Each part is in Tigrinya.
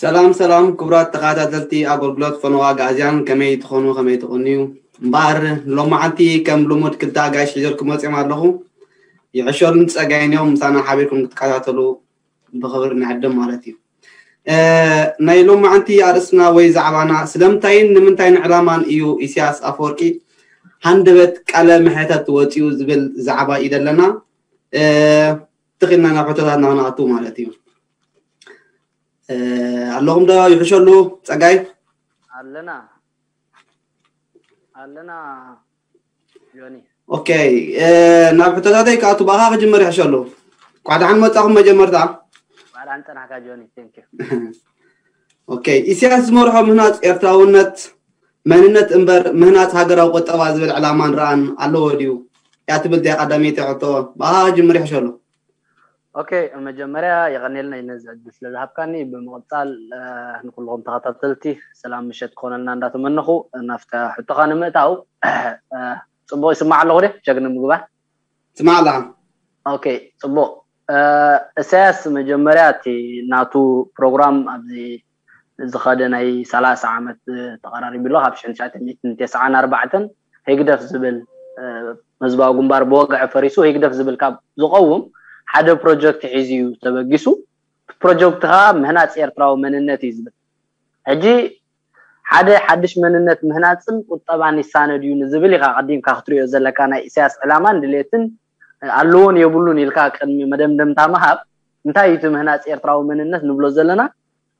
ሰላም ሰላም ክቡራት ተኸታተልቲ ኣገልግሎት ፈነዋ ኣግኣዝያን፣ ከመይ ትኾኑ፣ ከመይ ትቕንዩ? እምበኣር ሎማዓንቲ ከም ልሙድ ክልተ ኣጋይሽ ሒዘልኩም መፂኦም ኣለኹ። ይዕሸሉን ፀጋይን እዮም፣ ምሳና ሓቢርኩም ክትከታተሉ ብኽብሪ ንዕድም ማለት እዩ። ናይ ሎማዓንቲ ኣርእስትና ወይ ዛዕባና ስለምንታይን ንምንታይን ዕላማን እዩ ኢሳያስ ኣፈወርቂ ሃንደበት ቃለ መሕተት ወፂኡ ዝብል ዛዕባ እዩ ዘለና። ትኽእልና ናብ ሕቶታትና ክንኣቱ ማለት እዩ። ኣለኹም ዶ ይሕሸሉ ፀጋይ? ኣለና ኣለና ዮኒ። ኦኬ፣ ናብ ሕቶታተይ ክኣቱ ብኣኻ ክጅምር ይሕሸሉ። ኳዕ ደሓን መጻኹም መጀመርታ። ባዕል ኣንጠናካ ጆኒ፣ thank you። ኦኬ፣ ኢሳያስ ዝመርሖ ምህናፅ ኤርትራውነት መንነት እምበር ምህናፅ ሃገራዊ ቁጠባ ዝብል ዕላማን ረኣን ኣለዎ ድዩ? እያ ትብል እዚኣ ቀዳመይቲ ሕቶ። ብኣኻ ክጅምር ይሕሸሉ። ኦኬ፣ መጀመርያ የቐኔልና ነዚ ዕድል ስለ ዝሃብካኒ። ብምቕጻል ንኩልኹም ተኸታተልቲ ሰላም ምሸት ክኾነልና እንዳተመነኹ ናፍታ ሕቶኻ ንምእታው፣ ጽቡቕ ይስማዕ ኣለኹ ደ ቸክ ንምግባር? ስማዕ ኣለኻ። ኦኬ፣ ጽቡቕ። እሳያስ መጀመርያ እቲ ናቱ ፕሮግራም ኣብዚ ዝኸደ ናይ ሰላሳ ዓመት ተቐራሪቡ ኣሎ። ካብ ሽሕን ትሽዓተ ሚእትን ተስዓን ኣርባዕተን ህግደፍ ዝብል ህዝባዊ ግንባር ብወግዒ ፈሪሱ ህግደፍ ዝብል ካብ ዝቐውም ሓደ ፕሮጀክት ሒዙ እዩ ተበጊሱ። ፕሮጀክት ከዓ ምህናፅ ኤርትራዊ መንነት እዩ ዝብል። ሕጂ ሓደ ሓድሽ መንነት ምህናፅን ቁጠባን ይሳነድ እዩ ንዝብል ኢኻ ቀዲምካ ክትሪኦ ዘለካ ናይ ኢሳያስ ዕላማን ድሌትን ኣለዎን የብሉን ኢልካ ቅድሚ መደምደምታ ምሃብ። እንታይ እዩ እቲ ምህናፅ ኤርትራዊ መንነት ንብሎ ዘለና?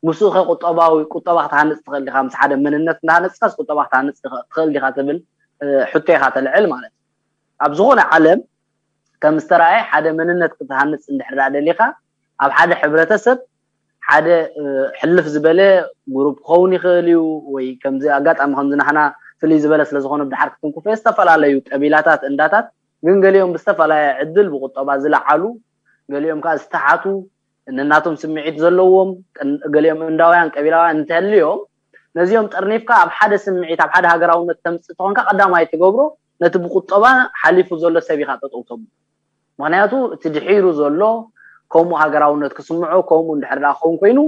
ምስኡ ከ ቁጠባዊ ቁጠባ ክትሃንፅ ትኽእል ዲኻ? ምስ ሓደ መንነት እንዳሃነፅካስ ቁጠባ ክትሃንፅ ትኽእል ዲኻ ትብል ሕቶ ኢኻ ተልዕል ማለት እዩ። ኣብ ዝኾነ ዓለም ከም ዝተረኣየ ሓደ መንነት ክትሃንፅ እንድሕር ደኣ ደሊኻ ኣብ ሓደ ሕብረተሰብ ሓደ ሕልፍ ዝበለ ጉሩፕ ክኸውን ይኽእል እዩ ወይ ከምዚ ኣጋጣሚ ከምዚ ናህና ፍልይ ዝበለ ስለ ዝኾነ ብድሓር ክትንኩፈ ዝተፈላለዩ ቀቢላታት እንዳታት ግን ገሊኦም ብዝተፈላለየ ዕድል ብቁጠባ ዝለዓሉ ገሊኦም ከዓ ዝተሓቱ ነናቶም ስምዒት ዘለዎም ገሊኦም እንዳውያን ቀቢላውያን እንተልዮም ነዚኦም ጠርኒፍካ ኣብ ሓደ ስምዒት ኣብ ሓደ ሃገራውነት ተምፅእ ተኾንካ ቀዳማይ ትገብሮ ነቲ ብቁጠባ ሓሊፉ ዘሎ ሰብ ኢኻ ጠጠው ተብሎ። ምክንያቱ እቲ ድሒሩ ዘሎ ከምኡ ሃገራውነት ክስምዖ ከምኡ እንድሕር ደኣ ክኸውን ኮይኑ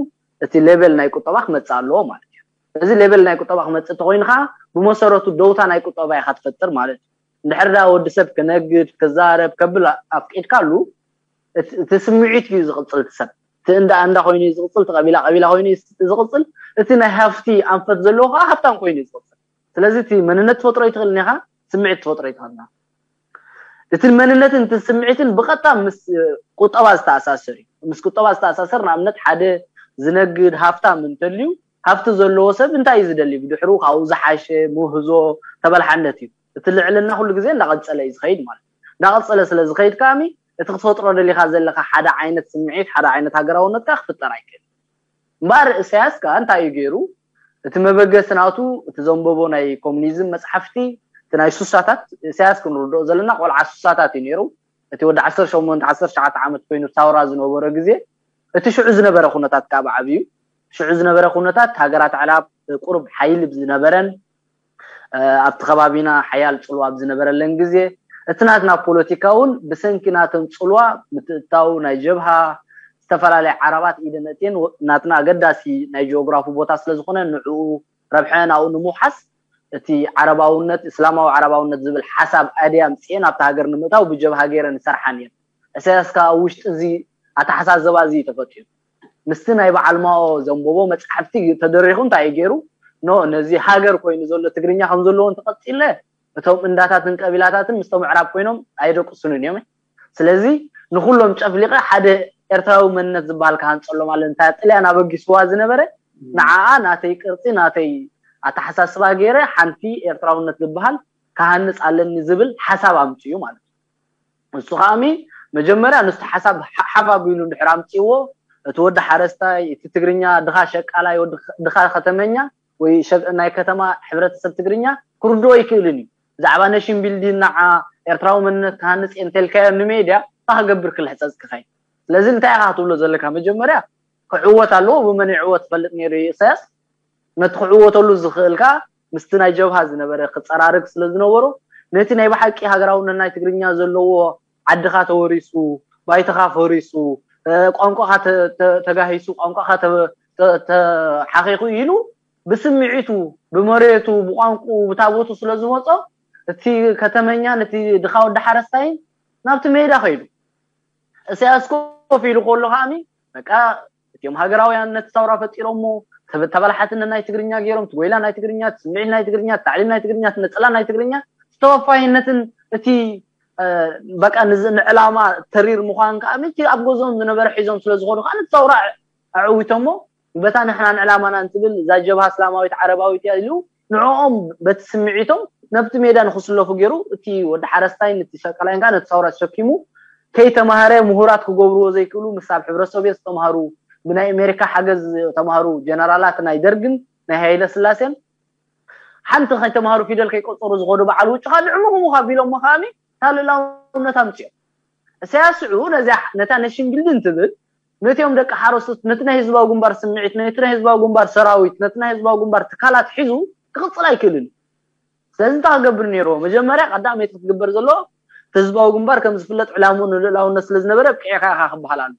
እቲ ሌቨል ናይ ቁጠባ ክመፅእ ኣለዎ ማለት እዩ። እዚ ሌቨል ናይ ቁጠባ ክመፅእ እንተኮይኑ ከዓ ብመሰረቱ ደውታ ናይ ቁጠባ ኢኻ ትፈጥር ማለት እዩ። እንድሕር ደኣ ወዲ ሰብ ክነግድ ክዛረብ ከብል ኣፍቂድካሉ እቲ ስምዒት እዩ ዝቕፅል። እቲ ሰብ እቲ እንዳ እንዳ ኮይኑ እዩ ዝቕፅል፣ እቲ ቀቢላ ቀቢላ ኮይኑ እዩ ዝቕፅል፣ እቲ ናይ ሃፍቲ ኣንፈት ዘለዎ ከዓ ሃብታም ኮይኑ እዩ ዝቕፅል። ስለዚ እቲ መንነት ትፈጥሮ ይትኽእል እኒኻ፣ ስምዒት ትፈጥሮ ይትኽእል እኒኻ። እቲ መንነትን እቲ ስምዒትን ብቐጥታ ምስ ቁጠባ ዝተኣሳሰር እዩ። ምስ ቁጠባ ዝተኣሳሰር ንኣብነት ሓደ ዝነግድ ሃፍታም እንተልዩ ሃፍቲ ዘለዎ ሰብ እንታይ እዩ ዝደሊ? ብድሕሩ ካብኡ ዝሓሸ ምህዞ ተበላሓነት እዩ። እቲ ልዕልና ኩሉ ግዜ እንዳቐፀለ እዩ ዝኸይድ ማለት እዩ። እንዳቐፀለ ስለ ዝኸይድ ከኣሚ እቲ ክትፈጥሮ ደሊኻ ዘለኻ ሓደ ዓይነት ስምዒት ሓደ ዓይነት ሃገራውነት ከዓ ክፍጠር ኣይክእል። እምበኣር እሳያስ ከዓ እንታይ እዩ ገይሩ? እቲ መበገሲ ናቱ እቲ ዘንበቦ ናይ ኮሙኒዝም መፅሓፍቲ እቲ ናይ ሱሳታት እሳያስ ክንርድኦ ዘለና ቆልዓ ሱሳታት እዩ ነይሩ። እቲ ወዲ ዓሰርተ ሸሞንተ ዓሰርተ ትሽዓተ ዓመት ኮይኑ ሳውራ ዝነበረ ግዜ እቲ ሽዑ ዝነበረ ኩነታት ካብ ዓብዩ ሽዑ ዝነበረ ኩነታት ሃገራት ኣዕራብ ቁሩብ ሓይሊ ብዝነበረን ኣብቲ ከባቢና ሓያል ፅልዋ ኣብ ዝነበረለን ግዜ እቲ ናትና ፖለቲካ እውን ብሰንኪ ናተን ፅልዋ ምትእታው ናይ ጀብሃ ዝተፈላለያ ዓረባት ኢደን ኣእትየን ናትና ኣገዳሲ ናይ ጂኦግራፊ ቦታ ስለዝኾነ ንዕኡ ረብሐ ናብኡ ንምውሓስ እቲ ዓረባውነት እስላማዊ ዓረባውነት ዝብል ሓሳብ ኣድያ ኣምፅኤን ኣብቲ ሃገር ንምእታው ብጀብሃ ገይረን ይሰርሓን እየን። እሳያስ ከዓ ኣብ ውሽጢ እዚ ኣተሓሳዘባ እዚ እዩ ተፈጢሩ። ምስቲ ናይ በዓል ማኦ ዘንበቦ መፅሓፍቲ ተደሪኹ እንታይ እዩ ገይሩ? ኖ ነዚ ሃገር ኮይኑ ዘሎ ትግርኛ ከም ዘለዎ እንተቐፂለ እቶም እንዳታትን ቀቢላታትን ምስቶም ኣዕራብ ኮይኖም ኣየደቅሱንን እዮም። ስለዚ ንኩሎም ጨፍሊቐ ሓደ ኤርትራዊ መንነት ዝበሃል ክሃንፀሎም ኣለ እንታይ ጥልያን ኣበጊስዋ ዝነበረ ንዓኣ ናተይ ቅርፂ ናተይ ኣተሓሳስባ ገይረ ሓንቲ ኤርትራውነት ዝበሃል ክሃንፅ ኣለኒ ዝብል ሓሳብ ኣምፅኡ ማለት እዩ። ንሱ ከኣሚ መጀመርያ ንስቲ ሓሳብ ሓፍ ኣቢሉ እንድሕር ኣምፅዎ እቲ ወዲ ሓረስታይ እቲ ትግርኛ ድኻ ሸቃላይ ድኻ ከተመኛ ወይ ናይ ከተማ ሕብረተሰብ ትግርኛ ክርድኦ ይክእልን እዩ። ብዛዕባ ነሽን ቢልዲን ንዓ ኤርትራዊ መንነት ክሃንፅ እየ እንተልካዮ ንሜድያ እንታይ ክገብር ክልሕፀፅ ክኸይድ? ስለዚ እንታይ ኢኻ ክትብሎ ዘለካ? መጀመርያ ክዕወት ኣለዎ። ብመን ይዕወት ትፈልጥ ነይሩ እዩ ኢሳያስ። ነቲ ክዕወተሉ ዝኽእል ከዓ ምስቲ ናይ ጀብሃ ዝነበረ ክፀራርግ ስለ ዝነበሮ ነቲ ናይ ብሓቂ ሃገራውነት ናይ ትግርኛ ዘለዎ ዓድኻ ተወሪሱ፣ ባይትኻ ፈሪሱ፣ ቋንቋኻ ተጋሂሱ፣ ቋንቋኻ ተሓኺኹ ኢሉ ብስምዒቱ፣ ብመሬቱ፣ ብቋንቁ፣ ብታቦቱ ስለ ዝመጾ፣ እቲ ከተመኛን እቲ ድኻ ወዲ ሓረስታይን ናብቲ ሜዳ ኸይዱ። እሳያስ ኮፍ ኢሉ ከሎ ከዓኒ በቃ እቲኦም ሃገራውያን ነቲ ሰውራ ፈጢሮሞ፣ ተበላሓትነት ናይ ትግርኛ ገይሮም፣ ትጎይላ ናይ ትግርኛ፣ ስምዒት ናይ ትግርኛ፣ ታዕሊም ናይ ትግርኛ፣ ነፀላ ናይ ትግርኛ ዝተወፋይነትን እቲ በቃ ንዕላማ ተሪር ምዃን ከዓ እቲ ኣብ ገዝኦም ዝነበረ ሒዞም ስለ ዝኾኑ ከዓ ነቲ ሰውራ ኣዕዊቶሞ። በታ ንሕናን ዕላማና እንትብል እዛ ጀብሃ እስላማዊት ዓረባዊት እያ ኢሉ ንዕኦም በቲ ስምዒቶም ነብቲ ሜዳ ንክስለፉ ገይሩ፣ እቲ ወዲ ሓረስታይን እቲ ሸቃላይን ከዓ ነቲ ሰውራ ተሸኪሙ ከይተማሃረ ምሁራት ክገብርዎ ዘይክእሉ ምስ ኣብ ሕብረተሰብ ዝተማሃሩ ብናይ ኣሜሪካ ሓገዝ ተማሃሩ ጀነራላት ናይ ደርግን ናይ ሃይለ ስላሴን ሓንቲ ከይተማሃሩ ፊደል ከይቆፀሩ ዝኸዱ በዓል ውጭ ከዓ ንዕምኹም ከቢሎሞ ከዓኒ ታልላውነት ኣምፅኦም። እሳያስ ሽዑ ነዚኣ ነታ ነሽን ቢልዲንግ ትብል ነቲኦም ደቂ ሓረስቶት ነቲ ናይ ህዝባዊ ግንባር ስምዒት ነቲ ናይ ህዝባዊ ግንባር ሰራዊት ነቲ ናይ ህዝባዊ ግንባር ትካላት ሒዙ ክቕፅል ኣይክእልን። ስለዚ እንታይ ክገብር ነይርዎ? መጀመርያ ቀዳመይቲ ክትግበር ዘለዎ እቲ ህዝባዊ ግንባር ከም ዝፍለጥ ዕላምኡ ንልእላውነት ስለ ዝነበረ ኣብቂዕካ ኢኻ ክበሃል ኣሎ።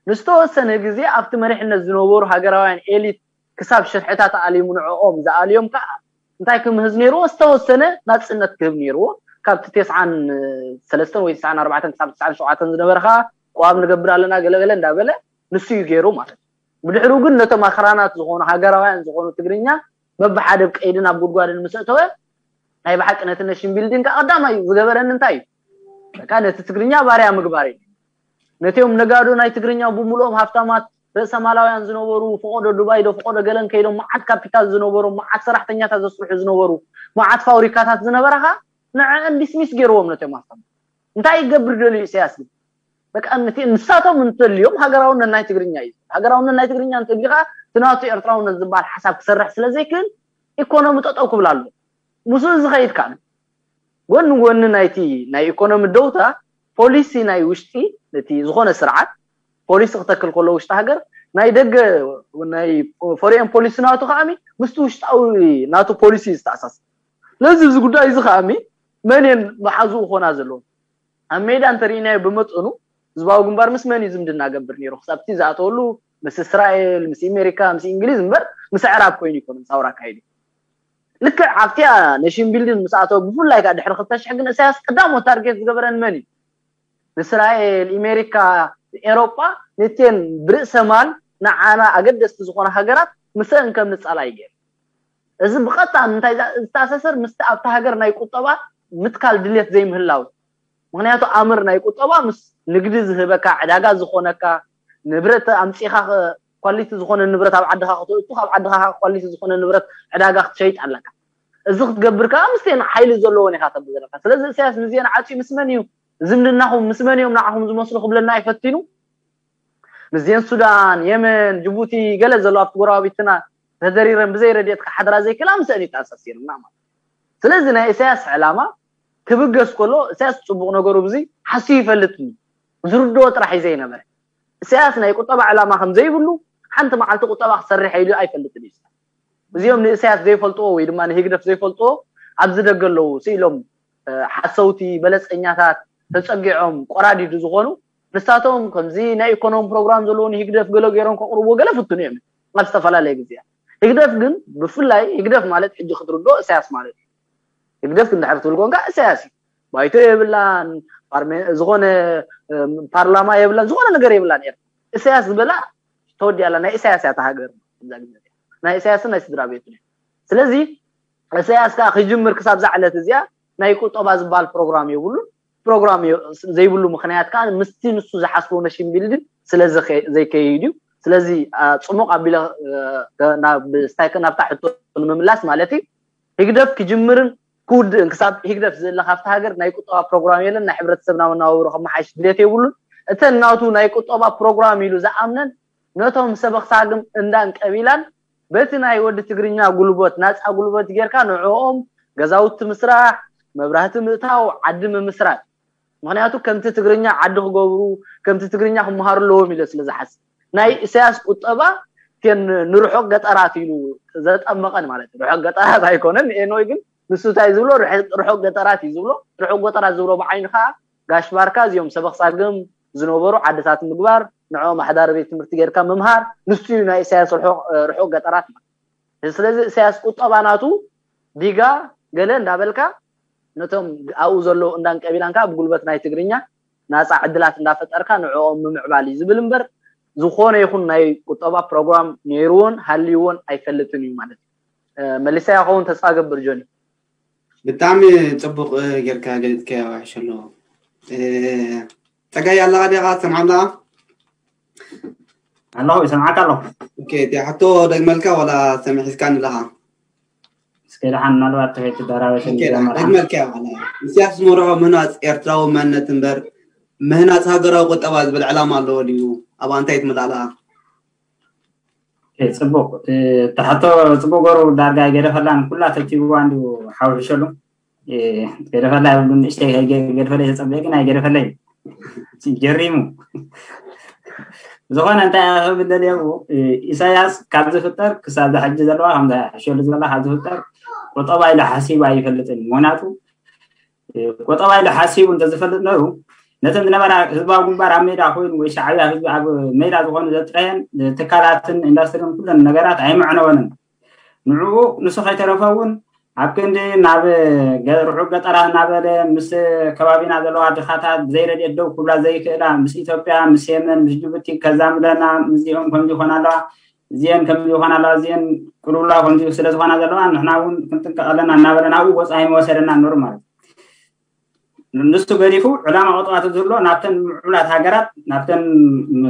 ንዝተወሰነ ግዜ ኣብቲ መሪሕነት ዝነበሩ ሃገራውያን ኤሊት ክሳብ ሽርሕታት ኣሊሙ ንዕኦም ዝኣልዮም ከዓ እንታይ ክምህዝ ነይርዎ? ዝተወሰነ ናፅነት ክህብ ነይርዎ። ካብቲ ተስዓን ሰለስተን ወይ ተስዓን ኣርባዕተን ክሳብ ተስዓን ሸውዓተን ዝነበረ ከዓ ቅዋም ንገብር ኣለና ገለገለ እንዳበለ ንሱ እዩ ገይሩ ማለት እዩ። ብድሕሩ ግን ነቶም ኣኽራናት ዝኾኑ ሃገራውያን ዝኾኑ ትግርኛ በብሓደ ብ ቀይድን ኣብ ጉድጓድን ምስ ኣእተወ ናይ ብሓቂ ነቲ ነሽን ቢልዲንግ ከዓ ቀዳማይ ዝገበረኒ እንታይ እዩ? በቃ ነቲ ትግርኛ ባርያ ምግባር እዩ። ነቲኦም ነጋዶ ናይ ትግርኛ ብምልኦም ሃፍታማት ርእሰ ማላውያን ዝነበሩ ፈቆዶ ዱባይ ዶ ፈቆዶ ገለን ከይዶም መዓት ካፒታል ዝነበሩ መዓት ሰራሕተኛታት ዘስርሑ ዝነበሩ መዓት ፋብሪካታት ዝነበራኻ ንዕን ዲስሚስ ገይርዎም ነቲኦም ሃፍታማት። እንታይ ይገብር ደልዩ ኢሳያስ ግን? በቃ ነቲ ንሳቶም እንተልዮም ሃገራውነት ናይ ትግርኛ እዩ። ሃገራውነት ናይ ትግርኛ እንተልዩ ከዓ እቲ ናቱ ኤርትራውነት ዝበሃል ሓሳብ ክሰርሕ ስለ ዘይክእል ኢኮኖሚ ጠጠው ክብል ኣሎ። ምስኡ ዝኸይድ ከዓ ጎኒ ጎኒ ናይቲ ናይ ኢኮኖሚ ደውታ ፖሊሲ ናይ ውሽጢ ነቲ ዝኾነ ስርዓት ፖሊሲ ክተክል ከሎ ውሽጢ ሃገር ናይ ደገ ናይ ፎሬን ፖሊሲ ናቱ ከዓሚ ምስቲ ውሽጣዊ ናቱ ፖሊሲ ዝተኣሳሰር። ስለዚ እዚ ጉዳይ እዚ ከዓሚ መን እየን መሓዝኡ ኮና ዘለዎም ኣብ ሜዳ እንተርኢናዮ ብመጠኑ ህዝባዊ ግንባር ምስ መን እዩ ዝምድና ገብር ነይሩ ክሳብ እቲ ዝኣተወሉ ምስ እስራኤል ምስ ኣሜሪካ ምስ እንግሊዝ እምበር ምስ ኣዕራብ ኮይኑ ይኮነ ሳውራ ኣካይዱ። ልክዕ ኣብቲያ ነሽን ቢልዲንግ ምስ ኣተወ ብፍላይ ከዓ ድሕሪ ክልተ ሽሕ ግን እሳያስ ቀዳሞ ታርጌት ዝገበረን መን እዩ? ንእስራኤል ኣሜሪካ ኤሮጳ ነቴን ብርእሰ ማል ንዓና ኣገደስቲ ዝኾነ ሃገራት ምሰን ከም ንጻላ ይገይር። እዚ ብቐጥታ ምንታይ ዝተኣሳሰር ምስቲ ኣብቲ ሃገር ናይ ቁጠባ ምትካል ድልየት ዘይምህላው። ምክንያቱ ኣምር ናይ ቁጠባ ምስ ንግዲ ዝህበካ ዕዳጋ ዝኾነካ ንብረት ኣምፂኻ ኳሊቲ ዝኾነ ንብረት ኣብ ዓድኻ ክትእቱ ካብ ዓድኻ ኳሊቲ ዝኾነ ንብረት ዕዳጋ ክትሸይጥ ኣለካ። እዚ ክትገብር ከዓ ምስቴን ሓይሊ ዘለዎን ኢኻ ተብል ዘለካ። ስለዚ እሳያስ ምስዜን ዓፅዩ ምስ መን እዩ ዝምድናኹም ምስ መን እዮም ንዓኹም ዝመስሉ ክብለና ይፈቲኑ። ምስዜን ሱዳን የመን ጅቡቲ ገለ ዘሎ ኣብቲ ጎረባቢትና ተደሪረን ብዘይ ረድኤት ክሓድራ ዘይክእላ ምስአን ይተኣሳሲርና ማለት። ስለዚ ናይ ኢሳያስ ዕላማ ክብገስ ከሎ ኢሳያስ ፅቡቕ ነገሩ ብዚ ሓስዩ ይፈልጥ እዩ። ዝርድኦ ጥራሕ እዩ ዘይነበረ። ኢሳያስ ናይ ቁጠባ ዕላማ ከም ዘይብሉ ሓንቲ መዓልቲ ቁጠባ ክሰርሕ ኢሉ ኣይፈልጥን እዩ። እዚኦም ንእሳያስ ዘይፈልጥዎ ወይ ድማ ንህግደፍ ዘይፈልጥዎ ኣብዚ ደገ ኣለዉ ስኢሎም ሓሰውቲ በለፀኛታት ተፀጊዖም ቆራዲዱ ዝኾኑ ንሳቶም ከምዚ ናይ ኢኮኖሚ ፕሮግራም ዘለዎ ንህግደፍ ገለ ገይሮም ከቕርብዎ ገለ ፍትኑ እዮም ኣብ ዝተፈላለየ ግዜያት። ህግደፍ ግን ብፍላይ ህግደፍ ማለት ሕጂ ክትርድኦ እሳያስ ማለት እዩ። ህግደፍ እንድሕር ትብል ኮንካ እሳያስ እዩ። ባይቶ የብላን፣ ዝኾነ ፓርላማ የብላን፣ ዝኾነ ነገር የብላን። እሳያስ ዝበላ ተወዲኣላ ናይ እሳያስ እያ እታ ሃገር። ናይ እሳያስን ናይ ስድራ ቤቱን እያ። ስለዚ እሳያስ ከዓ ክጅምር ክሳብ ዛዕለት እዚኣ ናይ ቁጠባ ዝበሃል ፕሮግራም የብሉን። ፕሮግራም ዘይብሉ ምክንያት ከዓ ምስቲ ንሱ ዝሓስቦ ነሽን ቢልዲንግ ስለ ዘይከይድ እዩ። ስለዚ ፅሙቕ ኣቢለ ናብታ ሕቶ ንምምላስ ማለት እዩ ህግደፍ ክጅምርን ክውድእን ክሳብ ህግደፍ ዝእለ ካብቲ ሃገር ናይ ቁጠባ ፕሮግራም የለን። ናይ ሕብረተሰብና መናባብሮ ከመሓይሽ ድሌት የብሉን። እተን ናቱ ናይ ቁጠባ ፕሮግራም ኢሉ ዝኣምነን ነቶም ሰበኽ ሳግም እንዳን ቀቢላን በቲ ናይ ወዲ ትግርኛ ጉልበት ናፃ ጉልበት ጌርካ ንዕኦም ገዛውቲ ምስራሕ፣ መብራህቲ ምእታው፣ ዓዲ ምምስራት። ምክንያቱ ከምቲ ትግርኛ ዓዲ ክገብሩ ከምቲ ትግርኛ ክመሃሩ ኣለዎም ኢለ ስለ ዝሓስብ ናይ ኢሳያስ ቁጠባ ን ንርሑቕ ገጠራት ኢሉ ዘጠመቐን ማለት ርሑቕ ገጠራት ኣይኮነን። ኤኖይ ግን ንሱ እንታይ ዝብሎ ርሑቕ ገጠራት እዩ ዝብሎ። ርሑቕ ገጠራት ዝብሎ ብዓይኑ ከዓ ጋሽ ባርካ እዚኦም ሰበኽ ሳግም ዝነበሩ ዓድታት ምግባር ንዕኦም ኣሕዳሪ ቤት ትምህርቲ ጌርካ ምምሃር፣ ንሱ እዩ ናይ ኢሳያስ ርሑቕ ገጠራት ማለት። ስለዚ ኢሳያስ ቁጠባ ናቱ ዲጋ ገለ እንዳበልካ ነቶም ኣብኡ ዘለዉ እንዳንቀቢላንካ ብጉልበት ናይ ትግርኛ ናፃ ዕድላት እንዳፈጠርካ ንዕኦም ምምዕባል እዩ ዝብል እምበር፣ ዝኾነ ይኹን ናይ ቁጠባ ፕሮግራም ነይርዎን ሃልይዎን ኣይፈልጥን እዩ ማለት እዩ። መሊሰያ ክኸውን ተስፋ ገብር ጆኒ። ብጣዕሚ ፅቡቅ ጌርካ ገሊፅካዮ። ይሕሸሉ። ፀጋይ ኣለኻ ዲኻ? ትሰምዓና? ኣለኹ፣ ይሰምዓካ ኣለኹ። ኦኬ፣ እቲ ሕቶ ደግመልካ ዋላ ሰሚዕስካኒ ኣለኻ? እስከ ደሓን ምናልባት ተኸይትደራበሽ ኦኬ፣ ደሓን ደግመልካ። ዋላ ኢሳያስ ዝመርሖ ምህናፅ ኤርትራዊ መንነት እምበር ምህናፅ ሃገራዊ ቁጠባ ዝብል ዕላማ ኣለዎ ድዩ? ኣብ እንታይ ትመጣላ? ጽቡቅ። ተሓቶ ጽቡቅ ገሩ ዳርጋ ገደፈላን ኩላ ተቲብዋ እንዲሁ ሓውሕሸሉ። ገደፈላ ይብሉ ንእሽተይ ገደፈለይ ተጸበየ ግን ኣይገደፈለይ። ጀሪሙ። ዝኾነ እንታይ ክብል ደልየ ኢሳያስ ካብ ዝፍጠር ክሳብ ዝሕጂ ዘለዋ ከምዛ ሕሸሉ ዘላ ካብ ዝፍጠር ቁጠባ ኢሉ ሓሲቡ ኣይፈልጥን። ምክንያቱ ቆጠባ ኢሉ ሓሲቡ እንተዝፈልጥ ነሩ ነተን ዝነበራ ህዝባዊ ግንባር ኣብ ሜዳ ኮይኑ ወይ ሻዕብያ ህዝቢ ኣብ ሜዳ ዝኾኑ ዘጥረየን ትካላትን ኢንዳስትሪን ኩለን ነገራት ኣይምዕነወንን። ንዕኡ ንሱ ከይተረፈ እውን ኣብ ክንዲ ናብ ርሑቅ ገጠራት እናበለ ምስ ከባቢና ዘለዋ ድኻታት ብዘይረድኤት ደው ክብላ ዘይክእላ ምስ ኢትዮጵያ ምስ የመን ምስ ጅቡቲ ከዛምደና ምስዚኦም ከምዚ ይኾና ኣለዋ እዚአን ከምዚ ይኾና ኣለዋ እዚአን ቅልውላው ከምዚ ስለ ዝኾና ዘለዋ ንሕና እውን ክንጥንቀቕ ኣለና እናበለ ናብኡ ገፁ ኣይመወሰደና ነሩ ማለት እዩ። ንሱ ገዲፉ ዕላማ ቁጠባ ተዝህልዎ ናብተን ምዕቡላት ሃገራት ናብተን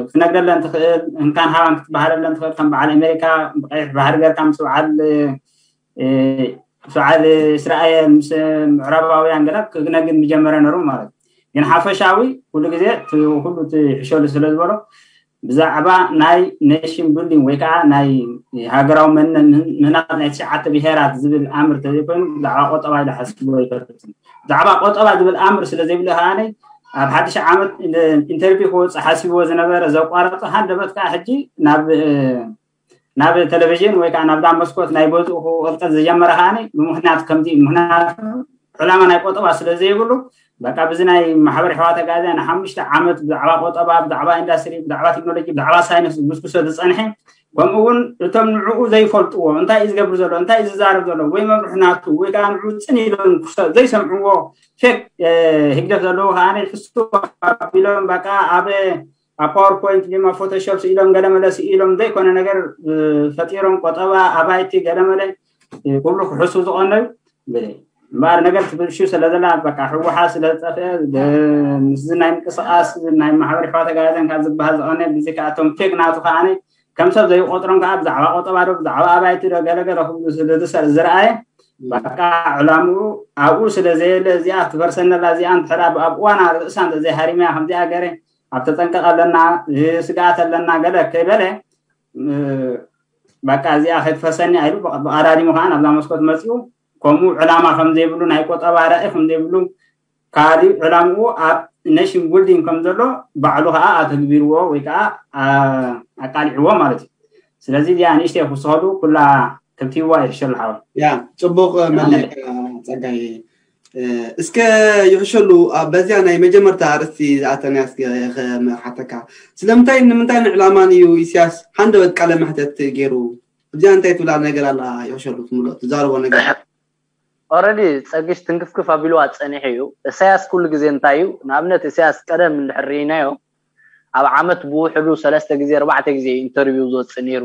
ክትነግደለን ትኽእል እንካን ሃባን ክትበሃለለን ትኽእል ከም በዓል ኣሜሪካ ብቀይሕ ባህሪ ገርካ ምስ በዓል በዓል እስራኤል ምስ ምዕራባውያን ገለ ክነግድ ምጀመረ ነሩ ማለት እዩ። ግን ሓፈሻዊ ኩሉ ግዜ ኩሉ ትሕሸሉ ስለ ዝበሎ ብዛዕባ ናይ ኔሽን ቢልዲንግ ወይ ከዓ ናይ ሃገራዊ መንነት ምህናፅ ናይ ትሽዓተ ብሄራት ዝብል ኣምር ተዘይኮይኑ ብዛዕባ ቆጠባ ኢሉ ሓስብዎ ኣይፈልጥን። ብዛዕባ ቆጠባ ዝብል ኣምር ስለ ዘይብሉ ከዓነይ ኣብ ሓድሽ ዓመት ኢንተርቪው ክወፅእ ሓሲብዎ ዝነበረ ዘቋረፀ ሃንደበት ከዓ ሕጂ ናብ ናብ ቴሌቪዥን ወይ ከዓ ናብዛ መስኮት ናይ ገዝኡ ክቕልቀል ዝጀመረ ከዓኒ ብምክንያት ከምዚ ምክንያቱ ዕላማ ናይ ቆጠባ ስለ ዘይብሉ በቃ ብዚ ናይ ማሕበር ኣሕዋት ኣጋዝያን ንሓሙሽተ ዓመት ብዛዕባ ቆጠባ ብዛዕባ ኢንዳስትሪ ብዛዕባ ቴክኖሎጂ ብዛዕባ ሳይንስ ዝጉስጉሶ ዝፀንሐ ከምኡ እውን እቶም ንዕኡ ዘይፈልጥዎ እንታይ እዩ ዝገብር ዘሎ እንታይ እዩ ዝዛረብ ዘሎ ወይ መምርሒ ናቱ ወይ ከዓ ንዕኡ ፅን ኢሎም ዘይሰምዕዎ ፌክ ህግደፍ ዘለዉ ከዓ ሕሱ ኣቢሎም በቃ ኣብ ኣብ ፓወርፖይንት ድማ ፎቶሾፕ ስኢሎም ገለመለ ስኢሎም ዘይኮነ ነገር ፈጢሮም ቆጠባ ኣባይቲ ገለመለ ኩሉ ክሕሱ ዝቐነዩ እምበኣር ነገር ትብልሹ ስለ ዘላ በቃ ህወሓት ስለ ዝጠፍአ ምስዚ ናይ ምንቅስቃስ ናይ ማሕበር ሕዋ ተጋዘን ካብ ዝበሃል ዝቐነ ብዚ ከኣቶም ፌክ ናቱ ከዓነ ከም ሰብ ዘይቆጥሮም ከዓ ብዛዕባ ቆጠባ ዶ ብዛዕባ ኣባይቲ ዶ ገለገለ ክብሉ ስለ ዝረኣየ በቃ ዕላምኡ ኣብኡ ስለ ዘየለ እዚኣ ትፈርሰነላ እዚኣ እንድሕር ኣብ እዋና ርእሳ እንተዘይሃሪመያ ከምዚኣ ገረ ኣብ ተጠንቀቕ ኣለና ስግኣት ኣለና ገለ ከይበለ በቃ እዚኣ ከይትፈርሰኒ ኢሉ ብቐዳዲሙ ከዓ ናብዛ መስኮት መፂኡ ከምኡ ዕላማ ከም ዘይብሉ ናይ ቆጠባ ራኢ ከም ዘይብሉ ካሊእ ዕላምኡ ኣብ ኔሽን ቢልዲንግ ከም ዘሎ ባዕሉ ከዓ ኣተግቢርዎ ወይ ከዓ ኣቃሊዕዎ ማለት እዩ። ስለዚ እዚኣ ንእሽተይ ክውስኸሉ ኩላ ከብቲዋ ይሕሸሉ ሓወይ። ያ ጽቡቕ መሊእካ ጸጋይ። እስከ ይሕሸሉ በዚያ ናይ መጀመርታ ኣርእስቲ ዝኣተናያ እስከ ክሓተካ ስለምንታይ ንምንታይ ንዕላማን እዩ ኢሳያስ ሃንደበት ቃለ መሕተት ገይሩ? እዚኣ እንታይ ትብላ ነገር ኣላ? ይሕሸሉ ትምሎ ትዛረቦ ነገር ኦረዲ ጸግሽ ትንክፍክፍ ኣቢልዋ ጸኒሑ እዩ። እሳያስ ኩሉ ግዜ እንታይ እዩ ንኣብነት እሳያስ ቀደም እንድሕር ርኢናዮ ኣብ ዓመት ብውሕዱ ሰለስተ ግዜ ኣርባዕተ ግዜ ኢንተርቪው ዝወፅእ ነይሩ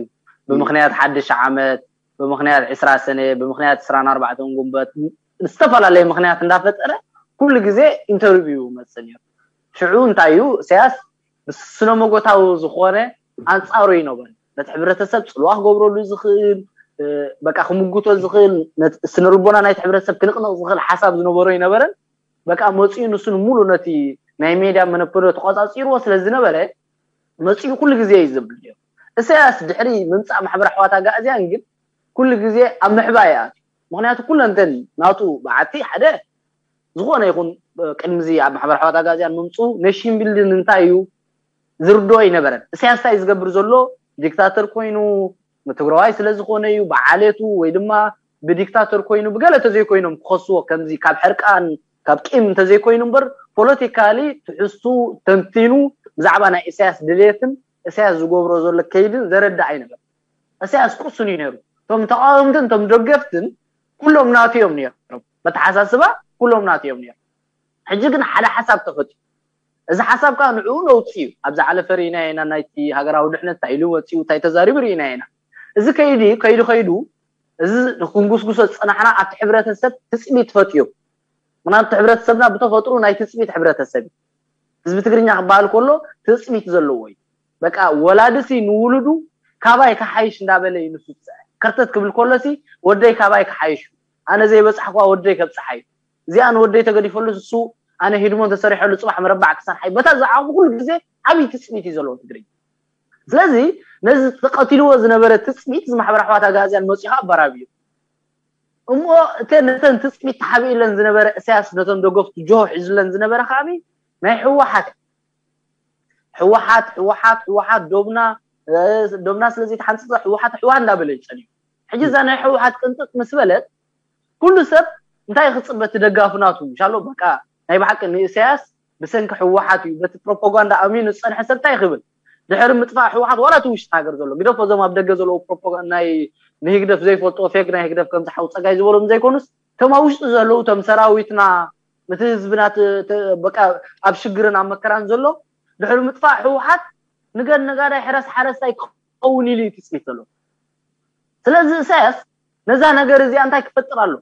ብምክንያት ሓድሽ ዓመት ብምክንያት ዕስራ ሰነ ብምክንያት ዕስራን ኣርባዕተን ጉንበት ዝተፈላለየ ምክንያት እንዳፈጠረ ኩሉ ግዜ ኢንተርቪው ይመፅእ ነይሩ። ሽዑ እንታይ እዩ እሳያስ ብስነመጎታዊ ዝኾነ ኣንፃሩ ይነበረ ነቲ ሕብረተሰብ ፅልዋ ክገብረሉ ዝኽእል በቃ ክምጉቶ ዝኽእል ስነልቦና ናይቲ ሕብረተሰብ ክንቕንቕ ዝኽእል ሓሳብ ዝነበሮ ይነበረን በቃ መፂኡ ንሱ ንሙሉ ነቲ ናይ ሜድያ መነፕሎ ተቆፃፂርዎ ስለ ዝነበረ መፂኡ ኩሉ ግዜ እዩ ዝብል ነይሩ። እሳያስ ድሕሪ ምምፃእ ማሕበር ኣሕዋት ኣጋእዝያን ግን ኩሉ ግዜ ኣብ ምሕባእ ይኣትዩ። ምክንያቱ ኩለንተን ናቱ በዓቲ ሓደ ዝኾነ ይኹን ቅድሚዚ ኣብ ማሕበር ኣሕዋት ኣጋእዝያን ምምፅኡ ኔሽን ቢልዲንግ እንታይ እዩ ዝርድኦ ኣይነበረን። እሳያስ እንታይ ዝገብር ዘሎ ዲክታተር ኮይኑ ንትግራዋይ ስለ ዝኾነ እዩ ብዓሌቱ ወይ ድማ ብዲክታተር ኮይኑ ብገለ ተዘይኮይኖም ክኸስዎ ከምዚ ካብ ሕርቃን ካብ ቂም እንተዘይኮይኑ እምበር ፖለቲካሊ ትሕዝቱ ተንቲኑ ብዛዕባ ናይ ኢሳያስ ድሌትን ኢሳያስ ዝገብሮ ዘሎ ከይድን ዘረዳ ኣይነበር። ኢሳያስ ቁሱን እዩ ነይሩ። እቶም ተቃወምትን እቶም ደገፍትን ኩሎም ናቱ እዮም ነይሮም። በተሓሳስባ ኩሎም ናቱ እዮም ነይሮም። ሕጂ ግን ሓደ ሓሳብ ተፈጥዩ። እዚ ሓሳብ ከዓ ንዕኡ ነውፂ እዩ። ኣብዛ ዓለፈ ርኢና ኢና፣ ናይቲ ሃገራዊ ድሕነት እንታይ ኢሉ ወፂኡ እንታይ ተዛሪቡ ርኢና ኢና። እዚ ከይዲ ከይዱ ከይዱ እዚ ክንጉስጉሶ ዝፀናሕና ኣብቲ ሕብረተሰብ ትፅቢት ፈጥዩ። ምክንያቱ ሕብረተሰብና ብተፈጥሩ ናይ ትፅቢት ሕብረተሰብ እዩ። ህዝቢ ትግርኛ ክበሃል ከሎ ትፅቢት ዘለዎ እዩ። በቃ ወላድሲ ንውሉዱ ካባይ ክሓይሽ እንዳበለ እዩ ንሱ ዝፅዕር። ከርተት ክብል ከሎሲ ወደይ ካባይ ክሓይሽ እዩ፣ ኣነ ዘይበፃሕኳ ወደይ ከብፅሓ እዩ፣ እዚኣ ንወደይ ተገዲፈሉ እሱ ኣነ ሂድሞን ተሰሪሐሉ ፅባሕ መረባዕ ክሰርሓ እዩ። በታ ዝዓኹ ኩሉ ግዜ ዓብዪ ትፅቢት እዩ ዘለዎ ትግርኛ። ስለዚ ነዚ ተቐቲልዎ ዝነበረ ትፅቢት እዚ ማሕበር ኣሕዋት ኣጋዝያን መፂኡ ኣባራብዩ። እሞ እተን ነተን ትፅቢት ተሓቢእለን ዝነበረ እሳያስ ነቶም ደገፍቱ ጆሆ ሒዙለን ዝነበረ ከዓኒ ናይ ህወሓት ህወሓት ህወሓት ህወሓት ዶብና እ፣ ዶብና ስለ ዘይተሓንፅፀ ህወሓት ህወሓት እንዳበለ እዩ ፀኒሑ። ሕጂ እዛ ናይ ህወሓት ቅንጥጥ ምስ በለት ኩሉ ሰብ እንታይ ክፅበ እቲ ደጋፊ ናቱ ምሻሎ በቃ ናይ ብሓቂ ንእሳያስ ብሰንኪ ህወሓት እዩ በቲ ፕሮፓጋንዳ ኣሚኑ ዝፀንሐ ሰብ እንታይ ክብል ድሕሪ ምጥፋእ ህወሓት ዋላ እቲ ውሽጢ ሃገር ዘሎ ግደፎ እዞም ኣብ ደገ ዘለዉ ፕሮፓጋንዳ ናይ ንህግደፍ ዘይፈልጥዎ ፌክ ናይ ህግደፍ ከምዚ ሓው ፀጋይ ዝበሎም ዘይኮኑስ እቶም ኣብ ውሽጢ ዘለዉ እቶም ሰራዊትና እቲ ህዝብና ት- ት- በቃ ኣብ ሽግርን ኣብ መከራን ዘሎ ድሕሪ ምጥፋእ ህወሓት ንገድ ነጋዳይ ሕረስ ሓረስታይ ክኸውን ኢሉ እዩ ትፅቢት ዘሎ። ስለዚ እሳያስ ነዛ ነገር እዚኣ እንታይ ክፈጥር ኣሎ?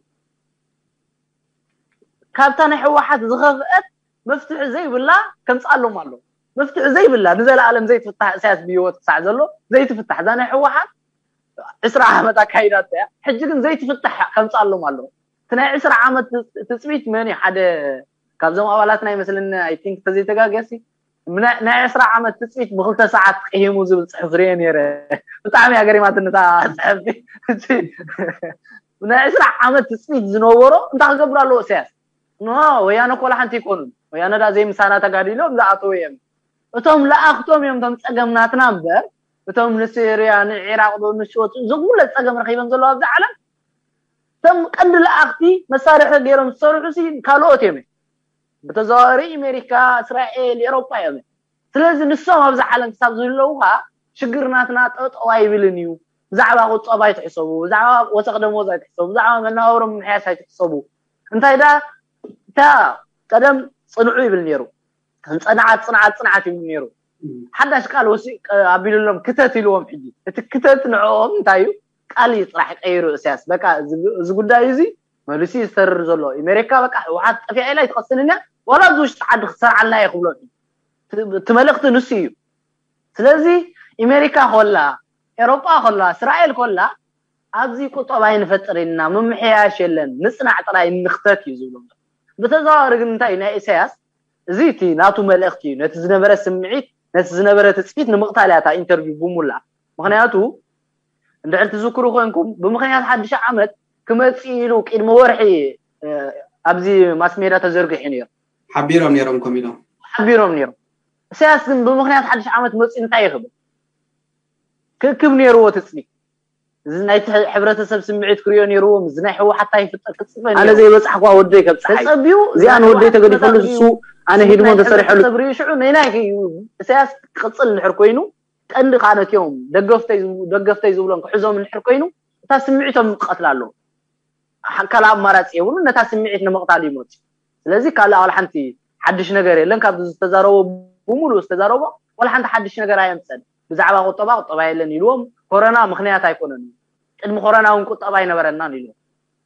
ካብታ ናይ ህወሓት ዝኸፍአት መፍትሒ ዘይብላ ከምፅኣሎም ኣሎ። መፍትሒ ዘይብላ ንዘለኣለም ዘይትፍታሕ እሳያስ ብህይወት ክሳዕ ዘሎ ዘይትፍታሕ እዛ ናይ ህወሓት ዕስራ ዓመት ኣካይዳቶ እያ። ሕጂ ግን ዘይትፍታሕ ከምፅኣሎም ኣሎ። እቲ ናይ ዕስራ ዓመት ትፅቢት መን እዩ ሓደ ካብዞም ኣባላትና ይመስለኒ ኣይ ቲንክ ተዘይተጋገሲ ናይ ዕስራ ዓመት ትፅቢት ብክልተ ሰዓት ቅሂሙ ዝብል ፅሑፍ ርየ ነይረ። ብጣዕሚ እያ ገሪማትኒ እታ ፅሕፍቲ። ናይ ዕስራ ዓመት ትፅቢት ዝነበሮ እንታይ ክገብሩ ኣለዎ እሳያስ? ኖ ወያነ ኮላ ሓንቲ ይኮኑን። ወያነ ዳ ዘይምሳና ተጋዲሎም ዝኣተው እዮም። እቶም ለኣኽቶም እዮም እቶም ፀገም ናትና እምበር እቶም ንሲርያ ንዒራቅ ዶ ንሽወት እዞም ኩለ ፀገም ረኪቦም ዘለዉ ኣብዚ ዓለም እቶም ቀንዲ ለኣኽቲ መሳርሒ ገይሮም ዝሰርሑ ሲ ካልኦት እዮም። ብተዘዋዋሪ ኣሜሪካ፣ እስራኤል፣ ኤሮፓ እዮም። ስለዚ ንሶም ኣብዚ ዓለም ክሳብ ዝህለዉ ከዓ ሽግር ናትና ጠጠው ኣይብልን እዩ። ብዛዕባ ቁጠባ ኣይትሕሰቡ፣ ብዛዕባ ወሰኽ ደሞዝ ኣይትሕሰቡ፣ ብዛዕባ መነባብሮ ምምሕያሽ ኣይትሕሰቡ። እንታይ ዳ እታ ቀደም ፅንዑ ይብል ነይሩ፣ ጽንዓት ጽንዓት ጽንዓት ይብል ነይሩ። ሓዳሽ ቃል ወሲ ኣቢሉሎም ክተት ኢልዎም። ሕጂ እቲ ክተት ንዕኦም እንታይ እዩ? ቃል እዩ ጥራሕ ቀይሩ እሳያስ። በቃ እዚ ጉዳይ እዚ መሊሱ እዩ ዝተርር ዘሎ። ኣሜሪካ በቃ ህወሓት ጠፊኣ ኢላ ኣይትቐስንን እያ፣ ዋላ ኣብዚ ውሽጢ ዓዲ ክትሰርዓልና እየ ክብሎም እዩ። እቲ መልእኽቲ ንሱ እዩ። ስለዚ ኣሜሪካ ኮላ፣ ኤሮጳ ኮላ፣ እስራኤል ኮላ ኣብዚ ቁጠባ ኣይንፈጥር ኢልና ምምሕያሽ የለን፣ ንጽናዕ ጥራይ ንኽተት እዩ ዝብሎም። ብተዘዋዋሪ ግን እንታይ እዩ ናይ ኢሳያስ እዚ እቲ ናቱ መልእኽቲ እዩ። ነቲ ዝነበረ ስምዒት፣ ነቲ ዝነበረ ትጽቢት ንምቕታል እያ እታ ኢንተርቪው ብሙላ። ምኽንያቱ እንድሕር ትዝክሩ ኮንኩም ብምኽንያት ሓድሽ ዓመት ክመጽእ ኢሉ ቅድሚ ወርሒ ኣብዚ ማስ ሜዳ ተዘርጊሑ ነይሩ። ሓቢሮም ነይሮም ከም ኢሎም። ሓቢሮም ነይሮም። ኢሳያስ ግን ብምኽንያት ሓድሽ ዓመት መጽኡ እንታይ ይኽብል? ክእክብ ነይርዎ ትጽቢት። እዚ ናይ ሕብረተሰብ ስምዒት ክሪኦ ነይርዎ፣ እዚ ናይ ህወሓት እንታይ ይፍጠር ክጽበ ኣነ ዘይበጻሕኳ ወደይ ከብጽሓይ ተጸቢዩ እዚኣ ንወደይ ተገዲፈሉ እሱ ኣነ ሂድሞ ተሰሪሐሉ። ሰብ ሪኡ ሽዑ ነይናይ እዩ ኢሳያስ ክቕጽል እንድሕር ኮይኑ ቀንዲ ከዓ ነቲኦም ደገፍተይ ደገፍተይ ዝብሎም ክሕዞም እንድሕር ኮይኑ እታ ስምዒቶም ክቐትላ ኣለዎ። ካልእ ኣማራፂ የብሉን፣ ነታ ስምዒት ንምቕታል ይመፁ። ስለዚ ካልእ ዋላ ሓንቲ ሓድሽ ነገር የለን። ካብዚ ዝተዛረቦ ብምሉእ ዝተዛረቦ ዋላ ሓንቲ ሓድሽ ነገር ኣየምፀን። ብዛዕባ ቁጠባ ቁጠባ የለን ኢልዎም። ኮረና ምኽንያት ኣይኮነን። ቅድሚ ኮረና እውን ቁጠባ ኣይነበረናን ኢልዎም።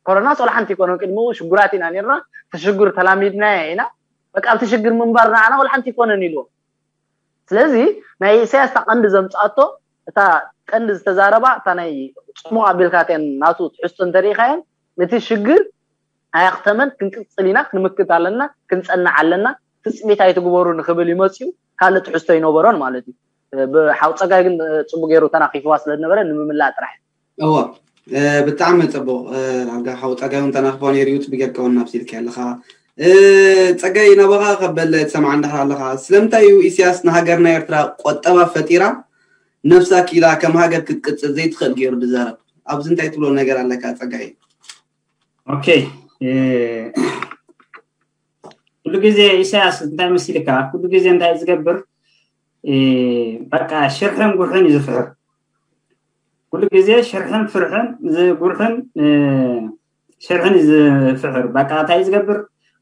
ኮረናስ ዋላ ሓንቲ ኣይኮነን። ቅድሚኡ ሽጉራት ኢና ነርና፣ እቲ ሽግር ተላሚድናዮ ኢና። በቃ ኣብቲ ሽግር ምንባር ንዓና ዋላ ሓንቲ ኣይኮነን ኢልዎም። ስለዚ ናይ ኢሳያስ እታ ቀንዲ ዘምፅኣቶ እታ ቀንዲ ዝተዛረባ እታ ናይ ፅሙቕ ኣቢልካትያን ናቱ ትሕዝቶ እንተሪኢኻየን እቲ ሽግር ኣያኽተመን ክንቅፅል ኢና ክንምክት ኣለና ክንፀንዕ ኣለና ትፅቢት ኣይትግበሩ ንክብል ይመፅኡ ካልእ ትሕዝቶ ይነበሮን ማለት እዩ። ብሓው ፀጋይ ግን ፅቡቅ ገይሩ ተናኺፍዋ ስለዝነበረ ንምምላእ ጥራሕ። እዎ ብጣዕሚ ፅቡቅ ዳርጋ ሓው ፀጋይ እውን ተናኽፎ ነይሩ እዩ ፅቡቅ ጌርካ እውን ኣብሲልካ ኣለኻ። ፀጋይ ናባኻ ከበል ትሰምዓ እንዳሕር ኣለኻ ስለምንታይ እዩ ኢሳያስ ንሃገርና ኤርትራ ቆጠባ ፈጢራ ነብሳ ኪላ ከም ሃገር ክትቅፅል ዘይትኽእል ገይሩ ዝዛረብ ኣብዚ እንታይ ትብሎ ነገር ኣለካ ፀጋይ? ኦኬ ኩሉ ግዜ ኢሳያስ እንታይ መሲልካ ኩሉ ግዜ እንታይ ዝገብር በቃ ሽርሕን ጉርሕን እዩ ዝፍሕር። ኩሉ ግዜ ሽርሕን ፍርሕን፣ ጉርሕን ሽርሕን እዩ ዝፍሕር። በቃ እንታይ ዝገብር?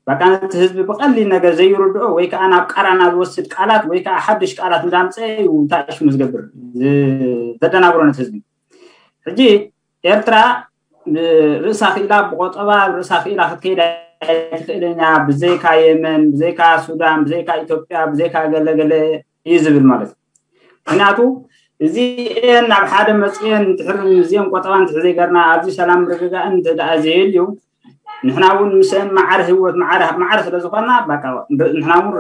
በቃ ነቲ ህዝቢ ብቐሊል ነገር ዘይርድኦ ወይ ከዓ ናብ ቃራና ዝወስድ ቃላት ወይ ከዓ ሓድሽ ቃላት እንዳምፀ እዩ ታሽሙ ዝገብር፣ ዘደናግሮ ነቲ ህዝቢ። ሕጂ ኤርትራ ርእሳ ክኢላ፣ ብቆጠባ ርእሳ ክኢላ ክትከይድ ኣይትኽእልን እያ፣ ብዘይካ የመን፣ ብዘይካ ሱዳን፣ ብዘይካ ኢትዮጵያ፣ ብዘይካ ገለገለ እዩ ዝብል ማለት እዩ። ምክንያቱ እዚኤን ናብ ሓደ መፅኤን እንድሕር እዚኦም ቆጠባ እንድሕር ዘይገርና ኣብዚ ሰላም ርግጋእን እንተ ደኣ ዘየልዩ ንሕና እውን ምስአን ማዕረ ህይወት ማዕረ ማዕረ ስለ ዝኾና ንሕና እውን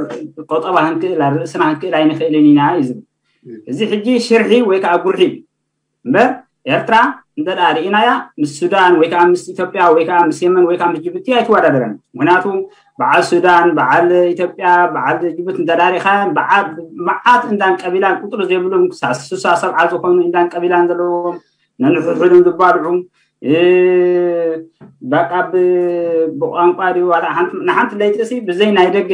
ቆጠባ ክንክእል ርእስና ክንክእል ኣይንኽእልን ኢና እዩ ዝብል። እዚ ሕጂ ሽርሒ ወይ ከዓ ጉርሒ እምበር ኤርትራ እንተ ደኣ ርኢናያ ምስ ሱዳን ወይ ከዓ ምስ ኢትዮጵያ ወይ ከዓ ምስ የመን ወይ ከዓ ምስ ጅቡቲ ኣይትወዳደረን። ምክንያቱ በዓል ሱዳን፣ በዓል ኢትዮጵያ፣ በዓል ጅቡቲ እንተ ደኣ ርኢኻ መዓት እንዳን ቀቢላን ቁፅሪ ዘይብሎም ክሳብ ስሳ ሰብዓ ዝኾኑ እንዳን ቀቢላን ዘለዎም ነንሕድሕዶም ዝባልዑ በቃ ብቋንቋ ድዩ ዋላ ንሓንቲ ለይቲ ርእሲ ብዘይ ናይ ደገ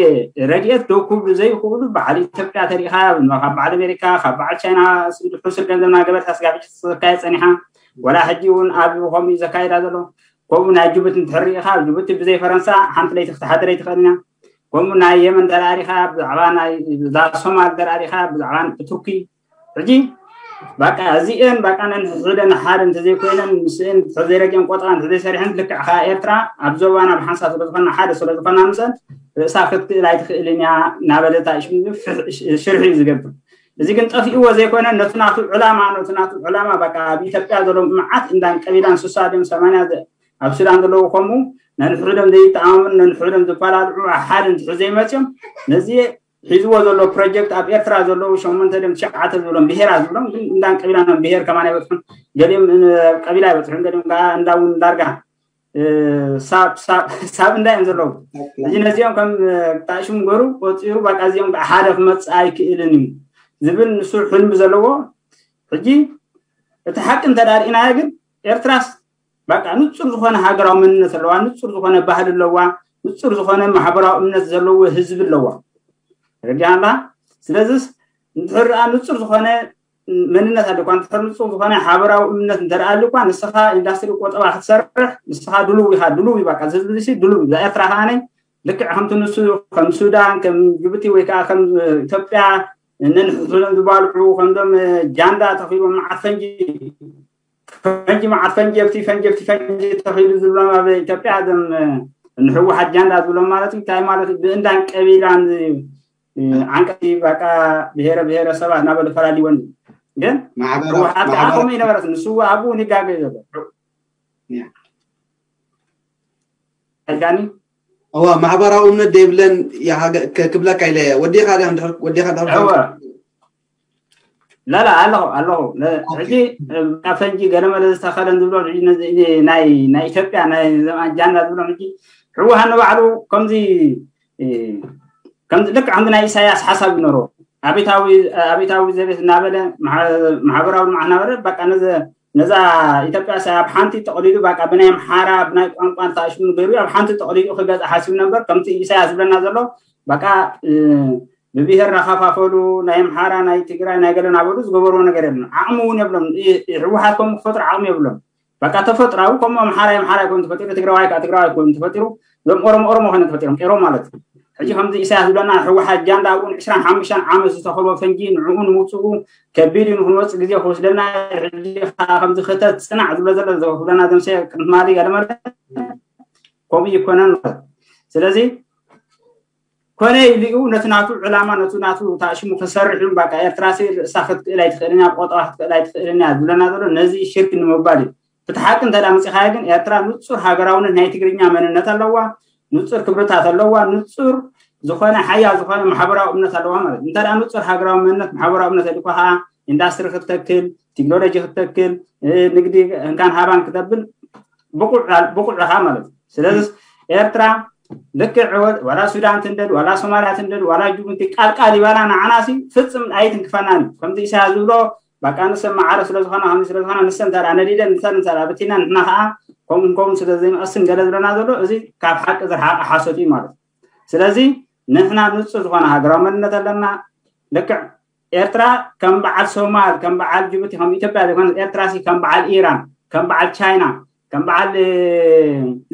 ረድኤት ደው ክብሉ ዘይኽእሉ በዓል ኢትዮጵያ ተሪኢኻ ካብ በዓል ኣሜሪካ ካብ በዓል ቻይና ሕሱር ገንዘብ ናገበርካ ስጋብ ሕጂ ተዘካየ ፀኒሓ ወላ ሕጂ እውን ኣብ ከምኡ ዘካይዳ ዘሎ ከምኡ ናይ ጅቡቲ እንትሕር ርኢኻ ጅቡቲ ብዘይ ፈረንሳ ሓንቲ ለይቲ ክትሓድር ኣይትኽእልን እያ። ከምኡ ናይ የመን ተራሪኻ ብዛዕባ ናይ ሶማል ተራሪኻ ብዛዕባ ብቱርኪ ሕጂ በቃ እዚኤን በቃ ነንሕድሕደን ሓደ እንተዘይኮይነን ምስእን እንተዘይረጊአን ቆጠራ እንተዘይሰሪሐን ልክዕ ከኣ ኤርትራ ኣብ ዞባና ብሓንሳብ ስለዝኾና ሓደ ስለዝኾና ምስአን ርእሳ ክትክእል ኣይትኽእልን እያ እናበለታ ሽርሒ እዩ ዝገብር። እዚ ግን ጠፊእዎ ዘይኮነ ነቲ ናቱ ዕላማ ነቲ ናቱ ዕላማ በቃ ኣብ ኢትዮጵያ ዘሎ መዓት እንዳን ቀቢላን ስሳ ድዮም ሰማንያ ኣብ ሱዳን ዘለዉ ከምኡ ነንሕድሕዶም ዘይተኣማመኑ ነንሕድሕዶም ዝፈላለዑ ሓደ እንትሕዘይ መፅዮም ነዚ ሒዝዎ ዘሎ ፕሮጀክት ኣብ ኤርትራ ዘለዉ ሸሞንተ ድም ትሽዓተ ዝብሎም ብሄራት ዝብሎም ግን እንዳን ቀቢላን ብሄር ከማን ኣይበፅሑን። ገሊኦም ቀቢላ ኣይበፅሑን ገሊኦም ከዓ እንዳውን ዳርጋ ሳብ እንዳ እዮም ዘለዉ። እዚ ነዚኦም ከም ጣሽም ገሩ ቆፂሩ በቃ እዚኦም ከዓ ሓደ ክመፅእ ኣይክእልን እዩ ዝብል ንሱ ሕልሚ ዘለዎ። ሕጂ እቲ ሓቂ እንተዳርኢናዮ ግን ኤርትራስ በቃ ንፁር ዝኾነ ሃገራዊ መንነት ኣለዋ፣ ንፁር ዝኾነ ባህሊ ኣለዋ፣ ንፁር ዝኾነ ማሕበራዊ እምነት ዘለዎ ህዝቢ ኣለዋ። ረዲኣና ስለዚስ እንድሕር ንፁር ዝኾነ መንነት ኣለኳ እንድሕር ንፁር ዝኾነ ሓበራዊ እምነት እንተደኣ ኣለኳ ንስኻ ኢንዳስትሪ ቆጠባ ክትሰርሕ ንስኻ ድሉው ኢኻ። ድሉው እዩ በቃ ዝህዝቢ ድሉው እዩ። ኤርትራ ከዓነ ልክዕ ከምቲ ንሱ ከም ሱዳን ከም ጅቡቲ ወይ ከዓ ከም ኢትዮጵያ ነንሕድሕዶም ዝባልዑ ከምዞም ጃንዳ ተኺሎም መዓት ፈንጂ ፈንጂ መዓት ፈንጂ ኣብቲ ፈንጂ ኣብቲ ፈንጂ ተኺሉ ዝብሎም ኣብ ኢትዮጵያ እዞም ንህወሓት ጃንዳ ዝብሎም ማለት እዩ። እንታይ ማለት እዩ? ብእንዳን ቀቢላን ዓንቀቲ በቃ ብሄረ ብሄረሰባት እናበሉ ፈላሊወን ግን ህወሓት ከዓ ከምኡ ይነበረት ንሱ ኣብኡ ንጋገ ዘሎ ኣይጋኒ እዋ ማሕበራዊ እምነት ዘይብለን ክብለካ ኢለ ወዲኻ ወዲኻ ላላ ኣለኹ ኣለኹ ሕጂ ካብ ፈንጂ ገለመለ ዝተኸለን ዝብሎ ናይ ናይ ኢትዮጵያ ናይ ዘማን ጃንዳ ዝብሎ ሕጂ ህወሓት ንባዕሉ ከምዚ ከምዚ ልክዕ ከምዚ ናይ ኢሳያስ ሓሳብ ይኖሮ ኣቤታዊ ኣቤታዊ ዘቤት እናበለ ማሕበራዊ ልምዓት እናበለ በቃ ነዚ ነዛ ኢትዮጵያ ሳይ ኣብ ሓንቲ ጠቕሊሉ በቃ ብናይ ኣምሓራ ብናይ ቋንቋ ተኣሽሙ ገይሩ ኣብ ሓንቲ ጠቕሊሉ ክገዛ ሓሲቡ ነበር ከምቲ ኢሳያስ ዝብለና ዘሎ በቃ ብብሄር ናኸፋፈሉ ናይ ኣምሓራ ናይ ትግራይ ናይ ገለ ናበሉ ዝገበርዎ ነገር የለን። ዓቕሚ እውን የብሎም። ህወሓት ከም ክፈጥሩ ዓቕሚ የብሎም። በቃ ተፈጥራዊ ከም ኣምሓራ ኣምሓራ ይኮን ተፈጢሩ ትግራዋይ ከዓ ትግራዋይ ይኮን ተፈጢሩ ዞም ኦሮሞ ኦሮሞ ኮነ ተፈጢሮም ኤሮ ማለት እዩ። ሕጂ ከምዚ ኢሳያስ ዝብለና ህወሓት ጃንዳ እውን ዕስራን ሓሙሽተን ዓመት ዝተኸልቦ ፈንጂ ንዕኡ ንምውፅኡ ከቢድ እዩ። ንክንወፅእ ግዜ ክወስደና ሕጂ ከምዚ ክተት ፅናዕ ዝብሎ ዘሎ ዝብለና ዘምሰ ቅድማሊ ገለመለ ከምኡ ይኮነን ማለት ስለዚ ኮነ ኢሉ እዩ ነቲ ናቱ ዕላማ ነቲ ናቱ ታእሽሙ ክሰርሕ እዩ። በቃ ኤርትራ ሲ ርእሳ ክትክእል ኣይትኽእልን እያ፣ ቆጠባ ክትክእል ኣይትኽእልን እያ ዝብለና ዘሎ ነዚ ሽርክ ንምባል እዩ። እቲ ሓቂ እንተ ደኣ መፂኻዮ ግን ኤርትራ ንፁር ሃገራውነት ናይ ትግርኛ መንነት ኣለዋ፣ ንፁር ክብርታት ኣለዋ፣ ንፁር ዝኾነ ሓያል ዝኾነ ማሕበራዊ እምነት ኣለዋ ማለት እዩ። እንተ ደኣ ንፁር ሃገራዊ መንነት ማሕበራዊ እምነት ኣልኳ ከዓ ኢንዳስትሪ ክትተክል፣ ቴክኖሎጂ ክትተክል፣ ንግዲ እንካን ሃባን ክተብል ብቑዕ ኢኻ ማለት እዩ። ስለዚ ኤርትራ ልክዕ ወላ ሱዳን ትንደድ ዋላ ሶማልያ ትንደድ ዋላ ጅቡቲ ቃልቃል ይበላ ንዓናሲ ፍፅም ኣይትንክፈናን እዩ። ከምዚ ኢሳያስ ዝብሎ በቃ ንሰን ማዕረ ስለዝኾና ከምዚ ስለዝኾና ንሰን እንተ ነዲደን ንሰን እንተ በቲና ንሕና ከዓ ከምኡ ከምኡ ስለዘይንቐስን ገለ ዝብለና ዘሎ እዚ ካብ ሓቂ ዝረሓቐ ሓሶት እዩ ማለት እዩ። ስለዚ ንሕና ንፁር ዝኾነ ሃገራዊ መንነት ኣለና። ልክዕ ኤርትራ ከም በዓል ሶማል፣ ከም በዓል ጅቡቲ፣ ከም ኢትዮጵያ ዘይኮነ፣ ኤርትራ ሲ ከም በዓል ኢራን፣ ከም በዓል ቻይና፣ ከም በዓል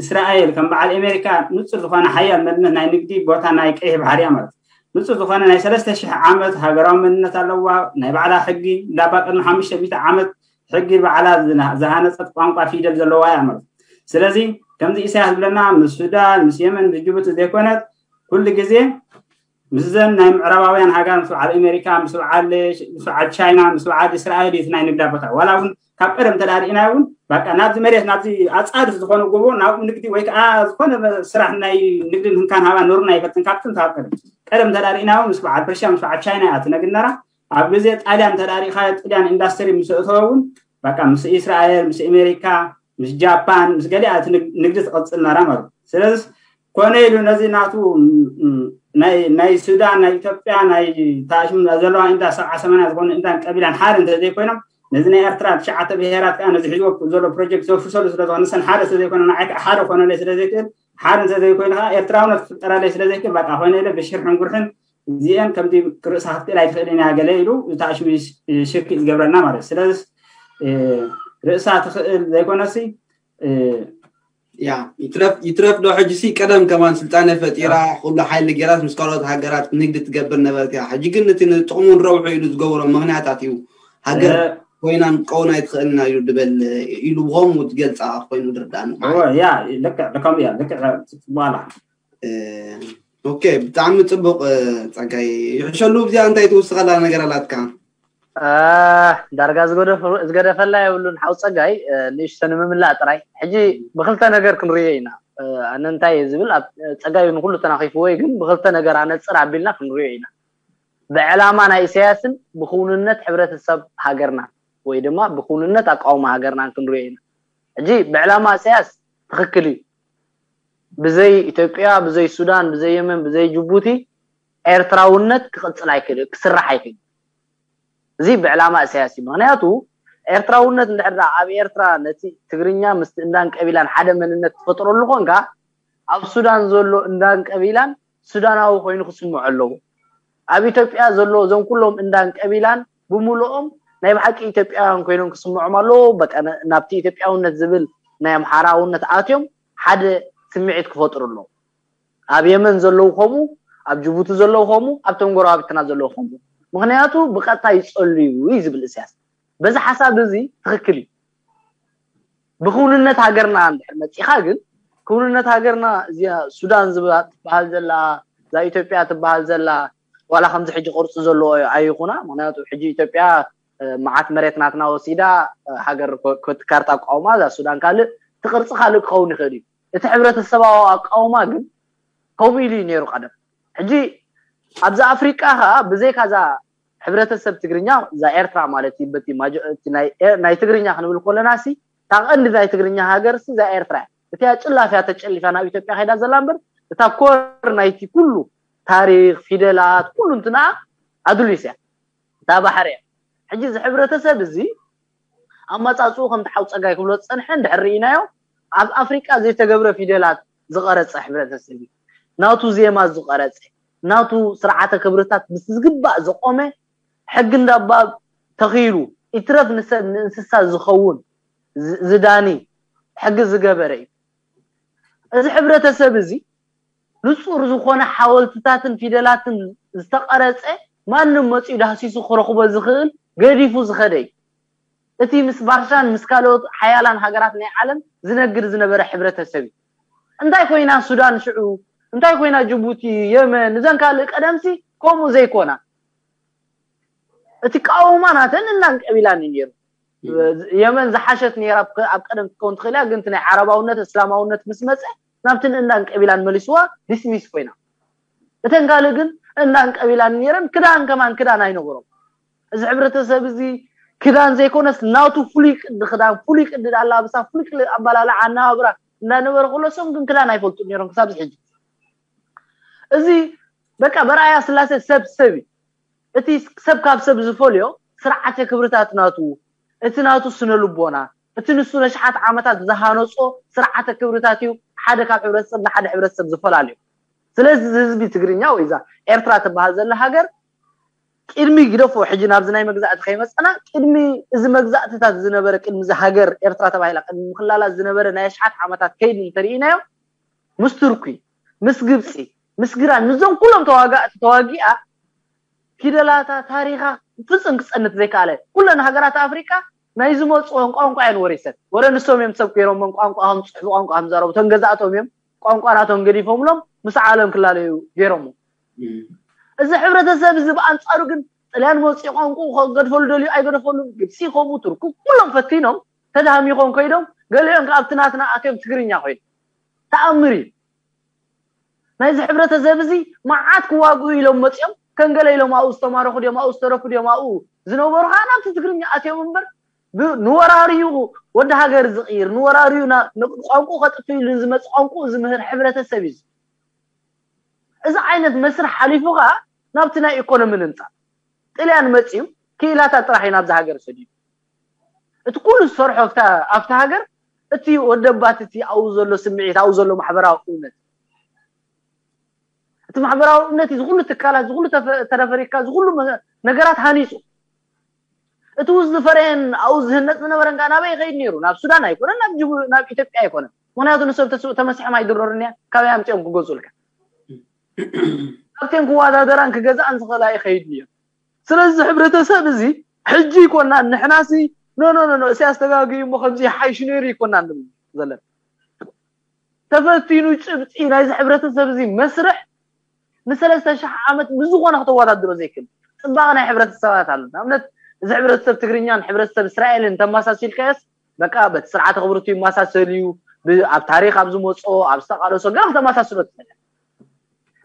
እስራኤል፣ ከም በዓል ኣሜሪካ፣ ንፁር ዝኾነ ሓያል መንነት ናይ ንግዲ ቦታ ናይ ቀይሕ ባሕሪ እያ ማለት እዩ። ንፁር ዝኾነ ናይ ሰለስተ ሽሕ ዓመት ሃገራዊ መንነት ኣለዋ። ናይ ባዕላ ሕጊ እንዳባ ቅድሚ ሓሙሽተ ሚእቲ ዓመት ሕጊ ባዕላ ዝሃነፀት ቋንቋ ፊደል ዘለዋ እያ ማለት እዩ። ስለዚ ከምዚ ኢሳያስ ዝብለና ምስ ሱዳን፣ ምስ የመን፣ ምስ ጅቡቲ ዘይኮነት፣ ኩሉ ግዜ ምስዘን ናይ ምዕራባውያን ሃገር፣ ምስ በዓል ኣሜሪካ፣ ምስ በዓል ቻይና፣ ምስ በዓል እስራኤል እዩ ናይ ንግዳ ቦታ። ዋላ እውን ካብ ቀደም ተዳሪእና እውን በቃ ናብዚ መሬት ናብዚ ኣፃድፍ ዝኾነ ጎቦ ናብኡ ንግዲ ወይ ከዓ ዝኾነ ስራሕ ናይ ንግድን ህንካን ሃባ ኑርና ይፈትን ካብትን ካብ ቀደም ቀደም ተዳሪእና እውን ምስ በዓል ፐርሽያ ምስ በዓል ቻይና እያ ትነግድ ነራ። ኣብ ግዜ ጣልያን ተዳሪእካ ጥልያን ኢንዳስትሪ ምስ እተወ እውን በቃ ምስ እስራኤል ምስ ኣሜሪካ ምስ ጃፓን ምስ ገሊኣ እቲ ንግዲ ትቐፅል ነራ ማለት እዩ። ስለዚ ኮነ ኢሉ ነዚ ናቱ ናይ ሱዳን ናይ ኢትዮጵያ ናይ ታሽም ዘለዋ እንዳ ሰብዓ ሰማንያ ዝኾኑ እንዳን ቀቢላን ሓደ እንተዘይኮይኖም ነዚ ናይ ኤርትራ ትሽዓተ ብሄራት ከዓ ነዚ ሒዝዎ ዘሎ ፕሮጀክት ዘፍርሰሉ ስለዝኾነ ሰን ሓደ ስለዘይኮነ ንዓይ ከዓ ሓደ ኮነለይ ስለዘይክእል ሓደ እንተዘይኮይኑ ከዓ ኤርትራውነት ክፍጠረለይ ስለዘይክእል በቃ ኮይነ ኢለ ብሽርሕን ጉርሕን እዚአን ከምዚ ርእሳ ክትክእል ኣይትኽእልን እያ ገለ ኢሉ እታ ሽርክ ዝገብረና ማለት እዩ። ስለዚ ርእሳ ትኽእል ዘይኮነሲ ያ ይትረፍ ይትረፍ ዶ ሕጂ ሲ ቀደም ከማን ስልጣነ ፈጢራ ኩሉ ሓይሊ ገይራት ምስ ካልኦት ሃገራት ንግዲ ትገብር ነበርት እያ። ሕጂ ግን እቲ ንጥቕሙን ረብሑ ኢሉ ዝገብሮ ምኽንያታት እዩ። ሃገር ኮይናን ቀውን ኣይትኽእልና እዩ ድበል ኢሉ ብኸምኡ ትገልፃ ኮይኑ ድርዳእኒ። ያ ልክዕ ልከም እያ ልክዕ በኋላ ኦኬ ብጣዕሚ ፅቡቅ ፀጋይ ይሕሸሉ። እዚኣ እንታይ ትውስኸላ ነገር ኣላትካ? ዳርጋ ዝገደፈላ የብሉን ሓው ፀጋይ ንእሽተ ንምምላእ ጥራይ። ሕጂ ብክልተ ነገር ክንርዮ ኢና። ኣነ እንታይ እየ ዝብል ኣብ ፀጋይ ንኩሉ ተናኺፍዎ እዩ፣ ግን ብክልተ ነገር ኣነፅር ኣቢልና ክንርዮ ኢና። ብዕላማ ናይ ኢሳያስን ብክውንነት ሕብረተሰብ ሃገርና ወይ ድማ ብክውንነት ኣቃውማ ሃገርናን ክንርዮ ኢና። ሕጂ ብዕላማ ኢሳያስ ትኽክል እዩ። ብዘይ ኢትዮጵያ፣ ብዘይ ሱዳን፣ ብዘይ የመን፣ ብዘይ ጅቡቲ ኤርትራውነት ክቕፅል ኣይክእል፣ ክስራሕ ኣይክእል። እዚ ብዕላማ ኢሳያስ እዩ። ምክንያቱ ኤርትራውነት እንድሕር ደኣ ኣብ ኤርትራ ነቲ ትግርኛ ምስቲ እንዳን ቀቢላን ሓደ መንነት ትፈጥረሉ ኮንካ ኣብ ሱዳን ዘሎ እንዳን ቀቢላን ሱዳናዊ ኮይኑ ክስምዖ ኣለዎ። ኣብ ኢትዮጵያ ዘሎ እዞም ኩሎም እንዳን ቀቢላን ብምልኦም ናይ ብሓቂ ኢትዮጵያውያን ኮይኖም ክስምዖም ኣለዎ። በቃ ናብቲ ኢትዮጵያውነት ዝብል ናይ ኣምሓራውነት ኣትዮም ሓደ ስምዒት ክፈጥሩ ኣለዎ። ኣብ የመን ዘለዉ ከምኡ፣ ኣብ ጅቡቲ ዘለዉ ከምኡ፣ ኣብቶም ጎረባብትና ዘለዉ ከምኡ። ምክንያቱ ብቀጥታ ይጸልዩ እዩ ዝብል እስያስ። በዚ ሓሳብ እዚ ትኽክል እዩ። ብክውንነት ሃገርና እንድሕር መፂኻ ግን ክውንነት ሃገርና እዚኣ ሱዳን ትበሃል ዘላ እዛ ኢትዮጵያ ትበሃል ዘላ ዋላ ከምዚ ሕጂ ቅርፂ ዘለዎ ኣይኹና። ምክንያቱ ሕጂ ኢትዮጵያ መዓት መሬት ናትና ወሲዳ ሃገር ካርታ ኣቃውማ እዛ ሱዳን ካልእ እቲ ቅርፂ ካልእ ክኸውን ይኽእል እዩ። እቲ ሕብረተሰባዊ ኣቃውማ ግን ከምኡ ኢሉ እዩ ነይሩ ቀደም። ሕጂ ኣብዚ ኣፍሪቃ ከዓ ብዘይካ እዛ ሕብረተሰብ ትግርኛ እዛ ኤርትራ ማለት እዩ በቲ ናይ ትግርኛ ክንብል ከለና ሲ እታ ቀንዲ ናይ ትግርኛ ሃገር ሲ እዛ ኤርትራ እያ። እቲያ ጭላፍ እያ ተጨሊፋ ናብ ኢትዮጵያ ከይዳ ዘላ እምበር እታ ኮር ናይቲ ኩሉ ታሪክ ፊደላት ኩሉ እንትንኣ ኣዱሊስ እያ። እታ ባሕሪ እያ። ሕጂ እዚ ሕብረተሰብ እዚ ኣመፃፅኡ ከምቲ ሓው ፀጋይ ክብሎ ዝፀንሐ እንድሕር ርኢናዮ ኣብ ኣፍሪቃ ዘይተገብረ ፊደላት ዝቐረፀ ሕብረተሰብ እዩ። ናቱ ዜማ ዝቐረፀ ናቱ ስርዓተ ክብርታት ምስ ዝግባእ ዝቆመ ሕጊ እንዳባ ተኺሉ ይትረፍ ንሰብ ንእንስሳ ዝኸውን ዝዳኒ ሕጊ ዝገበረ እዩ። እዚ ሕብረተሰብ እዚ ንፁር ዝኾነ ሓወልትታትን ፊደላትን ዝተቐረፀ ማንም መፂኡ ዳህሲሱ ክረኽቦ ዝኽእል ገዲፉ ዝኸደ እዩ። እቲ ምስ ባርሻን ምስ ካልኦት ሓያላን ሃገራት ናይ ዓለም ዝነግድ ዝነበረ ሕብረተሰብ እዩ። እንታይ ኮይና ሱዳን ሽዑ እንታይ ኮይና ጅቡቲ የመን እዘን ካልእ ቀደምሲ ከምኡ ዘይኮና እቲ ቃውማ ናተን እናን ቀቢላን እዩ ነይሩ። የመን ዝሓሸት ነይራ ኣብ ቀደም ክትከውን ትኽእል እያ፣ ግን ናይ ዓረባውነት እስላማውነት ምስ መፀ ናብቲ ንእንዳን ቀቢላን መሊስዋ ዲስሚስ ኮይና። እተን ካልእ ግን እንዳን ቀቢላን ነይረን ክዳን ከማን ክዳን ኣይነበሮም። እዚ ሕብረተሰብ እዚ ክዳን ዘይኮነስ ናቱ ፍሉይ ቅዲ ክዳን ፍሉይ ቅዲ ኣላብሳ ፍሉይ ቅዲ ኣባላልዓ ኣናባብራ እንዳነበረ ከሎ እሶም ግን ክዳን ኣይፈልጡ ነይሮም ክሳብ ሕጂ። እዚ በቃ በርኣያ ስላሴ ሰብ ሰብ እዩ። እቲ ሰብ ካብ ሰብ ዝፈልዮ ስርዓተ ክብርታት ናቱ እቲ ናቱ ስነ ልቦና እቲ ንሱ ነሽሓት ዓመታት ዝሃነጾ ስርዓተ ክብርታት እዩ ሓደ ካብ ሕብረተሰብ ንሓደ ሕብረተሰብ ዝፈላለዩ። ስለዚ እዚ ህዝቢ ትግርኛ ወይ እዛ ኤርትራ ትበሃል ዘላ ሃገር ቅድሚ ግደፎ ሕጂ ናብዚ ናይ መግዛእቲ ከይመፀና ቅድሚ እዚ መግዛእትታት ዝነበረ ቅድሚ እዚ ሃገር ኤርትራ ተባሂላ ቅድሚ ምክላላት ዝነበረ ናይ ኣሽሓት ዓመታት ከይዲ እንተርኢናዮ ምስ ቱርኪ ምስ ግብፂ ምስ ግራን ምስዞም ኩሎም ተዋጋእቲ ተዋጊኣ ፊደላታ ታሪኻ ፍፅም ክፀንት ዘይከኣለ ኩለን ሃገራት ኣፍሪቃ ናይ ዝመፅኦን ቋንቋ እየን ወሪሰን ወረ ንሶም እዮም ሰብ ገይሮሞም ቋንቋ ከም ፅሑፍ ቋንቋ ከም ዘረቡ ተንገዛእቶም እዮም ቋንቋ ናቶም ገዲፎምሎም ምስ ዓለም ክላለዩ ገይሮሞ እዚ ሕብረተሰብ እዚ ብኣንፃሩ ግን ጥልያን መፅኡ ቋንቋ ገድፈሉ ደልዩ ኣይገደፈሉን ግብፂ ከምኡ ቱርኩ ኩሎም ፈቲኖም ተዳህሚኾም ከይዶም ገሊኦም ከ ኣብቲ ናትና ኣትዮም ትግርኛ ኮይኖም ተኣምር እዩ ናይዚ ሕብረተሰብ እዚ መዓት ክዋግኡ ኢሎም መፅኦም ከንገለ ኢሎም ኣብኡ ዝተማረኹ ድዮም ኣብኡ ዝተረፉ ድዮም ኣብኡ ዝነበሩ ከዓ ናብቲ ትግርኛ ኣትዮም እምበር ንወራሪኡ ወዲ ሃገር ዝቕይር ንወራሪኡ ቋንቁ ከጥፍ ኢሉ ዝመፅ ቋንቁ ዝምህር ሕብረተሰብ እዩ እዚ ዓይነት መስርሕ ሓሊፉ ከዓ ናብቲ ናይ ኢኮኖሚ ንምምፃእ ጥልያን መፅዩ ክኢላታት ጥራሕ እዩ ናብዚ ሃገር ሰዲዱ እቲ ኩሉ ዝሰርሖ ኣብቲ ሃገር እቲ ወደባት እቲ ኣብኡ ዘሎ ስምዒት ኣብኡ ዘሎ ማሕበራዊ እውነት እቲ ማሕበራዊ እምነት እዚ ኩሉ ትካላት እዚ ኩሉ ተፈሪካ እዚ ኩሉ ነገራት ሃኒፁ እቲ ውስ ዝፈረየን ኣብኡ ዝህነፅ ዝነበረን ከዓ ናበይ ይኸይድ ነይሩ ናብ ሱዳን ኣይኮነን ናብ ኢትዮጵያ ኣይኮነን ምክንያቱ ንሰብ ተስኡ ተመሲሖም ኣይድረሩን እያ ካበይ ኣምፅኦም ክገዝኡልካ ካብተን ክወዳደራን ክገዝኣን ዝኽእላ ይኸይድ ነይሩ ስለዚ ሕብረተሰብ እዚ ሕጂ ይኮና ንሕናሲ ኖ ኖ ኖ እሲያስ ተጋግዩ እሞ ከምዚ ይሓይሽ ነይሩ ይኮና ዘለና ተፈቲኑ ጭብጢ ናይዚ ሕብረተሰብ እዚ መስርሕ ንሰለስተ ሽሕ ዓመት ብዝኾነ ከተወዳድሮ ዘይክእል ፅባቐ ናይ ሕብረተሰባት ኣሎ ንኣብነት እዚ ሕብረተሰብ ትግርኛን ሕብረተሰብ እስራኤልን ተመሳሲልካዮስ በቃ በቲ ስርዓተ ክብርቱ ይመሳሰል እዩ ኣብ ታሪክ ኣብ ዝመፅኦ ኣብ ዝተቃለሶ ገና ከተመሳስሎ ትኽእል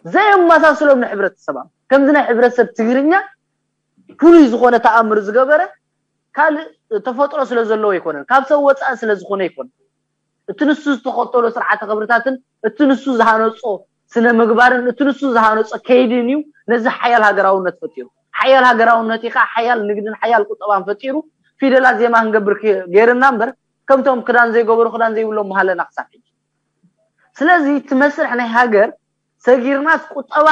ዘየመሳስሎም ንሕብረተሰብ ከምዚ ናይ ሕብረተሰብ ትግርኛ ፍሉይ ዝኾነ ተኣምር ዝገበረ ካልእ ተፈጥሮ ስለ ዘለዎ ኣይኮነን ካብ ሰብ ወፃኢ ስለ ዝኾነ ኣይኮነን እቲ ንሱ ዝተኸተሎ ስርዓተ ክብርታትን እቲ ንሱ ዝሃነፆ ስነ ምግባርን እቲ ንሱ ዝሃነፆ ከይድን እዩ ነዚ ሓያል ሃገራውነት ፈጢሩ ሓያል ሃገራውነት እዩ ከዓ ሓያል ንግድን ሓያል ቁጠባን ፈጢሩ ፊደላት ዜማ ክንገብር ገይርና እምበር ከምቶም ክዳን ዘይገበሩ ክዳን ዘይብሎም መሃለና ክሳብ ሕጂ ስለዚ እቲ መስርሕ ናይ ሃገር ሰጊርናስ ቁጠባ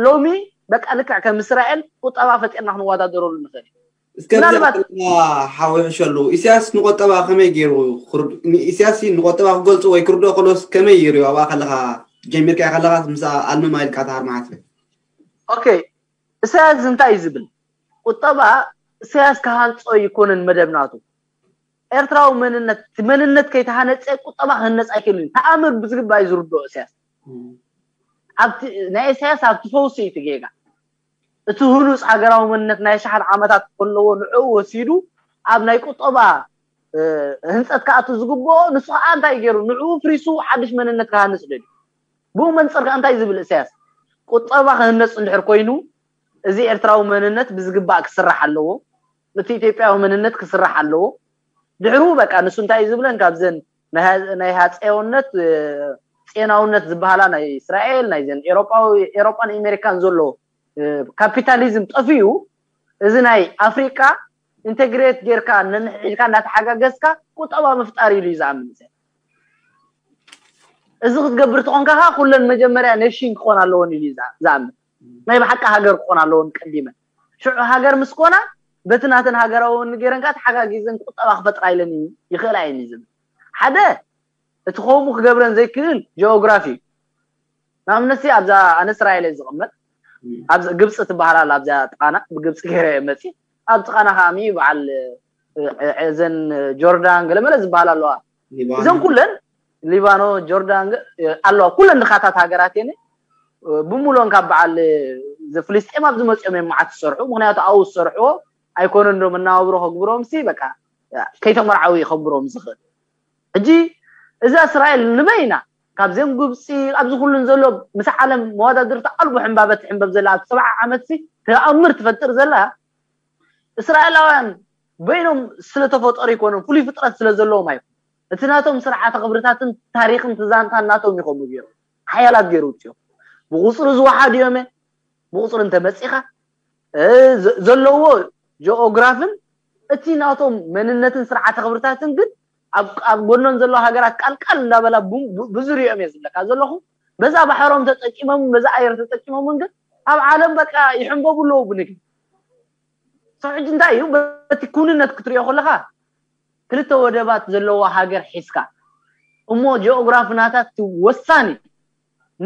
ሎሚ በቃ ልክዕ ከም እስራኤል ቁጠባ ፈጢርና ክንወዳደረሉ ንኽእል እዩ እስከ ምናልባት ሓወ ሕሸሉ ኢሳያስ ንቆጠባ ከመይ ገይሩ ኢሳያስ ንቆጠባ ክገልፁ ወይ ክርድኦ ከሎስ ከመይ ይሪኦ ኣብኣ ከለካ ጀሚርካ ከለካ ምስ ኣልምማ ኢልካ ተሃር መዓት ኦኬ ኢሳያስ እንታይ እዩ ዝብል ቁጠባ ኢሳያስ ክሃንፆ ይኮነን መደብ ናቱ ኤርትራዊ መንነት መንነት ከይተሃነፀ ቁጠባ ክህነፅ ኣይክእልን ተኣምር ብዝግባእ እዩ ዝርድኦ ኢሳያስ ኣብቲ ናይ ኢሳያስ ኣብቲ ፈውሲ እዩ እቲ ጌጋ እቲ ህኑፅ ሃገራዊ መንነት ናይ ኣሽሓት ዓመታት ከለዎ ንዕኡ ወሲዱ ኣብ ናይ ቁጠባ ህንፀት ክኣቱ ዝግብኦ ንሱ ከዓ እንታይ ገይሩ ንዕኡ ፍሪሱ ሓድሽ መንነት ክሃንፅ ደልዩ ብኡ መንፅር ከዓ እንታይ ዝብል እሳያስ ቁጠባ ክህነፅ እንድሕር ኮይኑ እዚ ኤርትራዊ መንነት ብዝግባእ ክስራሕ ኣለዎ እቲ ኢትዮጵያዊ መንነት ክስራሕ ኣለዎ ድሕሩ በቃ ንሱ እንታይ እዩ ዝብለን ካብዘን ናይ ሃፀያውነት ጼናውነት ዝበሃላ ናይ እስራኤል ናይዘን ኤሮጳዊ ኤሮጳን ኣሜሪካን ዘሎ ካፒታሊዝም ጠፊኡ እዚ ናይ ኣፍሪቃ ኢንቴግሬት ጌርካ ነንሕድካ እናተሓጋገዝካ ቁጠባ ምፍጣር ኢሉ እዩ ዝኣምን እዚ እዚ ክትገብር ተኾንካ ከዓ ኩለን መጀመርያ ኔሽን ክኾን ኣለዎን ኢሉ እዩ ዝኣምን ናይ ብሓቂ ሃገር ክኾን ኣለዎን ቀዲመን ሽዑ ሃገር ምስ ኮና በቲ ናተን ሃገራዊ ወኒ ገይረን ከዓ ተሓጋጊዘን ቁጠባ ክፈጥራ ኢለን ይኽእላ እየን እዩ ዝብል ሓደ እቲ ከምኡ ክገብረን ዘይክእል ጂኦግራፊ እዩ ንኣብነትሲ ኣብዛ ኣነ እስራኤል እየ ዝቕመጥ ኣብ ግብፂ ትበሃል ኣላ ኣብዚኣ ጥቓና ብግብፂ ገይረ እየ መፂ ኣብ ጥቓና ከዓሚ በዓል እዘን ጆርዳን ገለመለ ዝበሃል ኣለዋ እዘን ኩለን ሊባኖ ጆርዳን ኣለዋ ኩለን ድኻታት ሃገራት እየን ብምሉኦን ካብ በዓል ፍልስጤም ኣብ ዝመፅኦም እዮም መዓት ዝሰርሑ ምክንያቱ ኣብኡ ዝሰርሕዎ ኣይኮነን ዶ መናባብሮ ከግብሮም ሲ በቃ ከይተመርዓዊ ይኸብሮም ዝኽእል ሕጂ እዛ እስራኤል ንበይና ካብዚኦም ግብፂ ኣብዚ ኩሉን ዘሎ ምስ ዓለም መወዳድርቲ ኣልቦ ሕንባበት ሕንበብ ዘላ ኣብ ሰብዓ ዓመት ሲ ተኣምር ትፈጥር ዘላ እስራኤላውያን በይኖም ስለተፈጠሩ ይኮኑን ፍሉይ ፍጥረት ስለ ዘለዎም ኣይኮኑ እቲ ናቶም ስርዓተ ክብርታትን ታሪክን ትዛንታን ናቶም ይኸሙ ገይሩ ሓያላት ገይሩ ውፅኦም ብቁፅሪ ዝወሓዱ እዮም ብቁፅሪ እንተመፂኻ ዘለዎ ጂኦግራፍን እቲ ናቶም መንነትን ስርዓተ ክብርታትን ግን ኣብ ጎኖን ዘለዋ ሃገራት ቃልቃል እንዳበላ ብዙሪኦም እየ ዝብለካ ዘለኹ በዛ ባሕሮም ተጠቂሞምን በዛ ኣየር ተጠቂሞምን ግን ኣብ ዓለም በቃ ይሕንበቡ ኣለዉ ብንግዲ ሕጂ እንታይ እዩ በቲ ኩንነት ክትሪኦ ከለካ ክልተ ወደባት ዘለዋ ሃገር ሒዝካ እሞ ጂኦግራፊ ናታት ወሳኒ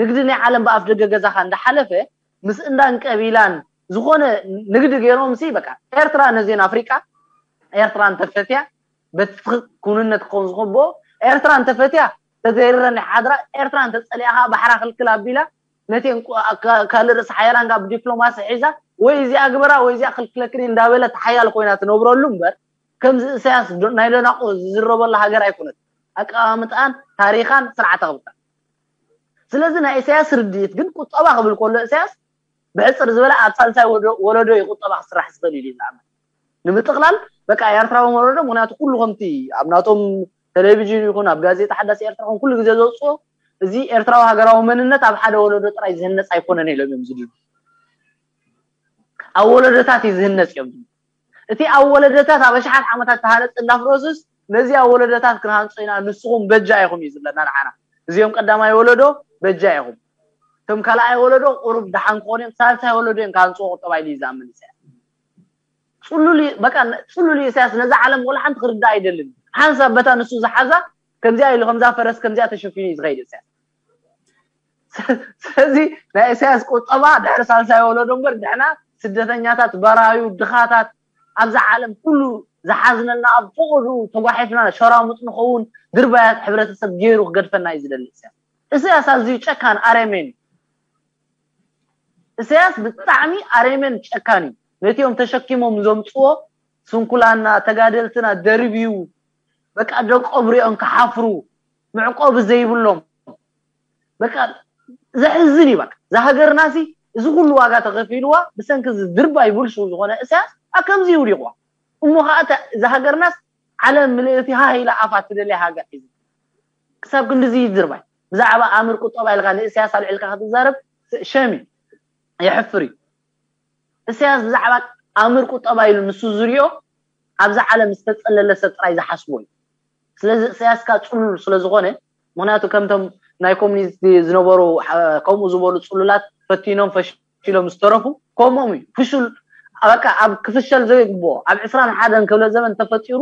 ንግዲ ናይ ዓለም ብኣፍ ደገ ገዛኻ እንዳሓለፈ ምስ እንዳን ቀቢላን ዝኾነ ንግዲ ገይሮም ሲ በቃ ኤርትራ ነዜን ኣፍሪቃ ኤርትራ እንተፈትያ በቲ ኩንነት ክኸውን ዝኽቦ ኤርትራ እንተፈትያ ተዘይረን ሓድራ ኤርትራ እንተፀሊኣኻ ባሕራ ክልክል ኣቢላ ነቴን ካልእ ርእሲ ሓያላን ጋር ብዲፕሎማሲ ሒዛ ወይ እዚኣ ግበራ ወይ እዚኣ ክልክለክኒ እንዳበለት ሓያል ኮይና ትነብረሉ እምበር ከምዚ እሳያስ ናይ ደናቁ ዝዝረበላ ሃገር ኣይኮነት ኣቀማምጣን ታሪኻን ስርዓት ኣኽብርታ ስለዚ ናይ እሳያስ ርድኢት ግን ቁጠባ ክብል ከሎ እሳያስ ብሕፅር ዝበለ ኣብ ሳልሳይ ወለዶ እዩ ቁጠባ ክስራሕ ዝኽእል ኢሉ ዝኣምን ንምጥቕላል በቃ ኤርትራዊ ወለዶ ምክንያቱ ኩሉ ከምቲ ኣብ ናቶም ቴሌቪዥን ይኹን ኣብ ጋዜጣ ሓዳስ ኤርትራ ይኹን ኩሉ ግዜ ዘውፅኦ እዚ ኤርትራዊ ሃገራዊ መንነት ኣብ ሓደ ወለዶ ጥራይ ዝህነፅ ኣይኮነን ኢሎም እዮም ዝድሉ ኣብ ወለዶታት እዩ ዝህነፅ እዮም እቲ ኣብ ወለዶታት ኣብ ኣሽሓት ዓመታት ተሃነፅ እንዳፍረሱስ ነዚ ኣብ ወለዶታት ክንሃንፆ ኢና ንስኹም በጃ ኢኹም እዩ ዝብለና ንዓና እዚኦም ቀዳማይ ወለዶ በጃ ኢኹም እቶም ካልኣይ ወለዶ ቁሩብ ደሓን ክኾኑ እዮም ሳልሳይ ወለዶ እዮም ክሃንፅዎ ተባሂሉ እዩ ዝኣምን ኢሳያስ ፅሉል በቃ ፅሉል ኢሳያስ ነዛ ዓለም ወላ ሓንቲ ክርዳእ ኣይደልን ሓንሳብ በታ ንሱ ዝሓዛ ከምዚኣ ኢሉ ከምዛ ፈረስ ከምዚኣ ተሸፊኑ እዩ ዝኸይድ ኢሳያስ ስለዚ ናይ ኢሳያስ ቁጠባ ድሕሪ ሳልሳይ ወለዶ እምበር ድሕና ስደተኛታት በራዩ ድኻታት ኣብዛ ዓለም ኩሉ ዝሓዝነልና ኣብ ፈቐዱ ተጓሒፍና ሸራሙጥ ንኸውን ድርባያት ሕብረተሰብ ገይሩ ክገድፈና እዩ ዝደሊ ኢሳያስ ኢሳያስ ኣዝዩ ጨካን ኣረሜን ኢሳያስ ብጣዕሚ ኣረሜን ጨካን እዩ ነቲኦም ተሸኪሞም ዘምፅዎ ስንኩላና ተጋደልትና ደርብዩ በቃ ደቆም ሪኦም ክሓፍሩ መዕቆቢ ዘይብሎም በቃ ዘሕዝን እዩ በቃ እዛ ሃገርና ሲ እዚ ኩሉ ዋጋ ተኸፊልዋ ብሰንኪ እዚ ድርባይ ብልሹ ዝኾነ እሳያስ ኣብ ከምዚ ይውዲቕዋ እሞ ከዓ እዛ ሃገርናስ ዓለም ምልእቲ ሃ ኢላ ኣፋ ትደልያ ሃገር ሒዙ ክሳብ ክንድዚ ይድርባይ ብዛዕባ ኣምር ቁጠባ ኢልካ ንእስያስ ኣልዒልካ ክትዛረብ ሸሚ የሕፍር እዩ እስያስ ብዛዕባ ኣምር ቁጠባ ኢሉ ንሱ ዝሪኦ ኣብዛ ዓለም ዝተፀለለ ሰብ ጥራይ ዝሓስቦ እዩ ስለዚ እስያስካ ፅሉል ስለዝኾነ ምክንያቱ ከምቶም ናይ ኮሚኒስት ዝነበሩ ከምኡ ዝበሉ ፅሉላት ፈቲኖም ፈሽሎም ዝተረፉ ከምኦም እዩ ፍሹል በቃ ኣብ ክፍሸል ዘይግብኦ ኣብ ዕስራን ሓደን ክፍለ ዘመን ተፈጢሩ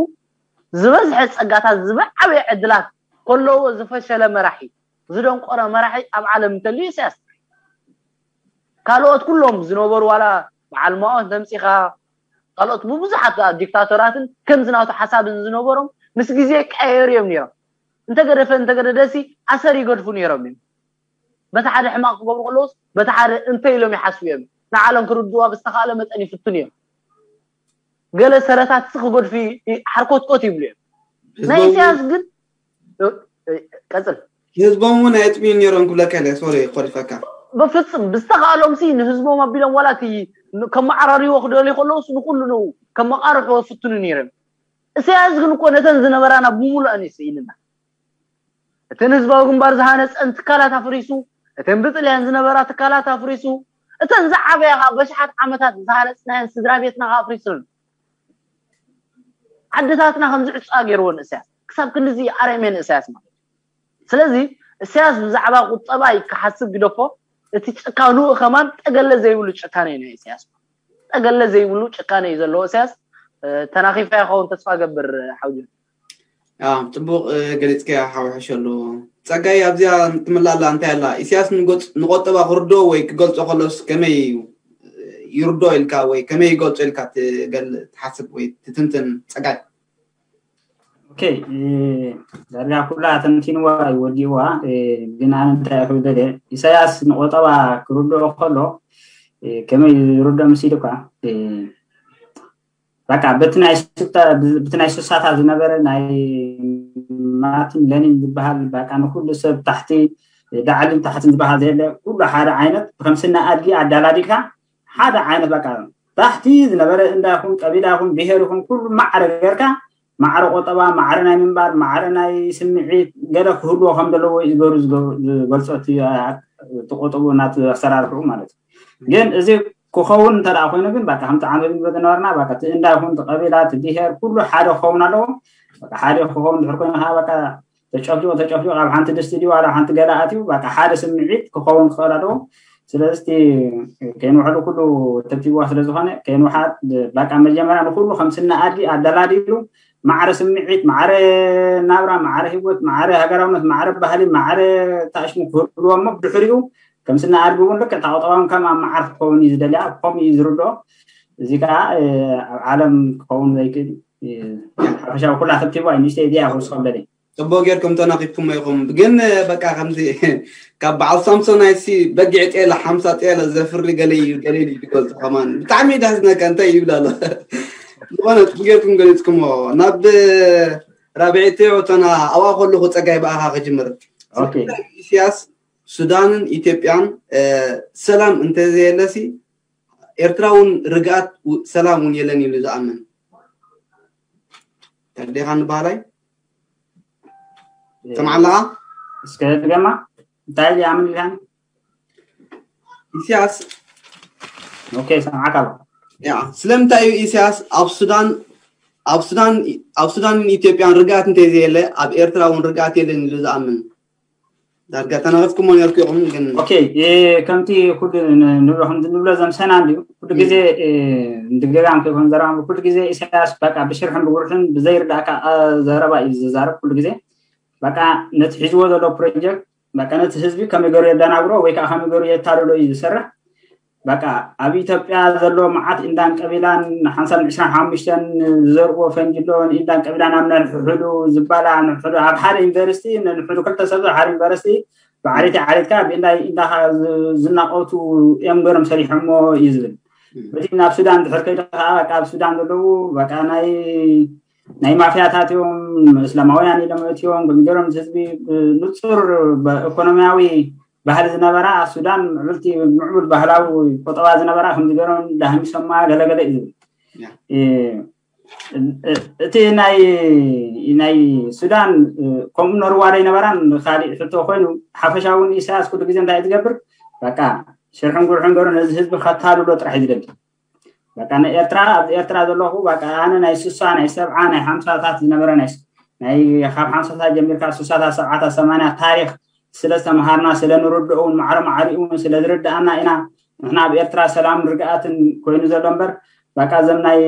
ዝበዝሐ ፀጋታት ዝበዓበየ ዕድላት ከለዎ ዝፈሸለ መራሒ ዝደንቆረ መራሒ ኣብ ዓለም እንተልዩ ኢሳያስ ካልኦት ኩሎም ዝነበሩ ዋላ በዓል ማኦን ተምፂኻ ካልኦት ብብዙሓት ዲክታቶራትን ከምዚ ናቱ ሓሳብን ዝነበሮም ምስ ግዜ ቀየሩ እዮም ነይሮም እንተገደፈ እንተገደደሲ ኣሰር ይገድፉ ነይሮም እዮም በቲ ሓደ ሕማቕ ክገብሩ ከለውስ በቲ ሓደ እንተ ኢሎም ይሓስቡ እዮም ንዓለም ክርድዋ ብዝተኻእለ መጠን ይፍትኑ እዮም ገለ ሰረታት ክገድፉ ሓርኮትኮት ይብሉ እዮም ናይ ኢሳያስ ግን ቀፅል ህዝቦም እውን ኣየጥምዩ ነይሮም ክብለካ ኢለ ሶሪ ኮሪፈካ ብፍፅም ብዝተኻእሎም ሲ ንህዝቦም ኣቢሎም ዋላ እቲ ከመዓራርይዎ ክደልዩ ከለውስ ንኩሉ ንኡ ከመቃርሕዎ ፍትኑ ነይሮም እስያስ ግን እኮ ነተን ዝነበራና ብሙሉእን ይስኢንና እተን ህዝባዊ ግንባር ዝሃነፀን ትካላት ኣፍሪሱ እተን ብጥልያን ዝነበራ ትካላት ኣፍሪሱ እተን ዝዓበያ ከዓ በሽሓት ዓመታት ዝሃነፅናየን ስድራ ቤትና ከዓ ኣፍሪሱን ዓድታትና ከም ዝዕፃ ገይርዎ ንእስያስ ክሳብ ክንድዚ ኣረሜ ንእስያስ ማለት እዩ ስለዚ እስያስ ብዛዕባ ቁጠባ ክሓስብ ግደፎ እቲ ጭካንኡ ከማን ጠገለ ዘይብሉ ጭካነ እዩ ናይ እስያስ ጠገለ ዘይብሉ ጭካነ እዩ ዘለዎ እስያስ ተናኺፋ ይኸውን ተስፋ ገብር ሓውጆ ፅቡቅ ገሊፅከያ ሓወሐሸሉ ፀጋይ ኣብዚኣ ትምላላ እንታይ ኣላ ኢሳያስ ንቆጠባ ክርዶ ወይ ክገልፆ ከሎስ ከመይ እዩ ይርዶ ኢልካ ወይ ከመይ ይገልፆ ኢልካ ትሓስብ ወይ ትትንትን ፀጋይ ኦኬ ዳርጋ ኩላ ተንቲንዋ ይወዲእዋ ግን ኣነ እንታይ ክብል ደልየ ኢሳያስ ንቆጠባ ክርድኦ ከሎ ከመይ ዝርዶ ምስ ኢልኳ በቃ በቲ ናይ ስሳታት ዝነበረ ናይ ማርቲን ለኒን ዝበሃል በቃ ንኩሉ ሰብ ታሕቲ ዳዕልን ታሕትን ዝበሃል ዘየለ ኩሉ ሓደ ዓይነት ከም ስነ ኣድጊ ኣዳላዲልካ ሓደ ዓይነት በቃ ታሕቲ ዝነበረ እንዳ ይኹን ቀቢላ ይኹን ብሄር ይኹን ኩሉ ማዕረ ገርካ ማዕረ ቆጠባ ማዕረ ናይ ምንባር ማዕረ ናይ ስምዒት ገለ ክህልዎ ከም ዘለዎ ይገሩ ዝገልፆ ተቆጠቡ እናተሰራርሑ ማለት እዩ ግን እዚ ክኸውን እንተ ኮይኑ ግን በቃ ከምቲ ዓመት ንብሎ ዝነበርና በቃ እቲ እንዳ ይኹን እቲ ቀቢላ እቲ ብሄር ኩሉ ሓደ ክኸውን ኣለዎ በቃ ሓደ ክኸውን ድሕር ኮይኑ ከዓ በቃ ተጨፍሊቑ ተጨፍሊቑ ኣብ ሓንቲ ድስቲ ድዩ ኣብ ሓንቲ ገላ ኣትዩ በቃ ሓደ ስምዒት ክኸውን ክኽእል ኣለዎ ስለዚ እቲ ከይንውሐሉ ኩሉ ተብቲብዋ ስለ ዝኾነ ከይንውሓድ በቃ መጀመርያ ንኩሉ ከም ስነ ኣድሊ ኣደላዲሉ ማዕረ ስምዒት፣ ማዕረ ናብራ፣ ማዕረ ህይወት፣ ማዕረ ሃገራውነት፣ ማዕረ ባህሊ፣ ማዕረ ታሽሙ ክህልዎ እሞ ብድሕሪኡ ከም ስነ ኣድሊ እውን ልክዕ ታቆጠባውን ከም ኣብ መዓር ክኸውን እዩ ዝደልያ። ከምኡ እዩ ዝርድኦ። እዚ ከዓ ኣብ ዓለም ክኸውን ዘይክእል ሓፈሻዊ ኩላ ተብቲብዋ እዩ። ንእሽተይ እዚኣ ክውስኸም ደልየ። ጽቡቅ ጌርኩም ተናኺፍኩሞ ኢኹም። ግን በቃ ከምዚ ካብ በዓል ሳምሶን ኣይሲ በጊዕ ጤለ ሓምሳ ጤለ ዘፍሪ ገለ እዩ ገለ እዩ ዝገልጽ ከማን ብጣዕሚ ዳስ ነቀ እንታይ ይብል ኣሎ። ዝኾነ ጽቡቅ ጌርኩም ገሊጽኩሞ። ናብ ራብዒቲ እቶና ኣብኣ ከለኹ ጸጋይ ብኣኻ ክጅምር። ኦኬ። ኢሳያስ ሱዳንን ኢትዮጵያን ሰላም እንተዘየለሲ ኤርትራ እውን ርግኣት ሰላም እውን የለን ኢሉ ዝኣምን ተርዴኻ ንባህላይ ሰምዓለኻ? እስከ ድገማ እንታይ ይኣምን ኢልካኒ? ኢሳያስ ኦኬ፣ ሰምዓካ ኣለኹ። ያ ስለምንታይ እዩ ኢሳያስ ኣብ ሱዳን ኣብ ሱዳን ኣብ ሱዳንን ኢትዮጵያን ርግኣት እንተዘየለ ኣብ ኤርትራ እውን ርግኣት የለን ኢሉ ዝኣምን? ዳርጋ ተናገፍኩሞ ነርኩ ኢኹም ግን ኦኬ። ከምቲ ኩሉ ንብሎ ከምቲ ንብሎ ዘምሰና እንዲዩ ኩሉ ግዜ ንድገጋም ከይኮን ዘረባ ኩሉ ግዜ ኢሳያስ በቃ ብሽርሕን ብጉርሕን ብዘይርዳእካ ዘረባ እዩ ዝዛረብ ኩሉ ግዜ። በቃ ነቲ ሒዝዎ ዘሎ ፕሮጀክት በቃ ነቲ ህዝቢ ከመይ ገሩ የደናግሮ ወይ ከዓ ከመይ ገሩ የታልሎ እዩ ዝሰርሕ። በቃ ኣብ ኢትዮጵያ ዘሎ መዓት ኢንዳን ቀቢላን ሓምሳን ዕስራን ሓሙሽተን ዝዘርዎ ፈንጅሎ ኢንዳን ቀቢላን ኣብ ነንሕሕዱ ዝባላ ንሕዱ ኣብ ሓደ ዩኒቨርሲቲ ንሕዱ ክልተ ሰብ ሓደ ዩኒቨርሲቲ ብዓሌት ዓሌትካ ብእንዳይ ኢንዳኻ ዝናቆቱ እዮም ገሮም ሰሪሖሞ እዩ ዝብል። በቲ ናብ ሱዳን ድሕር ከይደ ከዓ በቃ ኣብ ሱዳን ዘለዉ በቃ ናይ ናይ ማፍያታት እዮም እስላማውያን ኢሎም እትዮም ግን ገሮም ህዝቢ ንፁር ኢኮኖሚያዊ ባህሊ ዝነበራ ሱዳን ምዕብልቲ ምዕቡል ባህላዊ ቆጠባ ዝነበራ ከም ዝገሮም ዳህሚሶማ ገለገለ እዩ ዝብል። እቲ ናይ ናይ ሱዳን ከምኡ ነርዋ ዶ ይነበራን ካሊእ ሕቶ ኮይኑ ሓፈሻውን ኢሳያስ ኩሉ ግዜ እንታይ ዝገብር በቃ ሽርሕን ጉርሕን ገሩ ነዚ ህዝቢ ከታልሎ ጥራሕ እዩ ዝደሊ። በቃ ንኤርትራ ኣብዚ ኤርትራ ዘለኹ በቃ ኣነ ናይ ስሳ ናይ ሰብዓ ናይ ሓምሳታት ዝነበረ ናይ ናይ ካብ ሓምሳታት ጀሚርካ ስሳታት ሰብዓታት ሰማንያ ታሪክ ስለ ዝተምሃርና ስለ ንርድኦ እውን ማዕረ ማዕሪኡ እውን ስለ ዝርድኣና ኢና። ንሕና ኣብ ኤርትራ ሰላም ርግኣትን ኮይኑ ዘሎ እምበር በቃ እዞም ናይ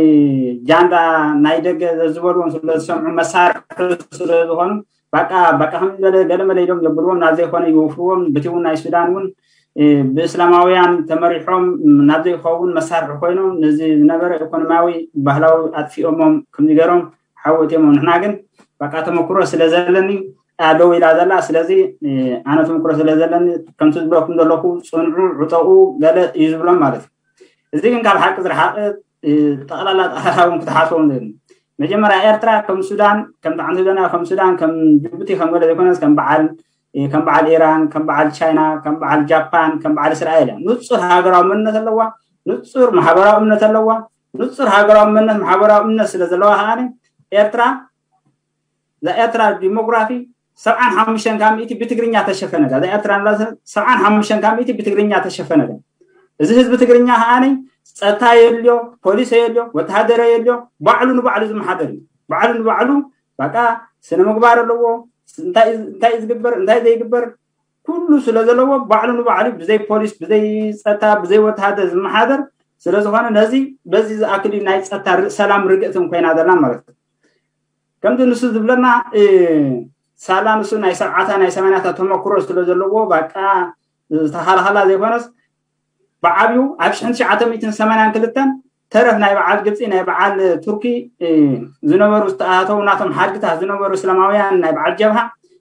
ጃንዳ ናይ ደገ ዝበልዎም ስለ ዝሰምዑ መሳርሒ ስለ ዝኾኑ በቃ በቃ ከም ዝበለ ገለመለ ኢሎም የብልዎም ናብ ዘይኮነ ይወፍርዎም። በቲ እውን ናይ ሱዳን እውን ብእስላማውያን ተመሪሖም ናብ ዘይኸውን መሳርሒ ኮይኖም ነዚ ዝነበረ ኢኮኖሚያዊ ባህላዊ ኣጥፊኦሞም ከምዚ ገሮም ሓወት እዮም። ንሕና ግን በቃ ተመክሮ ስለ ዘለኒ ኣለዉ ኢላ ዘላ ስለዚ ኣነ ተመክሮ ስለ ዘለኒ ከምቲ ዝብለኩም ዘለኹ ፅንዑ ዕጠቑ ገለ እዩ ዝብሎም ማለት እዩ። እዚ ግን ካብ ሓቂ ዝረሓቐ ጠቕላላ ጠቕላላ እውን ክትሓስቦም ዘ መጀመርያ ኤርትራ ከም ሱዳን ከም ጣዕንቲ ዶና ከም ሱዳን ከም ጅቡቲ ከም ገለ ዘይኮነስ ከም በዓል ከም በዓል ኢራን ከም በዓል ቻይና ከም በዓል ጃፓን ከም በዓል እስራኤል እያ። ንፁር ሃገራዊ መንነት ኣለዋ። ንፁር ማሕበራዊ እምነት ኣለዋ። ንፁር ሃገራዊ መንነት ማሕበራዊ እምነት ስለ ዘለዋ ከዓ ኤርትራ እዛ ኤርትራ ዲሞግራፊ ሰብዓን ሓሙሽተን ካብ ሚእቲ ብትግርኛ ተሸፈነ እዛ ኤርትራ ሰብዓን ሓሙሽተን ካብ ሚእቲ ብትግርኛ ተሸፈነ እዚ ህዝቢ ትግርኛ ከዓ ጸጥታ የልዮ ፖሊስ የልዮ ወተሃደረ የልዮ ባዕሉ ንባዕሉ ዝመሓደር እዩ። ባዕሉ ንባዕሉ በቃ ስነ ምግባር ኣለዎ። እንታይ ዝግበር እንታይ ዘይግበር ኩሉ ስለ ዘለዎ ባዕሉ ንባዕሉ ብዘይ ፖሊስ ብዘይ ጸጥታ ብዘይ ወተሃደር ዝመሓደር ስለ ዝኾነ ነዚ በዚ ዝኣክል ናይ ጸጥታ ሰላም ርግእትን ኮይና ዘላ ማለት እዩ። ከምዚ ንሱ ዝብለና ሳላ ንሱ ናይ ሰብዓታ ናይ ሰማንያታ ተመክሮ ስለ ዘለዎ በቃ ዝተኻልኸላ ዘይኮነስ ብዓብዩ ኣብ ሽሕን ትሽዓተ ሚእትን ሰማንያን ክልተን ተረፍ ናይ በዓል ግብፂ ናይ በዓል ቱርኪ ዝነበሩ ዝተኣተው ናቶም ሓድግታት ዝነበሩ እስላማውያን ናይ በዓል ጀብሃ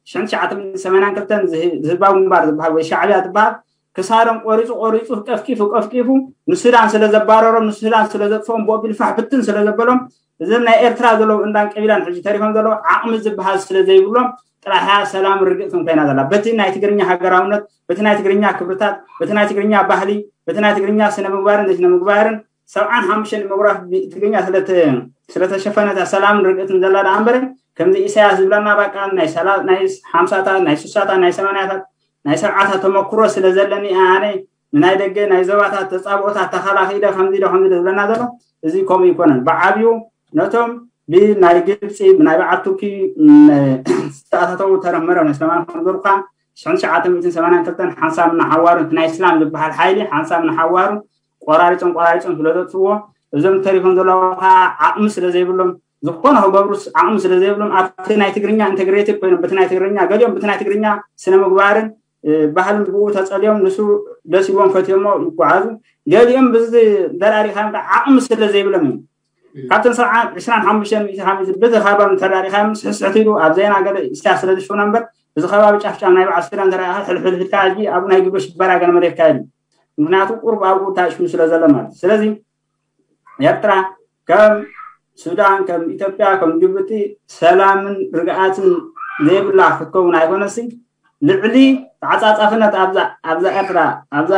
ሽሕን ትሽዓተ ሚእትን ሰማንያን ክልተን ዝህባዊ ግንባር ዝበሃል ወይ ሻዕብያ ዝበሃል ክሳዶም ቆሪፁ ቆሪፁ ቀፍቂፉ ቀፍቂፉ ንሱዳን ስለ ዘባረሮም ንሱዳን ስለ ዘጥፍኦም ብኦቢል ፋሕ ብትን ስለ ዘበሎም እዞም ናይ ኤርትራ ዘለዉ እንዳን ቀቢላን ሕጂ ተሪፎም ዘለዉ ዓቕሚ ዝበሃል ስለ ዘይብሎም ጥራሕያ ሰላም ርግእትን ኮይና ዘላ በቲ ናይ ትግርኛ ሃገራውነት በቲ ናይ ትግርኛ ክብርታት በቲ ናይ ትግርኛ ባህሊ በቲ ናይ ትግርኛ ስነ ምግባርን ዘይስነ ምግባርን ሰብዓን ሓሙሽተን ዲሞግራፊ ትግርኛ ስለተሸፈነታ ሰላምን ርግእትን ዘላ ደኣ እምበረ ከምዚ ኢሳያስ ዝብለና በቃ ናይ ሓምሳታት ናይ ስሳታት ናይ ሰማንያታት ናይ ሰብዓታት ተመክሮ ስለ ዘለኒ ኣነ ንናይ ደገ ናይ ዞባታት ተጻብኦታት ተኸላኺለ ከምዚ ዶ ከምዚ ዶ ዝብለና ዘሎ እዚ ከምኡ ይኮነን። ብዓብዩ ነቶም ብናይ ግብፂ ብናይ በዓል ቱርኪ ዝተኣታተው ተረመረ ናይ ሰማን ከንገሩካ ሽሕን ትሽዓተ ሚእትን ሰማንያን ክልተን ሓንሳብ እናሓዋሩ እቲ ናይ እስላም ዝበሃል ሓይሊ ሓንሳብ እናሓዋሩ ቆራሪጾም ቆራሪጾም ስለ ዘጥፍዎ እዞም ተሪፎም ዘለዉ ከዓ ዓቕሚ ስለ ዘይብሎም ዝኾነ ክገብሩ ዓቕሚ ስለ ዘይብሎም ኣብቲ ናይ ትግርኛ ኢንተግሬትድ ኮይኖም በቲ ናይ ትግርኛ ገሊኦም በቲ ናይ ትግርኛ ስነ ምግባርን ባህልን ብኡ ተጸልዮም ንሱ ደስ ኢልዎም ፈትዮሞ ይጓዓዙ። ገሊኦም ብዚ ተራሪኻ ዓቕሚ ስለ ዘይብሎም እዮም። ካብተን ሰብዓ ዕስራን ሓሙሽተን ሚእቲ ካብ እዚ በዚ ከባቢ ተራሪኻ ስሕስሕት ኢሉ ኣብ ዜና ገለ ኢስታ ስለ ዝሽውና እምበር እዚ ከባቢ ጫፍጫፍ ናይ በዓል ሱዳን ተራሪኻ ሕልሕልሕልካ ሕጂ ኣብኡ ናይ ግብረ ሽበራ ገለ መለ ይካየድ እዩ። ምክንያቱ ቁሩብ ኣብኡ ታሽሙ ስለ ዘሎ ማለት እዩ። ስለዚ ኤርትራ ከም ሱዳን ከም ኢትዮጵያ ከም ጅቡቲ ሰላምን ርግኣትን ዘይብላ ክትከውን ኣይኮነሲ ልዕሊ ተዓፃፃፍነት ኣብዛ ኣብዛ ኤርትራ ኣብዛ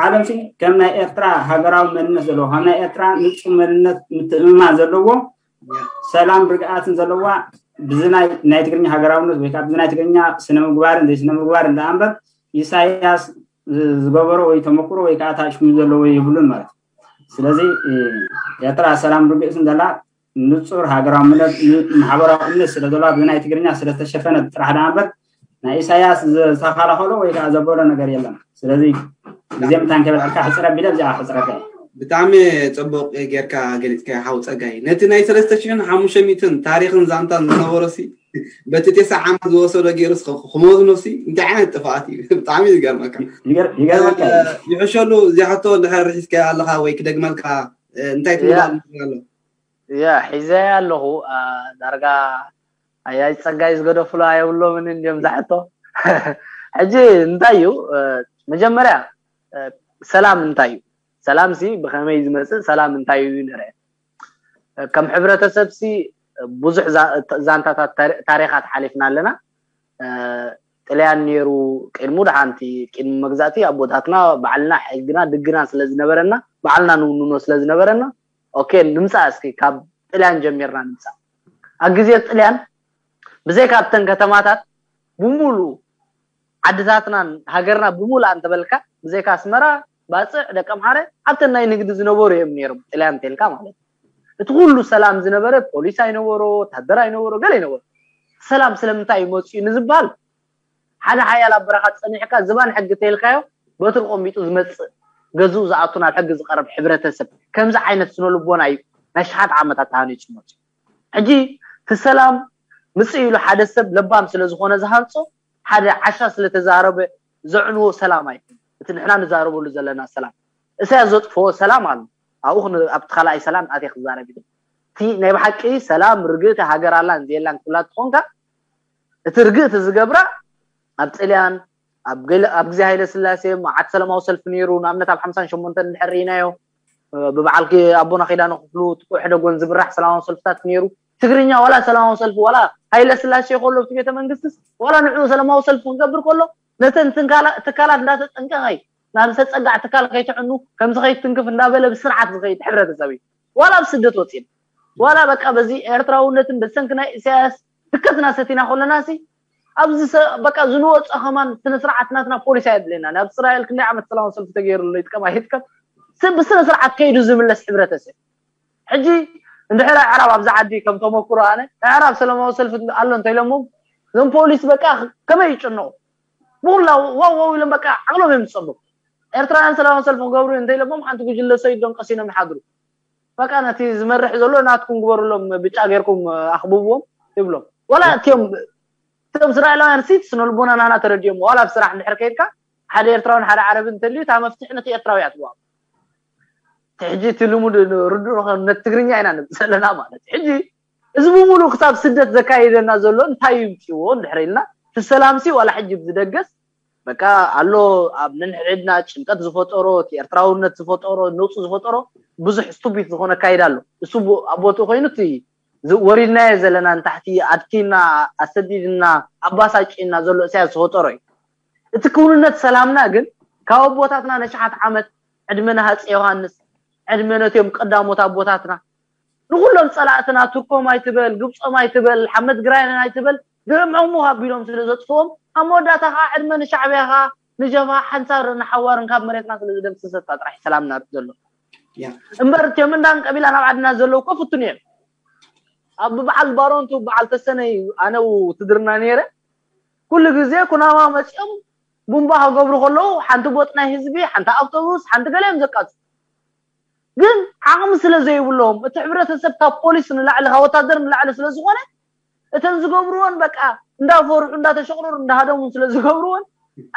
ዓለም ሲ ከም ናይ ኤርትራ ሃገራዊ መንነት ዘለዎ ከም ናይ ኤርትራ ንፁ መንነት ምትእምማን ዘለዎ ሰላም ርግኣትን ዘለዋ ብዚ ናይ ናይ ትግርኛ ሃገራውነት ወይ ከዓ ብዚ ናይ ትግርኛ ስነ ምግባርን ዘይስነ ምግባር እንዳ እምበር ኢሳያስ ዝገበሮ ወይ ተመክሮ ወይ ከዓ ታሽሙ ዘለዎ የብሉን ማለት እዩ። ስለዚ ኤርትራ ሰላም ርግእትን ዘላ ንፁር ሃገራውነት ማሕበራዊ እምነት ስለ ዘለዋ ብዚ ናይ ትግርኛ ስለተሸፈነ ጥራሕ ደኣ እምበር ናይ ኢሳያስ ዝተኸላኸሎ ወይ ከዓ ዘበሎ ነገር የለን። ስለዚ ግዜ ምታን ከበልዕልካ ሕፅረ ቢለ እዚኣ ሕፅረካ እየ። ብጣዕሚ ፅቡቅ ጌርካ ገሊፅካ ሓው ፀጋይ ነቲ ናይ ሰለስተ ሽሕን ሓሙሽተ ሚእትን ታሪክን ዛንታን ዝነበሮ ሲ በቲ ቴስዓ ዓመት ዝወሰዶ ገይሩስ ክመዝኖ ሲ እንታይ ዓይነት ጥፍኣት እዩ? ብጣዕሚ እዩ ዝገርመካ። ይሕሸሉ እዚኣ ሕቶ እንድሕር ርሒስካያ ኣለኻ ወይ ክደግመልካ እንታይ ትብሎ ኣሎ? ያ ሒዘያ ኣለኹ ዳርጋ ኣያይ ፀጋይ ዝገደፍሉ ኣየብሎምን እንዲዮም ዛሕቶ ሕጂ እንታይ እዩ መጀመርያ ሰላም እንታይ እዩ ሰላም ሲ ብኸመይ ዝመፅእ ሰላም እንታይ እዩ ንርአ ከም ሕብረተሰብ ሲ ብዙሕ ዛንታታት ታሪኻት ሓሊፍና ኣለና ጥልያን ነይሩ ቅድሙ ድሓንቲ ቅድሚ መግዛእቲ ኣቦታትና ባዕልና ሕግና ድግና ስለ ዝነበረና ባዕልና ንውንኖ ስለ ዝነበረና ኦኬ ንምፃእ እስኪ ካብ ጥልያን ጀሚርና ንምፃእ ኣብ ግዜ ጥልያን ብዘይካ ኣብተን ከተማታት ብሙሉ ዓድታትናን ሃገርና ብሙሉ እንተበልካ ብዘይካ ኣስመራ ባፅዕ ደቀምሓረ ኣብተን ናይ ንግዲ ዝነበሩ እዮም ነይሮም ጥልያን እንተልካ ማለት እዩ እቲ ኩሉ ሰላም ዝነበረ ፖሊስ ኣይነበሮ ወታደር ኣይነበሮ ገለ ይነበሮ ሰላም ስለምንታይ እዩ መፅኡ ንዝበሃል ሓደ ሓያል ኣብ በረኻ ፀኒሕካ ዝባን ሕጊ ተይልካዮ በትሪ ቆሚጡ ዝመፅእ ገዝኡ ዝኣቱ ናብ ሕጊ ዝቐርብ ሕብረተሰብ ከምዚ ዓይነት ስነ ልቦና እዩ ናይ ሸሓት ዓመታት ተሃኒፁ መፅኡ ሕጂ እቲ ሰላም ምፅእ ኢሉ ሓደ ሰብ ለባም ስለ ዝኾነ ዝሃንፆ ሓደ ዓሻ ስለ ተዛረበ ዘዕንዎ ሰላም ኣይኮን እቲ ንሕና ንዛረበሉ ዘለና ሰላም እሳያስ ዘጥፍዎ ሰላም ኣሎ ኣብኡ ኣብቲ ካልኣይ ሰላም ኣትየ ክዛረብ ኢለ እቲ ናይ ብሓቂ ሰላም ርግእቲ ሃገር ኣላን ዘየላን ክብላ ትኾንካ እቲ ርግእቲ ዝገብራ ኣብ ጥልያን ኣብ ግዜ ሃይለ ስላሴ መዓት ሰላማዊ ሰልፊ ነይሩ ንኣብነት ኣብ ሓምሳን ሸሞንተን እንድሕር ርኢናዮ ብበዓል ኣቦና ኪዳነ ክፍሉ ጥቁዕ ሕደጎን ዝብራሕ ሰላማዊ ሰልፍታት ነይሩ ትግርኛ ዋላ ሰላማዊ ሰልፊ ዋላ ሃይለ ስላሴ ከሎ ኣብቲ ቤተ መንግስትስ ዋላ ንዕኡ ሰላማዊ ሰልፊ ክገብር ከሎ ነተን ትካላት እንዳተጠንቀቐ ናብ ዝተፀጋዕ ትካል ከይትዕኑ ከምዚ ከይትንክፍ እንዳበለ ብስርዓት ዝኸይድ ሕብረተሰብ እዩ ዋላ ኣብ ስደት ወፂና ዋላ በቃ በዚ ኤርትራውነትን በሰንኪ ናይ ኢሳያስ ትከትና ሰቲና ከለና ሲ ኣብዚ በቃ ዝንወፆ ከማን ስነ ስርዓት ናትና ፖሊሲ ኣየድልየና ናብ እስራኤል ክንደይ ዓመት ሰላማዊ ሰልፊ ተገይሩሉ ይጥቀም ኣይጥቀም ብስነ ስርዓት ከይዱ ዝምለስ ሕብረተሰብ ሕጂ እንድሕር ኣዕራብ ኣብዚ ዓዲ ከም ተመክሮ ኣነ ኣዕራብ ሰላማዊ ሰልፊ ኣሎ እንተኢሎሞም እዞም ፖሊስ በቃ ከመይ ይጭነቑ ብኩላ ዋው ዋው ኢሎም በቃ ዓቕሎም እዮም ዝፀብቡ ኤርትራውያን ሰላማዊ ሰልፊ ክገብሩ እንተኢሎሞም ሓንቲ ጉጅለ ሰይዶም ቀሲኖም ይሓድሩ በቃ ነቲ ዝመርሕ ዘሎ ናትኩም ግበሩሎም ብጫ ገይርኩም ኣኽብብዎም ይብሎም ዋላ እቲዮም እቶም እስራኤላውያን ሲ ስነ ልቦና ናና ተረዲኦም ዋላ ኣብ ስራሕ እንድሕር ከይድካ ሓደ ኤርትራውን ሓደ ዓረብን እንተልዩ እታ መፍትሒ ነቲ ኤርትራዊ እያ ትወሃብ ሕጂ እቲ ልሙድ ርዱእ ነቲ ትግርኛ ኢና ንብል ዘለና ማለት ሕጂ እዚ ብምሉእ ክሳብ ስደት ዘካየደና ዘሎ እንታይ ይምፅዎ እንድሕር ኢልና እቲ ሰላምሲ ዋላ ሕጂ ብዝደገስ በቃ ኣሎ ኣብ ነንሕድሕድና ጭንቀት ዝፈጠሮ እቲ ኤርትራውነት ዝፈጠሮ ነውፂ ዝፈጠሮ ብዙሕ ስቱፒት ዝኾነ ኣካይዳ ኣሎ እሱ ኣብ ቦትኡ ኮይኑ እቲ ወሪድናዮ ዘለና ንታሕቲ ኣድኪና ኣሰዲድና ኣባሳጭና ዘሎ እሳያስ ዝፈጠሮ እዩ እቲ ክውንነት ሰላምና ግን ካብ ኣቦታትና ነሽሓት ዓመት ዕድመ ንሃፀ ዮሃንስ ዕድመ ነትዮም ቀዳሞት ኣቦታትና ንኩሎም ፀላእትና ቱርኮም ኣይትበል ግብፆም ኣይትበል ሓመድ ግራይን ኣይትበል ድዕምዕሙኽ ኣቢሎም ስለ ዘጥፍዎም ኣብ መወዳእታ ከዓ ዕድመ ንሻዕብያ ከዓ ንጀብሃ ሓንሳርን ንሓዋርን ካብ መሬትና ስለ ዝደምስሰታ ጥራሕ ሰላምና ዘሎ እምበር እትዮም እንዳን ቀቢላ ናብ ዓድና ዘለዉ እኮ ፍቱን እዮም ኣብ በዓል ባሮንቱ በዓል ተሰነይ ኣነ ውትድርና ነይረ ኩሉ ግዜ ኩናማ መፂኦም ቡምባ ክገብሩ ከለዉ ሓንቲ ቦጥ ናይ ህዝቢ፣ ሓንቲ ኣውቶቡስ፣ ሓንቲ ገለ እዮም ዘቃጽሉ። ግን ዓቕሚ ስለ ዘይብሎም፣ እቲ ሕብረተሰብ ካብ ፖሊስ ንላዕሊ፣ ካብ ወታደር ንላዕሊ ስለ ዝኾነ፣ እተን ዝገብርዎን በቃ እንዳፈርሑ እንዳተሸቕረሩ እንዳሃደሙ ስለ ዝገብርዎን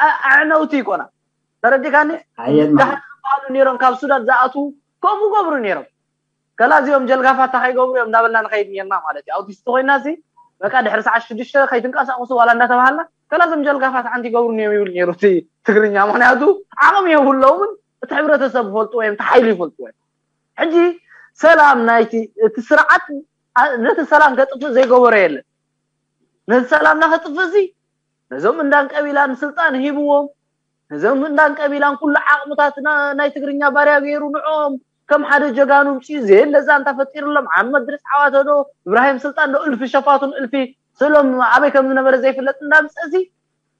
ኣ- ኣዕነውቲ ይኮና። ተረዲካኒ? ኣየን ደሃ ዝበሃሉ ነይሮም ካብ ሱዳን ዝኣትዉ ከምኡ ገብሩ ነይሮም። ከላ እዚኦም ጀልጋፋት እንታይ ከይገብሩ እዮም እንዳበልና ንኸይድ ነርና ማለት እዩ። ኣውቲስት ኮይና ሲ በቃ ድሕሪ ሰዓት ሽዱሽተ ከይትንቀሳቀሱ ዋላ እንዳተባሃልና ከላ እዞም ጀልጋፋት ሓንቲ ይገብሩ እዮም ይብል ነይሩ እቲ ትግርኛ። ምክንያቱ ዓቕሚ የብሎምን፣ እቲ ሕብረተሰብ ይፈልጥዎ እዮም፣ እቲ ሓይሊ ይፈልጥዎ እዮም። ሕጂ ሰላም ናይቲ እቲ ስርዓት ኣ- ነቲ ሰላም ከጥፍእ ዘይገበሮ የለን። ነቲ ሰላምና ከጥፍእ እዚ ነዞም እንዳን ቀቢላን ስልጣን ሂብዎም፣ ነዞም እንዳን ቀቢላን ኩሉ ዓቕምታት ና- ናይ ትግርኛ ባርያ ገይሩ ንዕኦም ከም ሓደ ጀጋኑ ምፅኡ ዘየለ ዛንታ ፈጢርሎም። ዓመት ድረስ ዓዋተ ዶ እብራሂም ስልጣን ዶ እልፊ ሸፋቱን እልፊ ስእሎም ኣበይ ከም ዝነበረ ዘይፍለጥ እንዳምፀ እዚ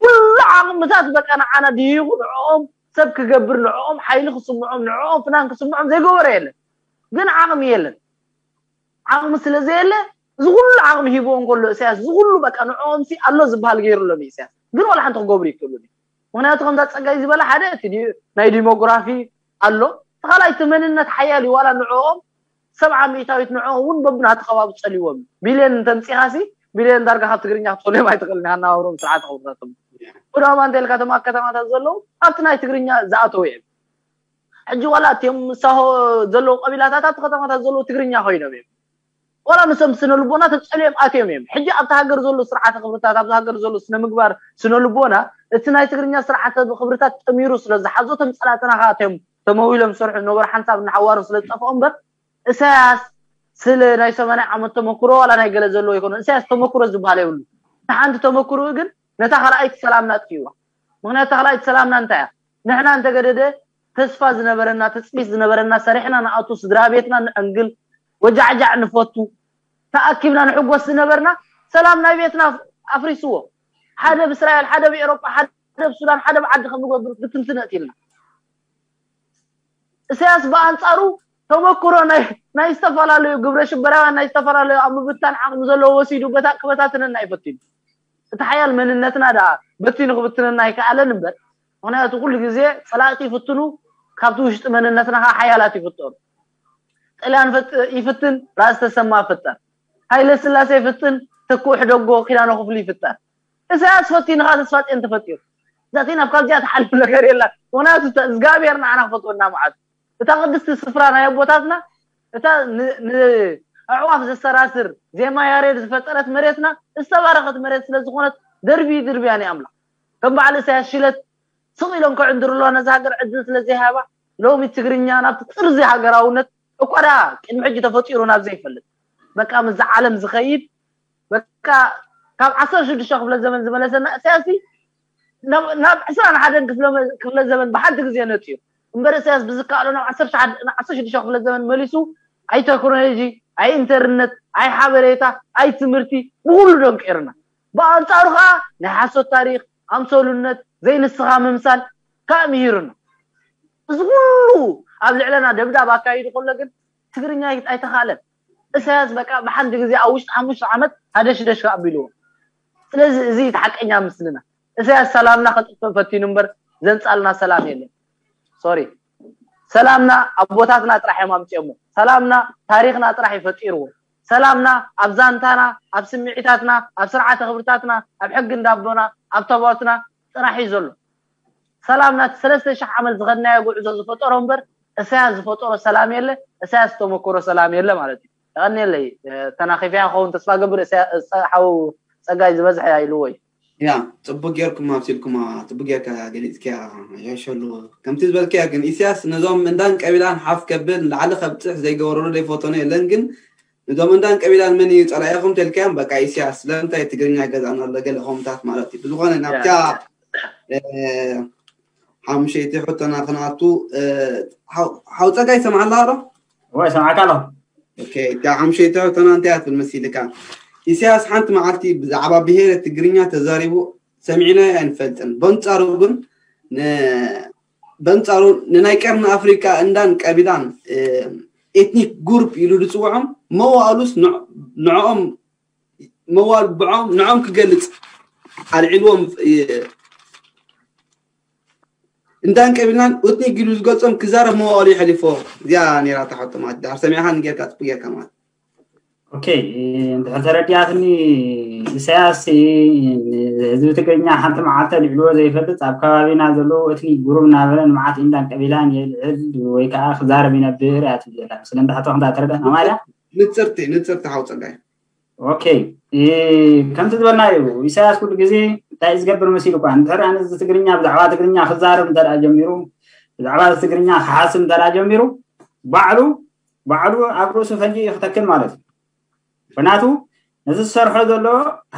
ኩሉ ዓቕምታት በቃ ንዓና ድሂኹ ንዕኦም ሰብ ክገብር ንዕኦም ሓይሊ ክስምዖም ንዕኦም ፍናን ክስምዖም ዘይገበረ የለን። ግን ዓቕሚ የለን። ዓቕሚ ስለ ዘየለ እዚ ኩሉ ዓቕሚ ሂብዎ እንከሎ ኢሳያስ እዚ ኩሉ በቃ ንዕኦም ሲ ኣሎ ዝበሃል ገይሩሎም እዩ ኢሳያስ። ግን ዋላ ሓንቲ ክገብሩ ይክእሉ ድዩ? ምክንያቱ ከምዛ ፀጋይ ዝበለ ሓደ እቲ ዲ- ናይ ዲሞግራፊ ኣሎ፣ እቲ ካልኣይ እቲ መንነት ሓያል እዩ። ዋላ ንዕኦም ሰብዓ ሚእታዊት ንዕኦም እውን በብናቲ ከባቢ ፀልዎም ቢልዮን እንተምፂኻ ሲ ቢልዮን ዳርጋ ካብ ትግርኛ ክትፈልዮም ኣይትኽእልን ኢኻ። እናባብሮም ስርዓት ክብርታቶም ኩናማ እንተልካ ተማ ከተማታት ዘለዉ ኣብቲ ናይ ትግርኛ ዝኣተው እዮም። ሕጂ ዋላ እቲኦም ምሳሆ ዘለዉ ቀቢላታት ኣብቲ ከተማታት ዘለዉ ትግርኛ ኮይኖም እዮም። ዋላ ንሶም ስነ ልቦና ተጸልዮም ኣትዮም እዮም። ሕጂ ኣብቲ ሃገር ዘሎ ስርዓተ ክብርታት ኣብቲ ሃገር ዘሎ ስነ ምግባር ስነ ልቦና እቲ ናይ ትግርኛ ስርዓተ ክብርታት ጠሚሩ ስለ ዝሓዞ እቶም ጸላእትና ከዓ እቶም ተመዊሎም ዝሰርሑ ነበሩ ሓንሳብ እናሓዋሩ ስለ ዝጠፍኦ እምበር ኢሳያስ ስለ ናይ ሰማንያ ዓመት ተመክሮ ዋላ ናይ ገለ ዘለዎ ይኮነ ኢሳያስ ተመክሮ ዝበሃል የብሉ። እታ ሓንቲ ተመክሮ ግን ነታ ካልኣይቲ ሰላምና ኣጥፊእዋ። ምክንያቱ እታ ካልኣይቲ ሰላምና እንታይ እያ? ንሕና እንተገደደ ተስፋ ዝነበረና ትፅቢት ዝነበረና ሰሪሕና ንኣቱ ስድራ ቤትና ንዕንግል ወጃዕጃዕ ንፈቱ ተኣኪብና ንሕጎስ ዝነበርና ሰላም ናይ ቤትና ኣፍሪስዎ። ሓደ ብእስራኤል ሓደ ብኤሮጳ ሓደ ብሱዳን ሓደ ብዓዲ ከም ንገብር ብትንትነጥ ኢልና ኢሳያስ ብኣንፃሩ ተመክሮ ናይ ዝተፈላለዩ ግብረ ሽበራውያን ናይ ዝተፈላለዩ ኣብ ምብታን ዓቕሚ ዘለዎ ወሲዱ በታ ክበታትነና ይፈትዩ። እቲ ሓያል መንነትና ደኣ በቲኑ ክብትነና ኣይከኣለን እምበር ምክንያቱ ኩሉ ግዜ ፀላእቲ ይፍትኑ ካብቲ ውሽጢ መንነትና ከዓ ሓያላት ይፍጠሩ። ጥልያን ይፍትን ራእሲ ተሰማ ፍጠር፣ ሃይለ ስላሴ ይፍትን ተክኡ ሕደጎ ኪዳነ ክፍሉ ይፍጠር። ኢሳያስ ፈቲኑ ከዓ ተስፋፅዮን ተፈጢሩ። ዛቲ ናብ ካብዚኣ ትሓልፍ ነገር የላ። ምክንያቱ እግዚኣብሔር ንዓና ክፈትወና መዓት እታ ቅድስቲ ስፍራ ናይ ኣቦታትና እታ ንኣዕዋፍ ዘሰራስር ዜማ ያሬድ ዝፈጠረት መሬትና ዝተባረኸት መሬት ስለዝኾነት ደርቢ ድርብያ ናይ ኣምላኽ ከም በዓል ኢሳያስ ሽለት ስቕ ኢሎም ክዕንድርሎ ነዚ ሃገር ዕድል ስለዘይሃባ ሎሚ ትግርኛ ናብቲ ጥርዚ ሃገራውነት እኳዳ ቅድሚ ሕጂ ተፈጢሩ ናብ ዘይፈልጥ በቃ ምስዚ ዓለም ዝኸይድ በቃ ካብ ዓሰርተ ሽዱሽተ ክፍለ ዘመን ዝመለሰና ኢሳያስ ናብ ዕስራን ሓደን ክፍለ ዘመን ብሓንቲ ግዜ ነፅኡ እምበር ኢሳያስ ብዝከኣሎ ናብ ዓሰርተ ሽዱሽተ ክፍለ ዘመን መሊሱ ኣይ ቴክኖሎጂ ኣይ ኢንተርነት ኣይ ሓበሬታ ኣይ ትምህርቲ ብኩሉ ደንቂርና ብኣንፃሩ ከዓ ናይ ሓሶት ታሪክ ኣምሰሉነት ዘይንስኻ ምምሳል ከዓ ምሂሩና እዚ ኩሉ ኣብ ልዕለና ደብዳብ ኣካይዱ ከሎ ግን ትግርኛ ኣይተኻለን ኢሳያስ በቃ ብሓንቲ ግዜ ኣብ ውሽጢ ሓሙሽተ ዓመት ሃደሽደሽ ኣቢልዎ ስለዚ እዚ እቲ ሓቀኛ ምስልና ኢሳያስ ሰላምና ከጥፍእ ፈቲኑ እምበር ዘንፃልና ሰላም የለን sorry ሰላምና ኣቦታትና ጥራሕ እዮም ኣምፅኦሞ ሰላምና ታሪክና ጥራሕ እዩ ፈጢርዎ ሰላምና ኣብ ዛንታና ኣብ ስምዒታትና ኣብ ስርዓተ ክብርታትና ኣብ ሕጊ እንዳቦና ኣብ ተባትና ጥራሕ እዩ ዘሎ ሰላም ናቲ ሰለስተ ሽሕ ዓመት ዝኸድናዮ ጉዕዞ ዝፈጠሮ እምበር እሳያስ ዝፈጠሮ ሰላም የለ እሳያስ ዝተመከሮ ሰላም የለ ማለት እዩ የቐንየለይ ተናኺፍያ ክኸውን ተስፋ ገብር ሓው ፀጋይ ዝበዝሐ ኢልዎ እዩ ያ ፅቡቅ ጌርኩም ኣብሲልኩማ ፅቡቅ ጌርካ ገሊፅክያ የሸሉ ከምቲ ዝበልክያ ግን ኢሳያስ ነዞም እንዳን ቀቢላን ሓፍ ከብል ንላዕሊ ከብፅሕ ዘይገበረሉ ዘይፈተኖ የለን ግን እዞም እንዳን ቀቢላን መን እዩ ፀላኢኹም ተልካዮም በቃ ኢሳያስ ስለምንታይ ትግርኛ ገዛእና ኣሎ ገለ ከምታት ማለት እዩ ብዝኾነ ናብታ ሓሙሸይቲ ሕቶና ክንኣቱ ሓው ፀጋይ ይሰምዓላ ኣሎ ወይ ሰምዓካ ኣሎ እታ ሓሙሸይቲ ሕቶና እንታይ እያ ትብል መሲልካ ኢሳያስ ሓንቲ መዓልቲ ብዛዕባ ብሄረ ትግርኛ ተዛሪቡ ሰሚዕናዮ ኣይንፈልጥን በንፃሩ ግን በንፃሩ ንናይ ቀርኒ ኣፍሪቃ እንዳን ቀቢላን ኤትኒክ ጉሩፕ ኢሉ ዝፅውዖም መዋእሉስ ንዕኦም መዋል ብዖም ንዖም ክገልፅ ኣልዒልዎም እንዳን ቀቢላን ኡትኒ ጊሉ ዝገልጾም ክዛረብ መዋእሉ ይሕሊፎ። እዚኣ ነይራ እታ ሕቶ ማለት ድሓር ሰሚዕኻ ንጌርካ ጽቡቅ ጌርካ ማለት። ኦኬ፣ እንድሕር ተረዲኣትኒ ኢሳያስ ህዝቢ ትግርኛ ሓንቲ መዓልቲ ኣልዕልዎ ዘይፈልጥ ኣብ ከባቢና ዘለዉ እትኒ ጉሩብ እናበለ ንመዓት ኢንዳን ቀቢላን የልዕል ወይ ከዓ ክዛረብ ይነብር እያ ትብል ዘላ። ስለ እንዳሕቶ ክንዳ ተረዳእና ማለት ንጽርቲ ንጽርቲ ሓው ጸጋይ ኦኬ፣ ከምቲ ዝበልና እዩ። ኢሳያስ ኩሉ ግዜ እንታይ እዩ ዝገብር መሲሉ እኳ እንድሕር ኣነ እዚ ትግርኛ ብዛዕባ ትግርኛ ክዛረብ እንተ ጀሚሩ ብዛዕባ ትግርኛ ክሓስብ እንተ ጀሚሩ ባዕሉ ባዕሉ ኣብ ርእሱ ፈንጂ እዩ ክተክል ማለት እዩ። ምክንያቱ ነዚ ዝሰርሖ ዘሎ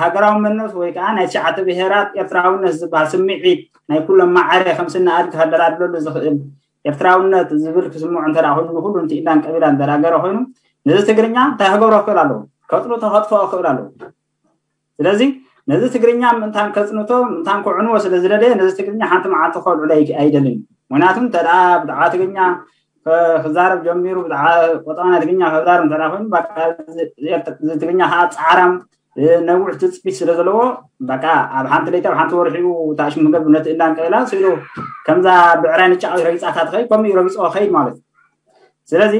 ሃገራዊ መንነት ወይ ከዓ ናይ ትሽዓተ ብሄራት ኤርትራውነት ዝበሃል ስምዒት ናይ ኩሎም ማዕረ ከም ስነ ኣድጊ ከደላድለሉ ዝኽእል ኤርትራውነት ዝብል ክስምዖ እንተ ኮይኑ ንኩሉ ንትኢላን ቀቢላን እንተናገረ ኮይኑ ነዚ ትግርኛ እንታይ ክገብሮ ክኽእል ኣለዎ? ከፅንቶ ከጥፍኦ ክኽእል ኣለዎ። ስለዚ ነዚ ትግርኛ ምእንታን ከፅንቶ ምእንታን ክዕንዎ ስለ ዝደለየ ነዚ ትግርኛ ሓንቲ መዓልቲ ከልዕሎ ኣይደልን። ምክንያቱም እንተ ብዛዕባ ትግርኛ ክዛረብ ጀሚሩ ብዛዕባ ቆጠባ ናይ ትግርኛ ክዛረብ እንተ ኮይኑ ትግርኛ ከዓ ፃዕራም ነዊሕ ትፅቢት ስለ ዘለዎ በቃ ኣብ ሓንቲ ለይቲ ኣብ ሓንቲ ወርሒኡ ታሽሙ ገብ ነቲ እንዳን ቀቢላ ስኢሉ ከምዛ ብዕራይ ንጫ ረጊፃታ ትኸይድ ከምኡ ረጊፅኦ ኸይድ ማለት እዩ። ስለዚ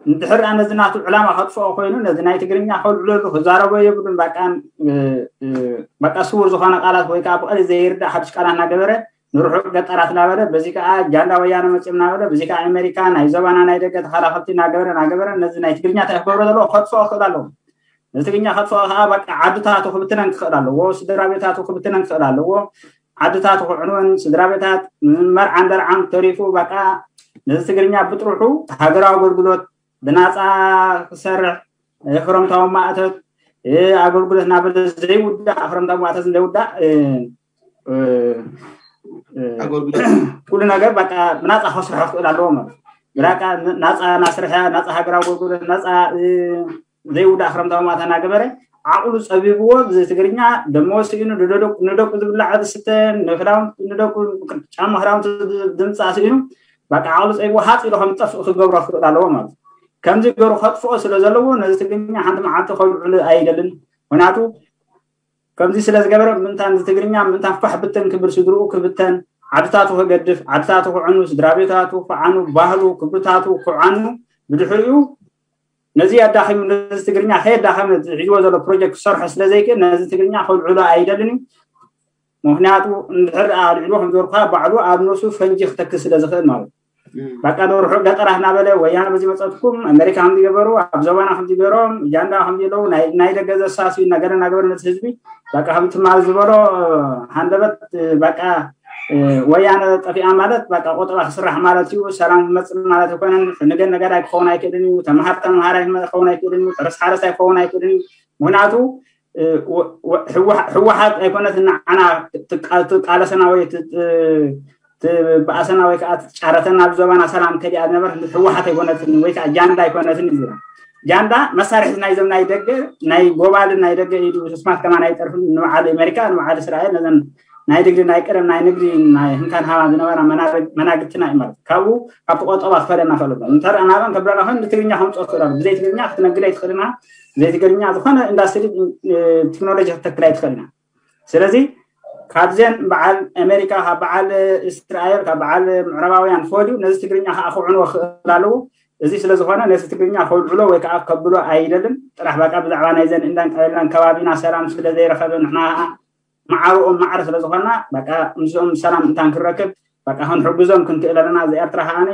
እንድሕር ነዚ ናቱ ዕላማ ከጥፍኦ ኮይኑ ነዚ ናይ ትግርኛ ከልዕለሉ ክዛረቦ የብሉን። በቃ ስውር ዝኾነ ቃላት ወይ ከዓ ብቐሊ ዘይርዳእ ሓድሽ ቃላት እናገበረ ንርሑቕ ገጠራት እናበለ በዚ ከዓ ጃንዳ ወያነ መፅኦም እናበለ በዚ ከዓ ኣሜሪካ ናይ ዞባና ናይ ደገ ተኸላኸልቲ እናገበረ እናገበረ ነዚ ናይ ትግርኛ እንታይ ክገብሮ ዘለዎ ከጥፍኦ ክኽእል ኣለዎ። ነዚ ትግርኛ ከጥፍኦ ከዓ በቃ ዓድታቱ ክብትነን ክኽእል ኣለዎ። ስድራ ቤታቱ ክብትነን ክኽእል ኣለዎ። ዓድታቱ ክዕንወን ስድራ ቤታት መርዓን ደርዓን ተሪፉ በቃ ነዚ ትግርኛ ብጥርሑ ሃገራዊ ኣገልግሎት ብናፃ ክሰርሕ ክረምታዊ ማእተት ኣገልግሎት እናበለ ዘይውዳእ ክረምታዊ ማእተት ዘይውዳእ ኩሉ ነገር በቃ ብናፃ ከስርሖ ክኽእል ኣለዎ ማለት ብራቃ ናፃ ናስርሐ ናፃ ሃገራዊ ኣገልግሎት ናፃ ዘይውዳእ ክረምታዊ ማእተት እናገበረ ዓቕሉ ፀቢብዎ ብትግርኛ ደሞ ስኢኑ ንደቁ ዝብላዕ ዝስተ ንክዳውንቲ ንደቁ ጫማ ክዳውንቲ ድምፃ ስኢኑ በቃ ዓቕሉ ፀቢብዎ ሃፅ ኢሉ ከም ዝጠፍእ ክገብሮ ክኽእል ኣለዎ ማለት ከምዚ ገሩ ከጥፍኦ ስለ ዘለዎ ነዚ ትግርኛ ሓንቲ መዓልቲ ከልዕሉ ኣይደልን። ምክንያቱ ከምዚ ስለ ዝገበረ ምእንታን እዚ ትግርኛ ምእንታን ፋሕ ብተን ክብል ስድርኡ ክብተን ዓድታቱ ክገድፍ ዓድታቱ ክዕኑ ስድራ ቤታቱ ክዓኑ ባህሉ ክብርታቱ ክዓኑ ብድሕሪኡ ነዚ ኣዳኺሙ ነዚ ትግርኛ ከየዳኸመ ሒዝዎ ዘሎ ፕሮጀክት ክሰርሖ ስለ ዘይክእል ነዚ ትግርኛ ከልዕሎ ኣይደልን እዩ። ምክንያቱ እንድሕር ኣልዕልዎ ከም ዝበልኩካ ባዕሉ ኣብ ነሱ ፈንጂ ክተክል ስለ ዝኽእል ማለት እዩ። በቃ ንርሑቕ ገጠራት እናበለ ወያነ በዚ መፀትኩም ኣሜሪካ ከምዚ ገበሩ ኣብ ዞባና ከምዚ ገይሮም ጃንዳ ከምዚ ኣለዉ ናይ ደገ ዘሳስዩ እናገረ እናገበረ ነቲ ህዝቢ በቃ ከም ትማል ዝበሎ ሃንደበት በቃ ወያነ ጠፊኣ ማለት በቃ ቆጠባ ክስራሕ ማለት እዩ። ሰላም ክመፅእ ማለት ኣይኮነን። ንገን ነጋዳይ ክኸውን ኣይክእልን እዩ። ተምሃር ተምሃራይ ክኸውን ኣይክእልን እዩ። ሕረስ ሓረሳይ ክኸውን ኣይክእልን እዩ። ምክንያቱ ህወሓት ኣይኮነትን ንዓና ትቃለሰና ወይ ትበኣሰና ወይ ከዓ ትጫረተና ኣብ ዞባና ሰላም ከሊኣ ዝነበረት ህወሓት ኣይኮነትን ወይ ከዓ ጃንዳ ኣይኮነትን እዩ። ጃንዳ መሳርሒ ናይዞም ናይ ደገ ናይ ጎባልን ናይ ደገ ኢሉ ስማት ከማን ኣይጠርፍን ንበዓል ኣሜሪካ ንበዓል እስራኤል ነዘን ናይ ድግሪ ናይ ቀደም ናይ ንግዲ ናይ ህንካን ሃባን ዝነበራ መናግድትና እዩ ማለት ካብኡ ካብቲ ቆጠባ ክፈለና ክእል እንተ ናበን ከብረና ኮይኑ ንትግርኛ ከምፅኦ ትኽእል ኣሎ ብዘይ ትግርኛ ክትነግድ ኣይትኽእልና ብዘይ ትግርኛ ዝኾነ ኢንዳስትሪ ቴክኖሎጂ ክትተክል ኣይትኽእልና። ስለዚ ካብዘን በዓል ኣሜሪካ ካብ በዓል እስራኤል ካብ በዓል ምዕራባውያን ፈልዩ ነዚ ትግርኛ ከዓ ክዕንዎ ክኽእል ኣለዉ። እዚ ስለዝኾነ ነዚ ትግርኛ ከውዕሎ ወይ ከዓ ከብሎ ኣይደልን። ጥራሕ በቃ ብዛዕባ ናይዘን እንዳን ቀለላን ከባቢና ሰላም ስለዘይረኸበ ንሕና ከዓ ማዕርኦም ማዕረ ስለዝኾና በቃ ምስኦም ሰላም እንታን ክረክብ በቃ ክንሕግዞም ክንክእል ኣለና። እዚ ኤርትራ ከዓኒ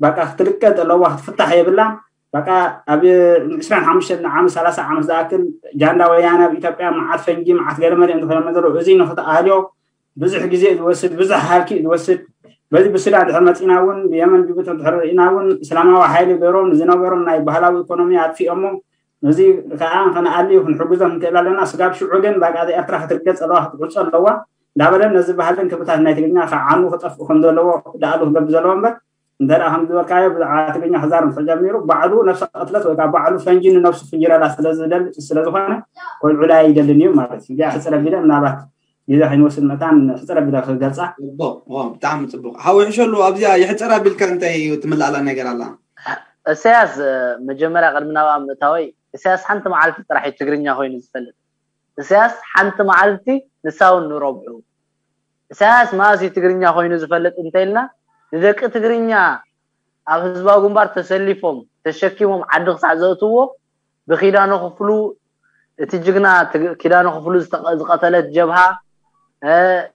በቃ ክትልቀጥ ኣለዋ ክትፍታሕ የብላ። በቃ ኣብ ዕስራን ሓሙሽተን ዓመት ሰላሳ ዓመት ዝኣክል ጃንዳ ወያነ ኣብ ኢትዮጵያ መዓት ፈንጂ መዓት ገለመለ እንተኾነ ዘለዉ እዚ ንክትኣልዮ ብዙሕ ግዜ ዝወስድ ብዙሕ ሃልኪ ዝወስድ በዚ ብሱዳን ድሕር መፂና እውን ብየመን ጅቡቲ ድሕር ርኢና እውን እስላማዊ ሓይሊ ገይሮም ዝነበሮም ናይ ባህላዊ ኢኮኖሚ ኣጥፊኦሞ ነዚ ከዓ ከነኣሊ ክንሕግዞም ንክእል ኣለና። ስጋብ ሽዑ ግን በቃ እዚ ኤርትራ ክትርገፅ ኣለዋ ክትዕፆ ኣለዋ እንዳበለን ነዚ ባህልን ክብታት ናይ ትግርኛ ከዓኑ ክጠፍኡ ከም ዘለዎ ደኣሉ ክገብር ዘለዎ እምበር እንተ ከም ዝበልካዮ ብዛዕባ ትግርኛ ክዛረብ ተጀሚሩ ባዕሉ ነብሰ ቅትለት ወይ ከዓ ባዕሉ ፈንጂ ንነብሱ ፍንጅረላ ስለዝደል ስለዝኾነ ኮልዑላ ይደልን እዩ ማለት እዩ። ሕፅረ ቢለ ምናልባት ግዜ ከይንወስድ መታን ሕፅረ ቢለ ክገልፃ ብጣዕሚ ፅቡቅ ሓዊ ሕሸሉ ኣብዚኣ ይሕፀር ኣቢልካ እንታይ ትምላእላ ነገር ኣላ? እሰያስ መጀመርያ ቅድሚ ናብኣ ምእታወይ እሰያስ ሓንቲ መዓልቲ ጥራሕ እዩ ትግርኛ ኮይኑ ዝፈልጥ። እሰያስ ሓንቲ መዓልቲ ንሳውን ንረብዑ ኢሳያስ መኣስ እዩ ትግርኛ ኮይኑ ዝፈልጥ እንተኢልና፣ ንደቂ ትግርኛ ኣብ ህዝባዊ ግንባር ተሰሊፎም ተሸኪሞም ዓዲ ክሳዕ ዘእትዎ፣ ብኪዳነ ክፍሉ፣ እቲ ጅግና ትግ- ኪዳነ ክፍሉ ዝተቐ- ዝቐተለት ጀብሃ፣ እ፣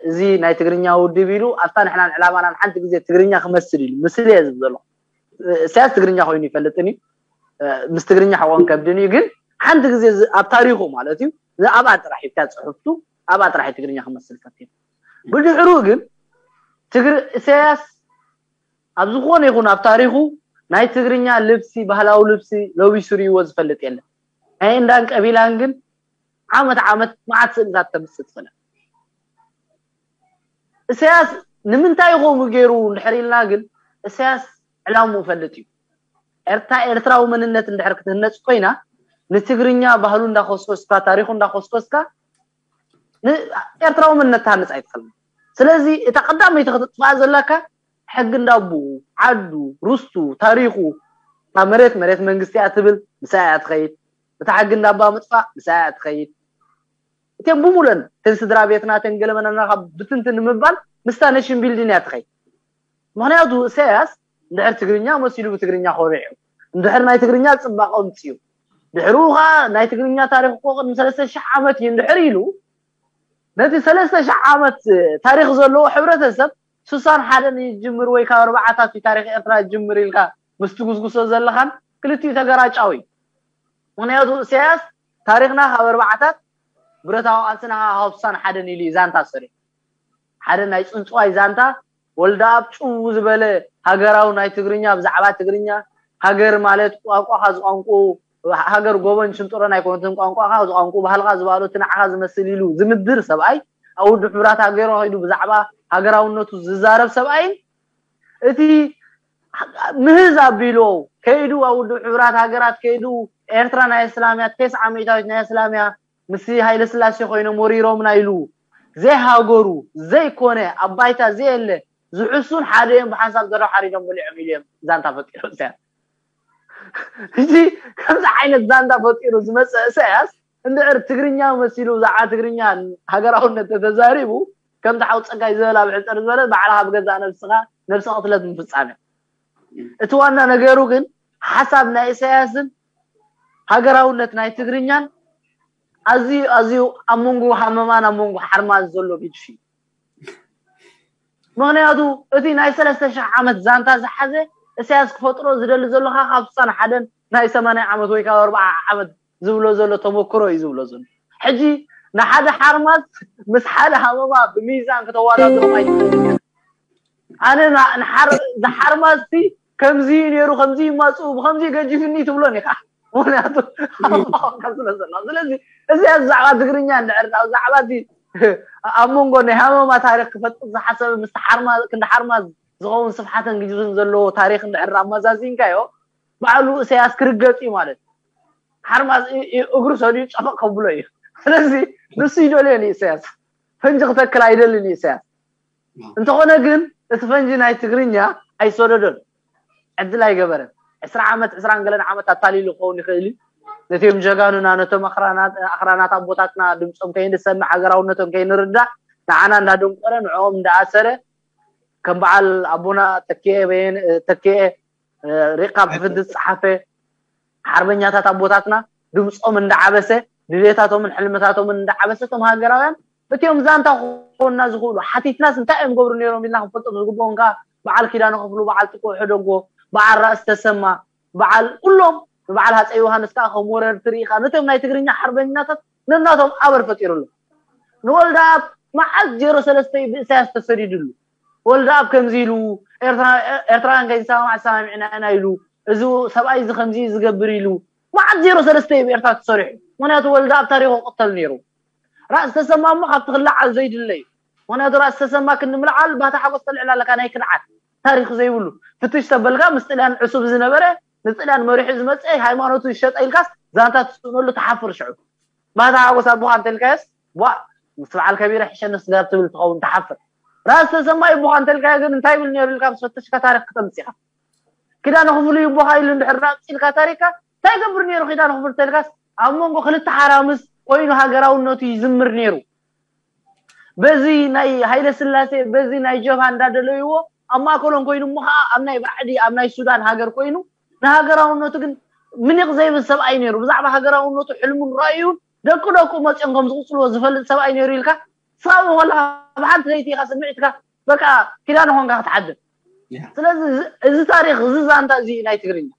እዚ ናይ ትግርኛ ውድብ ኢሉ ኣብታ ንሕናን ዕላማናን ሓንቲ ግዜ ትግርኛ ክመስል ኢሉ ምስል እየ ዝብል ዘለኹ። ኢሳያስ ትግርኛ ኮይኑ ይፈልጥን እዩ፣ ምስ ትግርኛ ሕቆን ከብድን እዩ። ግን ሓንቲ ግዜ ኣብ ታሪኹ ማለት እዩ፣ ኣብኣ ጥራሕ ሂብካ ፅሑፍቱ ኣብኣ ጥራሕ ትግርኛ ክመስል ፈቲኑ። ብድሕሩ ግን ትግር ኢሳያስ ኣብ ዝኾነ ይኹን ኣብ ታሪኹ ናይ ትግርኛ ልብሲ፣ ባህላዊ ልብሲ ለቢሱ ርእይዎ ዝፈልጥ የለን። ናይ እንዳን ቀቢላን ግን ዓመት ዓመት መዓት ስእልታት ተምፅእ ትኽእል። ኢሳያስ ንምንታይ ከምኡ ገይሩ እንድሕር ኢልና ግን፣ ኢሳያስ ዕላምኡ ፈልጥ እዩ። ኤርትራ ኤርትራዊ መንነት እንድሕር ክትህነፅ ኮይና፣ ንትግርኛ ባህሉ እንዳኮስኮስካ፣ ታሪኹ እንዳኮስኮስካ፣ ኤርትራዊ መንነት ትሃንፅ ኣይትኽእልን። ስለዚ እታ ቀዳመይቲ ክትጥፋእ ዘለካ፣ ሕጊ እንዳቦኡ፣ ዓዱ፣ ርስቱ፣ ታሪኹ፣ እታ መሬት መሬት መንግስቲ እያ ትብል፣ ምስኣ እያ ትኸይድ። እታ ሕጊ እንዳባ ምጥፋእ፣ ምስኣ እያ ትኸይድ። እተን ብሙለን እተን ስድራ ቤትና እተን ገለመናና ካብ ብትንትን ንምባል ምስታ ነሽን ቢልዲን እያ ትኸይድ። ምክንያቱ ኢሳያስ እንድሕር ትግርኛ መሲሉ ብትግርኛ ኮሪዑ፣ እንድሕር ናይ ትግርኛ ፅባቐ ኣምፅኡ፣ ድሕሩ ከዓ ናይ ትግርኛ ታሪክ እኮ ቅድሚ ሰለስተ ሽሕ ዓመት እዩ እንድሕር ኢሉ፣ ነቲ ሰለስተ ሽሕ ዓመት ታሪክ ዘለዎ ሕብረተሰብ ስሳን ሓደን ይጅምር ወይ ካብ ኣርባዓታት እዩ ታሪክ ኤርትራ ይጅምር ኢልካ ምስ ትጉስጉሶ ዘለኻን ክልቲኡ ተገራጫዊ እዩ። ምክንያቱ ኢሳያስ ታሪክና ካብ ኣርባዓታት፣ ብረታዊ ቃልስና ካብ ስሳን ሓደን ኢሉ እዩ ዛንታ ሰሪሑ። ሓደ ናይ ፅንፅዋይ ዛንታ፣ ወልደኣብ ጭው ዝበለ ሃገራዊ ናይ ትግርኛ፣ ብዛዕባ ትግርኛ፣ ሃገር ማለት ቋንቋኻ ዝቋንቁ፣ ሃገር ጎቦን ሽንጥሮን ኣይኮነትን፣ ቋንቋኻ ዝቋንቁ፣ ባህልኻ ዝበሃሉ እቲ ንዓኻ ዝመስል ኢሉ ዝምድር ሰብኣይ፣ ኣብ ውድብ ሕቡራት ሃገሩ ከይዱ ብዛዕባ ሃገራውነቱ ዝዛረብ ሰብኣይን፣ እቲ ምህዝ ኣቢሉ ከይዱ ኣብ ውድብ ሕቡራት ሃገራት ከይዱ፣ ኤርትራ ናይ እስላምያ፣ ተስዓ ሚእታዊት ናይ እስላምያ፣ ምስ ሃይለ ስላሴ ኮይኖም ወሪሮምና ኢሉ ዘይሃገሩ ዘይኮነ ኣብ ባይታ ዘየለ ዝሕሱን ሓደ እዮም፣ ብሓንሳብ ዘረው ሓሪዶም በሊዖም ኢሉ እዮም ዛንታ ፈጢሩ ኢሳያስ። እዚ ከምዚ ዓይነት ዛንታ ፈጢሩ ዝመፀ ኢሳያስ እንድዕር ትግርኛ መሲሉ ብዛዕባ ትግርኛ ሃገራውነት ተተዛሪቡ፣ ከምቲ ሓው ፀጋይ ዝበላ ብሕፅር ዝበለ ባዕልኻ ብገዛእ ነብስኻ ነብሲ ቅትለት ምፍፃም እዩ። እቲ ዋና ነገሩ ግን ሓሳብ ናይ ኢሳያስን ሃገራውነት ናይ ትግርኛን ኣዝዩ ኣዝዩ ኣብ መንጎ ሃመማን ኣብ መንጎ ሓርማዝ ዘሎ ግድፊ እዩ። ምክንያቱ እቲ ናይ ሰለስተ ሽሕ ዓመት ዛንታ ዝሓዘ ኢሳያስ ክፈጥሮ ዝደሊ ዘሎ ካብ ስሳን ሓደን ናይ ሰማንያ ዓመት ወይ ካብ ኣርብዓ ዓመት ዝብሎ ዘሎ ተመክሮ እዩ ዝብሎ ዘሎ። ሕጂ ንሓደ ሓርማዝ ምስ ሓደ ሃመማ ብሚዛን ከተወዳድሮም ኣይትኽእልን። ኣነ ዝሓርማዝቲ ከምዚ ነይሩ፣ ከምዚ ይማፅኡ፣ ብከምዚ ገጅፍኒ ትብሎን ኢኻ። ምክንያቱ ኣባካ ስለ ዘሎ። ስለዚ እዚ ብዛዕባ ትግርኛ እንድሕር ብዛዕባ እቲ ኣብ መንጎ ናይ ሃመማ ታሪክ ክፈጥር ዝሓሰበ ምስ ሓርማዝ ክንዲ ሓርማዝ ዝኸውን ስፍሓትን ግጅፍን ዘለዎ ታሪክ እንድሕር ኣመዛዚንካዮ፣ ባዕሉ ኢሳያስ ክርገጥ እዩ ማለት እዩ። ሓርማዝ እግሩ ሰዲኡ ጨፈቕ ከብሎ እዩ። ስለዚ ንሱ ይደልዮ እዩ ኢሳያስ፣ ፈንጂ ክተክል ኣይደልን እዩ ኢሳያስ። እንተኾነ ግን እቲ ፈንጂ ናይ ትግርኛ ኣይሰደዶን፣ ዕድል ኣይገበረን። ዕስራ ዓመት ዕስራን ገለን ዓመት ኣታሊሉ ክኸውን ይኽእል እዩ። ነቲኦም ጀጋኑና ነቶም ኣኽራናት ኣቦታትና ድምፆም ከይንሰምዕ ሃገራውነቶም ከይንርዳእ ንዓና እንዳደንቆረ ንዕኦም እንዳኣሰረ ከም በዓል ኣቦና ተኪኤ በየነ ተኪኤ ሪቕካ ብሕፍንቲ ዝፀሓፈ ሓርበኛታት ኣቦታትና ድምፆም እንዳዓበሰ ድሌታቶምን ሕልምታቶምን እንዳዓበሰ እቶም ሃገራውያን እቲኦም ዛንታ ክኾንና ዝኽእሉ ሓቲትናስ እንታይ እዮም ገብሩ ነይሮም ኢልና ክንፈልጦም ዝግብኦም ከዓ በዓል ኪዳነ ክፍሉ በዓል ጥቁ ሕደጎ በዓል ራእሲ ተሰማ በዓል ኩሎም ንበዓል ሃፀይ ዮሃንስ ከዓ ከም ወረርቲ ርኢኻ ነቶም ናይ ትግርኛ ሓርበኛታት ነናቶም ኣበር ፈጢሩሎም ንወልደኣብ መዓት ዜሮ ሰለስተ እዩ ብእሳያስ ተሰዲድሉ ወልደኣብ ከምዚ ኢሉ ኤርትራውያን ከይንሰማማዕ ሰማሚዕና ኢና ኢሉ እዚ ሰብኣይ እዚ ከምዚ ዝገብር ኢሉ መዓት ዜሮ ሰለስተ እዩ ብኤርትራ ተሰሪሑ ምክንያቱ ወልደኣብ ታሪኹ ክቅተል ነይሩ ራእሲ ተሰማ እሞ ካብቲ ክለዓል ዘይድለ እዩ ምክንያቱ ራእሲ ተሰማ ክንዲ ምልዓል ባታ ሓጎስ ተልዕል ኣለካ ናይ ክድዓት ታሪክ ዘይብሉ ፍትሽ ተበልካ ምስ ጥልያን ዕሱብ ዝነበረ ንጥልያን መሪሑ ዝመፀ ሃይማኖቱ ይሸጠ ኢልካስ ዛንታ ትስእነሉ ትሓፍር ሽዑ ባታ ሓጎስ ኣቦኻ እንተልካዮስ ቧእ ምስ በዓል ከቢረ ሕሸኒ ስጋብ ትብል ትኸውን ትሓፍር ራእሲ ተሰማ ይቦኻ እንተልካዮ ግን እንታይ ይብል ነይሩ ኢልካ ምስ ፈተሽካ ታሪክ ክተምፅኻ ኪዳነ ክፍሉ ይቦኻ ኢሉ እንድሕር ራእፂ ኢልካ ታሪካ እንታይ ገብር ነይሩ ኪዳነ ክፍሉ እንተልካስ ኣብ መንጎ ክልተ ሓራምዝ ኮይኑ ሃገራውነቱ ይዝምር ነይሩ በዚ ናይ ሃይለ ስላሴ በዚ ናይ ጀብሃ እንዳደለይዎ ኣብ ማእከሎም ኮይኑ እሞ ከዓ ኣብ ናይ ባዕዲ ኣብ ናይ ሱዳን ሃገር ኮይኑ ንሃገራውነቱ ግን ምኒቕ ዘይብል ሰብኣይ ነይሩ። ብዛዕባ ሃገራውነቱ ሕልሙን ራእዩን ደቂ ደቁ መፅኦም ከም ዝቕፅልዎ ዝፈልጥ ሰብኣይ ነይሩ ኢልካ ስኻብ ከለካ ብሓንቲ ለይቲ ኢኻ ስምዒትካ በቃ ኪዳነ ኮንካ ክትሓድር። ስለዚ እዚ ታሪኽ እዚ ዛንታ እዚ ናይ ትግርኛ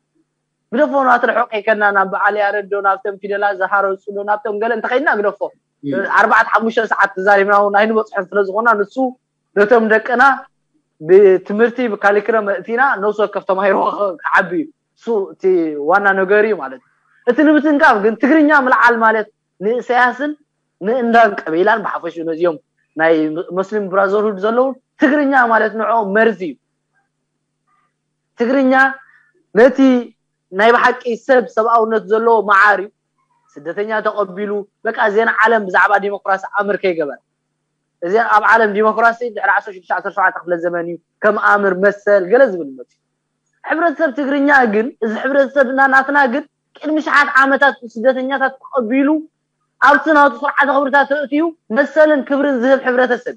ግደፎ ናትርሕቕ ከይከድና ናብ በዓል ያረድ ዶ ናብቶም ፊደላት ዝሃረፁ ዶ ናብቶም ገለ እንተኸይድና ግደፎ ኣርባዕተ ሓሙሽተ ሰዓት ተዛሪብና እውን ኣይንበፅሖን ስለ ዝኾና ንሱ ነቶም ደቅና ብትምህርቲ ብካሊክረም እቲና ነብሲ ወከፍ ተማሂሮ ክዓቢ እዩ እሱ እቲ ዋና ነገር እዩ ማለት እዩ እቲ ንምትንካፍ ግን ትግርኛ ምልዓል ማለት ንእሰያስን ንእንዳን ቀቢላን ብሓፈሽኡ ነዚኦም ናይ መስሊም ብራዘርሁድ ዘለውን ትግርኛ ማለት ንዕኦም መርዚ እዩ ትግርኛ ነቲ ናይ ብሓቂ ሰብ ሰብኣውነት ዘለዎ መዓር እዩ ስደተኛ ተቐቢሉ በቃ ዜና ዓለም ብዛዕባ ዲሞክራሲ ኣምር ከይገበር እዚ ኣብ ዓለም ዲሞክራሲ ድሕሪ 16 ክፍለ ዘመን እዩ ከም ኣምር መሰል ገለ ዝብል መፅዩ ሕብረተሰብ ትግርኛ ግን እዚ ሕብረተሰብና ናትና ግን ቅድሚ ሸሓት ዓመታት ስደተኛታት ተቐቢሉ ኣብቲ ናቱ ስርዓተ ክብርታት ተእትዩ መሰልን ክብርን ዝህብ ሕብረተሰብ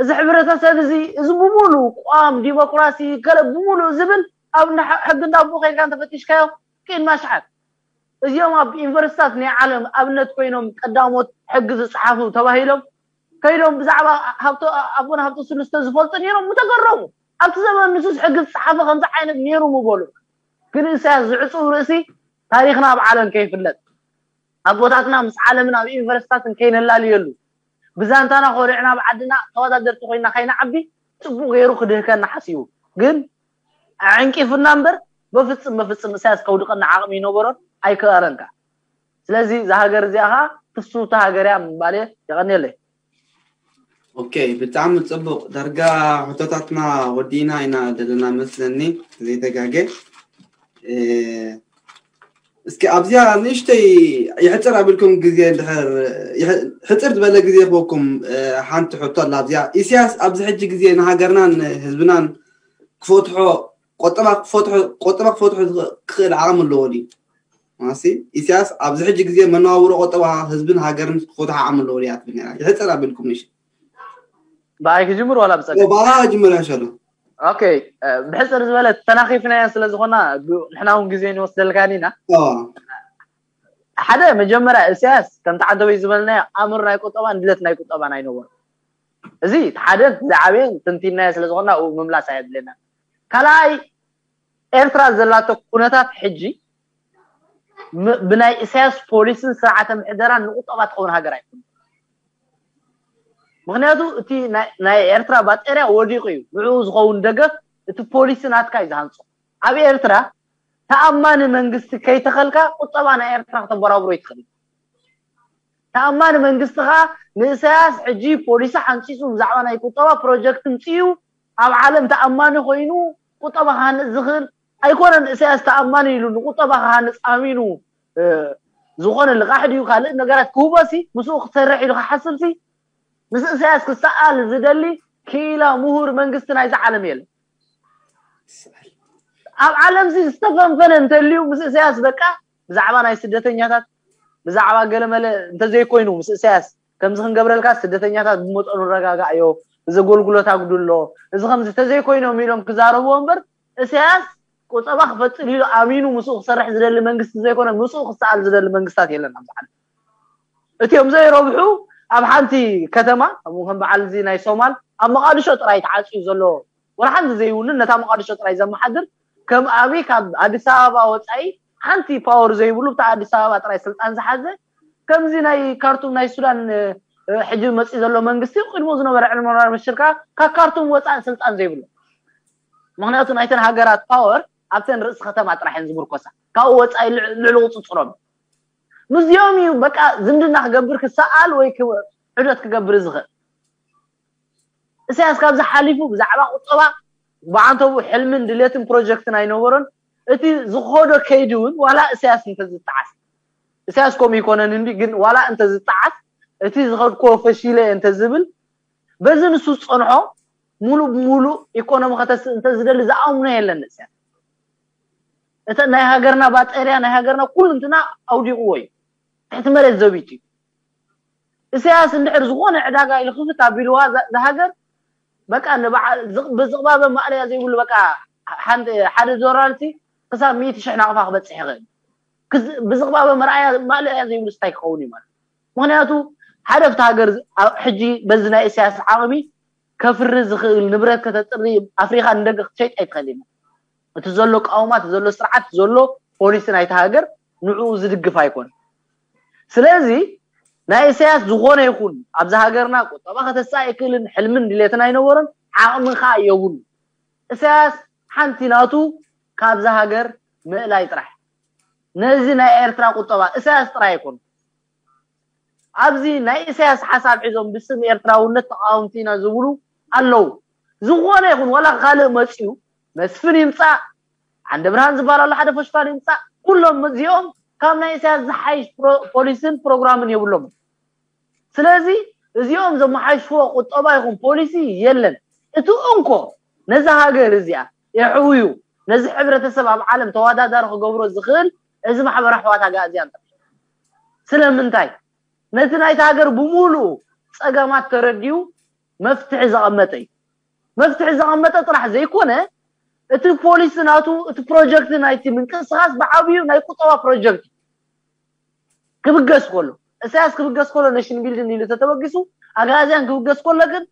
እዚ ሕብረተሰብ እዚ እዚ ብምሉ ቋም ዲሞክራሲ ገለ ብምሉ ዝብል ኣብ ሕጊ እንዳቦ ከይድካ እንተፈቲሽካዮ ቅድሚ ኣሽሓት እዚኦም ኣብ ዩኒቨርሲታት ናይ ዓለም ኣብነት ኮይኖም ቀዳሞት ሕጊ ዝፀሓፉ ተባሂሎም ከይዶም ብዛዕባ ኣቦና ሃብተ ስሉስተ ዝፈልጡ ነይሮም ምተገረሙ ኣብቲ ዘመን ንሱስ ሕጊ ዝፀሓፈ ከምዚ ዓይነት ነይሩ ምበሉ ግን እሳያስ ዝዕፁብ ርእሲ ታሪኽና ኣብ ዓለም ከይፍለጥ ኣቦታትና ምስ ዓለምን ኣብ ዩኒቨርሲታትን ከይነላልየሉ ብዛንታና ኮሪዕና ኣብ ዓድና ተወዳደርቲ ኮይና ከይንዓቢ ፅቡቅ ገይሩ ክድህከና ሓሲቡ ግን ኣዕንቂፉና እምበር በፍፅም በፍፅም እሳያስ ከውድቀና ዓቕሚ ይነበሮን ኣይክኣረን ከኣ ስለዚ እዛ ሃገር እዚኣ ከዓ ትስውታ ሃገር እያ ምባል እየ የቐንየለይ ኦኬ ብጣዕሚ ፅቡቅ ዳርጋ ሕቶታትና ወዲና ኢና ዘለና መስለኒ ዘይተጋገ እስኪ ኣብዚኣ ንእሽተይ ይሕፅር ኣቢልኩም ግዜ እንድሕር ሕፅር ዝበለ ግዜ ክበኩም ሓንቲ ሕቶ ኣላ ኣብዚኣ ኢሳያስ ኣብዚ ሕጂ ግዜ ንሃገርናን ህዝብናን ክፈትሖ ቆጠባ ክፈትሖ ቆጠባ ክፈትሖ ክኽእል ዓቕሚ ኣለዎ ድዩ ማሲ ኢሳያስ ኣብዚ ሕጂ ግዜ መነባብሮ ቆጠባ ህዝብን ሃገርን ክፈትሖ ዓቕሚ ኣለዎ ድያ ትብል ነራ ይሕፅር ኣቢልኩም ንሽ ብኣይ ክጅምር ዋላ ብፀገም ብኣ ጅምር ያሸሎ ኦኬ ብሕፅር ዝበለ ተናኺፍናዮ ስለ ዝኾና ንሕና እውን ግዜ ንወስደልካን ኢና ሓደ መጀመርያ እስያስ ከምቲ ዓደበይ ዝበልናዮ ኣምር ናይ ቁጠባን ድለት ናይ ቁጠባን ኣይነበሩ እዚ ሓደ ዝዓበየን ትንቲናዮ ስለ ዝኾና ምምላስ ኣየድልየና ካልኣይ ኤርትራ ዘላቶ ኩነታት ሕጂ ብናይ እስያስ ፖሊስን ስርዓተ ምሕደራን ንቁጠባ ትኸውን ሃገር ኣይኮነ ምክንያቱ እቲ ናይ ኤርትራ ባጠርያ ወዲቑ እዩ ንዕኡ ዝኸውን ደገፍ እቲ ፖሊሲ ናትካ እዩ ዝሃንፆ ኣብ ኤርትራ ተኣማኒ መንግስቲ ከይተኸልካ ቁጠባ ናይ ኤርትራ ክተበራብሮ ይትኽእል ተኣማኒ መንግስቲ ከዓ ንእሰያስ ሕጂ ፖሊሲ ሓንፂፁ ብዛዕባ ናይ ቁጠባ ፕሮጀክት ምፅኡ ኣብ ዓለም ተኣማኒ ኮይኑ ቁጠባ ክሃንፅ ዝኽእል ኣይኮነን እሰያስ ተኣማኒ ኢሉ ንቁጠባ ክሃንፅ ኣሚኑ ዝኾነ ልቓሕ ድዩ ካልእ ነገራት ክህቦሲ ምስኡ ክሰርሕ ኢሉ ክሓስብሲ ምስ እሰያስ ክሰኣል ዝደሊ ክኢላ ምሁር መንግስቲ ናይዚ ዓለም የለን ኣብ ዓለምሲ ዝተፈንፈነ እንተልዩ ምስ እሰያስ በቃ ብዛዕባ ናይ ስደተኛታት ብዛዕባ ገለመለ እንተዘይኮይኑ ምስ እሰያስ ከምዚ ክንገብረልካ ስደተኛታት ብመጠኑ ረጋጋእዮ እዚ ኣገልግሎት ኣጉድሎ እዚ ከምዚ ተዘይኮይኖም ኢሎም ክዛረብዎ እምበር እሰያስ ቁጠባ ክፈጥር ኢሉ ኣሚኑ ምስኡ ክሰርሕ ዝደሊ መንግስቲ ዘይኮነ ምስኡ ክሰኣል ዝደሊ መንግስታት የለን ኣብዚ ዓለም እቲኦም ዘይረብሑ ኣብ ሓንቲ ከተማ ከም በዓል እዚ ናይ ሶማል ኣብ መቃድሾ ጥራይ ተዓፅዩ ዘሎ ወላ ሓንቲ ዘይውንን ነታ መቃድሾ ጥራይ ዘመሓድር ከም ኣብይ ካብ ኣዲስ ኣበባ ወፃኢ ሓንቲ ፓወር ዘይብሉ ብታ ኣዲስ ኣበባ ጥራይ ስልጣን ዝሓዘ ከምዚ ናይ ካርቱም ናይ ሱዳን ሕጂ መፂ ዘሎ መንግስቲ ቅድሞ ዝነበረ ዕልመራር በሽር ከዓ ካብ ካርቱም ወፃኢ ስልጣን ዘይብሉ ምክንያቱ ናይተን ሃገራት ፓወር ኣብተን ርእሲ ከተማ ጥራሕ እየን ዝምርኮሳ ካብኡ ወፃኢ ልዕሊ ቁፅፅሮም ምስዚኦም እዩ በቃ ዝምድና ክገብር ክሰኣል ወይ ዕደት ክገብር ዝኽእል እሳያስ ካብዚ ሓሊፉ ብዛዕባ ቁጠባ ብዓንተቡ ሕልምን ድሌትን ፕሮጀክትን ኣይነበሮን እቲ ዝኸዶ ከይዲ እውን ዋላ እሳያስ እንተዝጠዓስ እሳያስ ከምኡ ይኮነን እንዲ ግን ዋላ እንተዝጠዓስ እቲ ዝኸድኮ ፈሺለ እንተዝብል በዚ ንሱ ዝፀንሖ ሙሉእ ብሙሉእ ኢኮኖሚ ከተስእ እንተዝደሊ ዝኣምኖ የለን እሳያስ እተ ናይ ሃገርና ባጠርያ ናይ ሃገርና ኩሉ እንትና ኣውዲቕዎ እዩ ትሕቲ መሬት ዘቢቱ እዩ ኢሳያስ እንድሕር ዝኾነ ዕዳጋ ኢሉ ክፍት ኣቢልዋ እዛ ሃገር በቃ ንበዓል ብዝቕባበ ማእለያ ዘይብሉ በቃ ሓንቲ ሓደ ዶላር ሲ ክሳብ ሚእቲ ሽሕ ናቕፋ ክበፅሕ ይኽእል። ብዝቕባበ መርኣያ ማእለያ ዘይብሉ ስታይ ክኸውን እዩ ማለት። ምኽንያቱ ሓደ ኣብቲ ሃገር ሕጂ በዚ ናይ ኢሳያስ ዓቕሚ ከፍሪ ዝኽእል ንብረት ከተጥሪ ኣፍሪኻ ንደገ ክትሸይጥ ኣይትኽእል እዩ። እቲ ዘሎ ቃውማ እቲ ዘሎ ስርዓት ዘሎ ፖሊሲ ናይቲ ሃገር ንዕኡ ዝድግፍ ኣይኮን። ስለዚ ናይ ኢሳያስ ዝኾነ ይኹን ኣብዚ ሃገርና ቁጠባ ከተሳ ኣይክእልን ሕልምን ድሌትን ኣይነበሮን ዓቕሚ ከዓ የብሉ። ኢሳያስ ሓንቲ ናቱ ካብዛ ሃገር ምእላይ ጥራሕ። ነዚ ናይ ኤርትራ ቁጠባ ኢሳያስ ጥራይ ኣይኮን ኣብዚ ናይ ኢሳያስ ሓሳብ ሒዞም ብስም ኤርትራውነት ተቃወምቲ ኢና ዝብሉ ኣለዉ። ዝኾነ ይኹን ዋላ ካልእ መፅዩ መስፍን ይምፃእ ዓንደ ብርሃን ዝበሃል ኣሎ ሓደ ፈሽፋል ይምፃእ ኩሎም እዚኦም ካብ ናይ ኢሳያስ ዝሓይሽ ፖሊስን ፕሮግራምን የብሎም። ስለዚ እዚኦም ዘመሓይሽዎ ቁጠባ ይኹን ፖሊሲ የለን። እቲ እንኮ ነዚ ሃገር እዚኣ የሕውዩ ነዚ ሕብረተሰብ ኣብ ዓለም ተወዳዳሪ ክገብሮ ዝኽእል እዚ ማሕበረ ኣሕዋት ኣጋእዝያን ጥራሕ። ስለምንታይ? ነቲ ናይቲ ሃገር ብምሉኡ ፀገማት ተረዲኡ መፍትሒ ዘቐመጠ እዩ። መፍትሒ ዘቐመጠ ጥራሕ ዘይኮነ እቲ ፖሊሲ ናቱ እቲ ፕሮጀክት ናይቲ ምንቅስቃስ ብዓብዩ ናይ ቁጠባ ፕሮጀክት ክብገስ ከሎ ኢሳያስ ክብገስ ከሎ ነሽን ቢልድን ኢሉ ተተበጊሱ ኣጋዝያን ክብገስ ከሎ ግን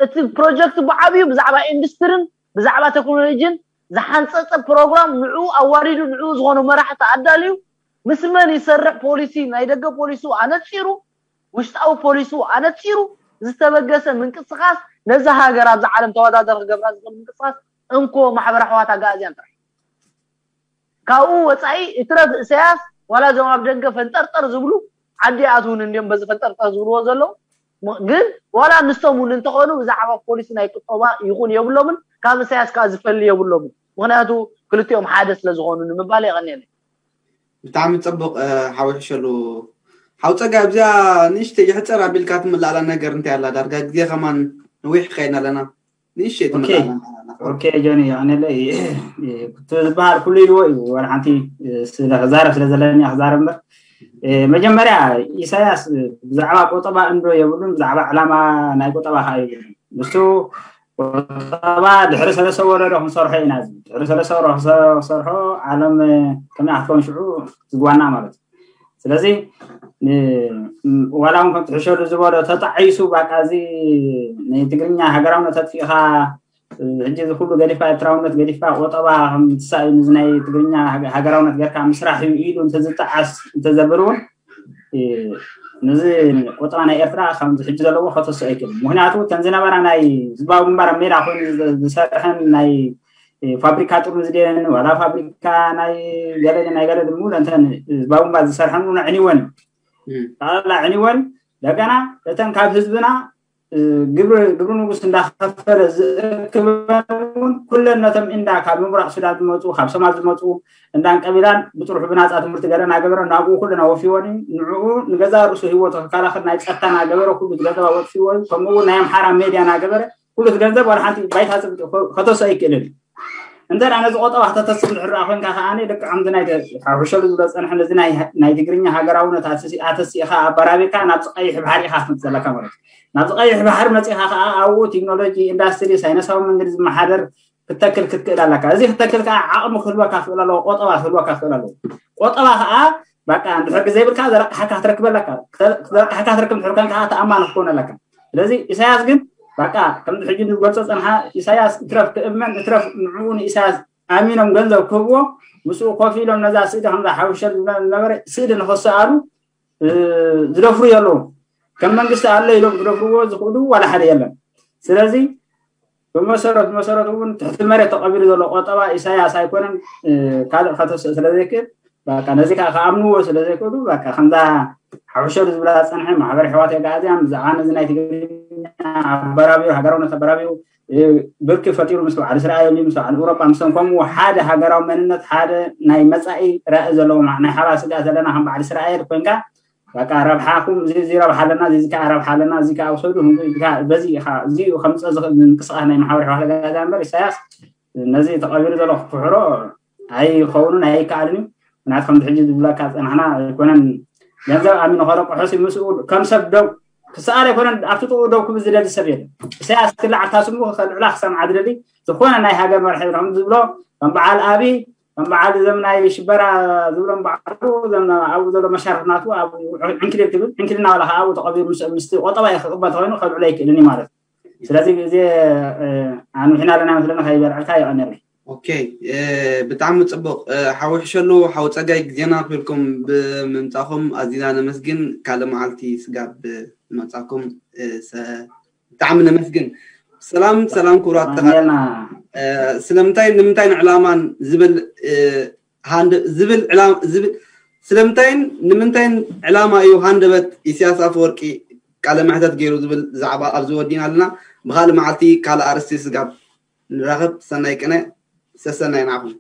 እቲ ፕሮጀክት ብዓብዩ ብዛዕባ ኢንዱስትርን ብዛዕባ ቴክኖሎጂን ዝሓንፀፀ ፕሮግራም ንዕኡ ኣዋሪዱ ንዕኡ ዝኾኑ መራሕቲ ኣዳልዩ ምስ መን ይሰርሕ ፖሊሲ ናይ ደገ ፖሊሱ ኣነፂሩ ውሽጣዊ ፖሊሱ ኣነፂሩ ዝተበገሰ ምንቅስቃስ ነዛ ሃገር ኣብዛ ዓለም ተወዳደር ክገብራ ዝኽእል ምንቅስቃስ እንኮ ማሕበር ኣሕዋት ኣጋእዝያን ጥራሕ ካብኡ ወፃኢ እትረፍ እሰያስ ዋላ እዞም ኣብ ደገ ፈንጠርጠር ዝብሉ ዓዲ ኣትውን እንዲም በዚ ፈንጠርጠር ዝብልዎ ዘለዉ ግን ዋላ ንሶም እውን እንተኾኑ ብዛዕባ ፖሊሲ ናይ ቁጠባ ይኹን የብሎምን ካብ እሰያስ ከዓ ዝፈሊ የብሎምን ምክንያቱ ክልቲኦም ሓደ ስለ ዝኾኑ ንምባል የቐንየለይ ብጣዕሚ ፅቡቅ ሓወይ ሕሸሉ ሓው ፀጋ ኣብዚኣ ንእሽተይ ይሕፀር ኣቢልካ ትምላእላ ነገር እንታይ ኣላ ዳርጋ ግዜ ከማን ነዊሕ ከይና ኣለና ንእሽተይ ትምላእላ ኦኬ ጆኒ ኣነለይ እቲ ዝበሃል ኩሉ ኢልዎ እዩ ዋላ ሓንቲ ክዛረብ ስለ ዘለኒ ክዛረብ እምበር መጀመርያ ኢሳያስ ብዛዕባ ቆጠባ እንዶ የብሉን ብዛዕባ ዕላማ ናይ ቆጠባ ከዓ የብሉን ንሱ ቁጠባ ድሕሪ ሰለስተ ወረዶ ክንሰርሖ ኢና እዚ ድሕሪ ሰለስተ ወረዶ ክሰርሖ ዓለም ከመይ ክትከውን ሽዑ ዝግባና ማለት እዩ ስለዚ ዋላ እውን ከምቲ ሕሸሉ ዝበሎ ተጣዒሱ በቃ እዚ ናይ ትግርኛ ሃገራውነት ኣጥፊእኻ ሕጂ እዚ ኩሉ ገዲፍካ ኤርትራውነት ገዲፍካ ቆጠባ ከምትሳእ እዩ እዚ ናይ ትግርኛ ሃገራውነት ጌርካ ምስራሕ እዩ ኢሉ እንተዝጠዓስ እንተዘብል እውን ነዚ ቆጠባ ናይ ኤርትራ ከምዚ ሕጂ ዘለዎ ከተስኦ ኣይክእልን ምክንያቱ እተን ዝነበራ ናይ ህዝባዊ ግንባር ኣብ ሜዳ ኮይኑ ዝሰርሐን ናይ ፋብሪካ ጥርሙዝ ድየን ዋላ ፋብሪካ ናይ ገለ ናይ ገለ ድምኡ እንተን ህዝባዊ ግንባር ዝሰርሐን እውን ኣዕኒወን ጠቕላላ ኣዕኒወን ደገና እተን ካብ ህዝብና ግብሪ ግብሪ ንጉስ እንዳኸፈለ ዝእክበን እውን ኩለን ነቶም እንዳ ካብ ምብራቅ ሱዳን ዝመፁ ካብ ሶማል ዝመፁ እንዳን ቀቢላን ብጥርሑ ብናፃ ትምህርቲ ገለ እናገበረ ናብኡ ኩለን ኣወፊወን እዩ ንዕኡ ንገዛ ርእሱ ህይወቱ ክከላኸል ናይ ፀታ እናገበረ ኩሉ ገንዘብ ኣወፅዎ እዩ ከምኡ እውን ናይ ኣምሓራ ሜድያ እናገበረ ኩሉ ገንዘብ ዋላ ሓንቲ ባይታ ከተሶ ኣይክእልን እዩ እንተ ነዚ ቆጠባ ከተተስእ እንድሕር ኮይንካ ከዓ ደቂ ከምዚ ናይ ሕሸሉ ዝብሎ ዝፀንሐ ነዚ ናይ ትግርኛ ሃገራውነት ኣተሲእካ ኣበራቢርካ ናብዚ ቀይሕ ባሕሪ ኢካ ክትመፅእ ዘለካ ማለት እዩ ናብዚ ቀይሕ ባሕሪ መፂእካ ከዓ ኣብኡ ቴክኖሎጂ ኢንዳስትሪ ሳይነሳዊ መንገዲ ዝመሓደር ክተክል ክትክእል ኣለካ እዚ ክተክል ከዓ ዓቕሚ ክህልወካ ክእል ኣለዎ ቆጠባ ክህልወካ ክእል ኣለዎ ቆጠባ ከዓ በቃ እንድሕር ግዜ ይብልካ ዘረቅሓካ ክትረክብ ኣለካ ክትረቅሓካ ክትረክብ እንድሕር ኮይንካ ተኣማኒ ክትኮን ኣለካ ስለዚ ኢሳያስ ግን በቃ ከምዚ ሕጂ ንዝገልፆ ፀንሓ ኢሳያስ እትረፍ ክእመን እትረፍ ንዕኡ ንኢሳያስ ኣሚኖም ገንዘብ ክህብዎ ምስኡ ኮፍ ኢሎም ነዛ ስእሊ ከምዛ ሓውሸል ዝብላ ዝነበረ ስእሊ ንኸሰኣሉ ዝደፍሩ የለዉ ከም መንግስቲ ኣሎ ኢሎም ክደፍርዎ ዝኽእሉ ዋላ ሓደ የለን ስለዚ ብመሰረት መሰረቱ እውን ትሕቲ መሬት ተቐቢሉ ዘሎ ቆጠባ ኢሳያስ ኣይኮነን ካልእ ከተስእ ስለ ዘይክእል በቃ ነዚ ከዓ ከኣምንዎ ስለ ዘይክእሉ በቃ ከምዛ ሓውሸሉ ዝብላ ዝፀንሐ ማሕበር ኣሕዋት ኣጋእዝያን ብዛዕባ ነዚ ናይ ትግርኛ ኣበራቢሩ ሃገራውነት ኣበራቢሩ ብርኪ ፈጢሩ ምስ በዓል እስራኤል ምስ በዓል ኤውሮጳ ምስቶም ከምኡ ሓደ ሃገራዊ መንነት ሓደ ናይ መፃኢ ራኢ ዘለዎ ናይ ሓባር ስጋ ዘለና ከም በዓል እስራኤል ኮይንካ በቃ ረብሓኹም እዚ ረብሓ ኣለና እዚ ከዓ ረብሓ ኣለና እዚ ከዓ ውሰዱ በዚ ኢኻ እዚኡ ከምፀ ዝኽእል ምንቅስቃስ ናይ ማሕበር ኣሕዋት ኣጋእዝያን እምበር ኢሳያስ ነዚ ተቐቢሩ ዘሎ ክፍሕሮ ኣይኸውንን ኣይከኣልን እዩ ምክንያቱ ከምዚ ሕጂ ዝብለካ ዝፀናሕና ኣይኮነን ገንዘብ ኣሚኑ ከረቁሑ ሲ ምስኡ ከም ሰብ ደው ክሰኣል ኣይኮነን። ኣብቲ ጥኡ ደው ክብል ዝደሊ ሰብ የለን። ኢሳያስ ክልዓል ታስሙ ከልዕላ ክሰምዓ ዝደሊ ዝኾነ ናይ ሃገር መርሒ ከም ዝብሎ ከም በዓል ኣብይ ከም በዓል ዘም ናይ ሽበራ ዝብሎም በዓሉ ዘም ኣብኡ ዘሎ መሻርክናቱ ኣብ ዕንክሊል ክብል ዕንክሊል እናበለ ከዓ ኣብኡ ተቐቢሩ ምስ ምስቲ ቆጠባ ክቕበል ተኮይኑ ከልዕሎ ኣይክእልን እዩ ማለት እዩ። ስለዚ ግዜ ኣንውሕና ኣለና መስለና ከይበልዐልካ ይቐነለይ። ኦኬ፣ ብጣዕሚ ፅቡቕ። ሓዊ ሕሸሉ ሓዊ ፀጋይ ግዜና ክብልኩም ብምምፃኹም ኣዚና ነመስግን። ካልእ መዓልቲ ስጋብ ዝመፃኩም ብጣዕሚ ነመስግን። ሰላም ሰላም ክቡራት ተኸታተልቲ። ስለምንታይ ንምንታይ ንዕላማን ዝብል ዝብል ስለምንታይን ንምንታይን ዕላማ እዩ ሃንደበት ኢሳያስ ኣፈወርቂ ቃለ መሕተት ገይሩ ዝብል ዛዕባ ኣብዚ ወዲና ኣለና። ብካልእ መዓልቲ ካልእ ኣርስቲ ስጋብ ንራኸብ። ሰናይ ቅነ። ሰሰናይ ንዓኹም።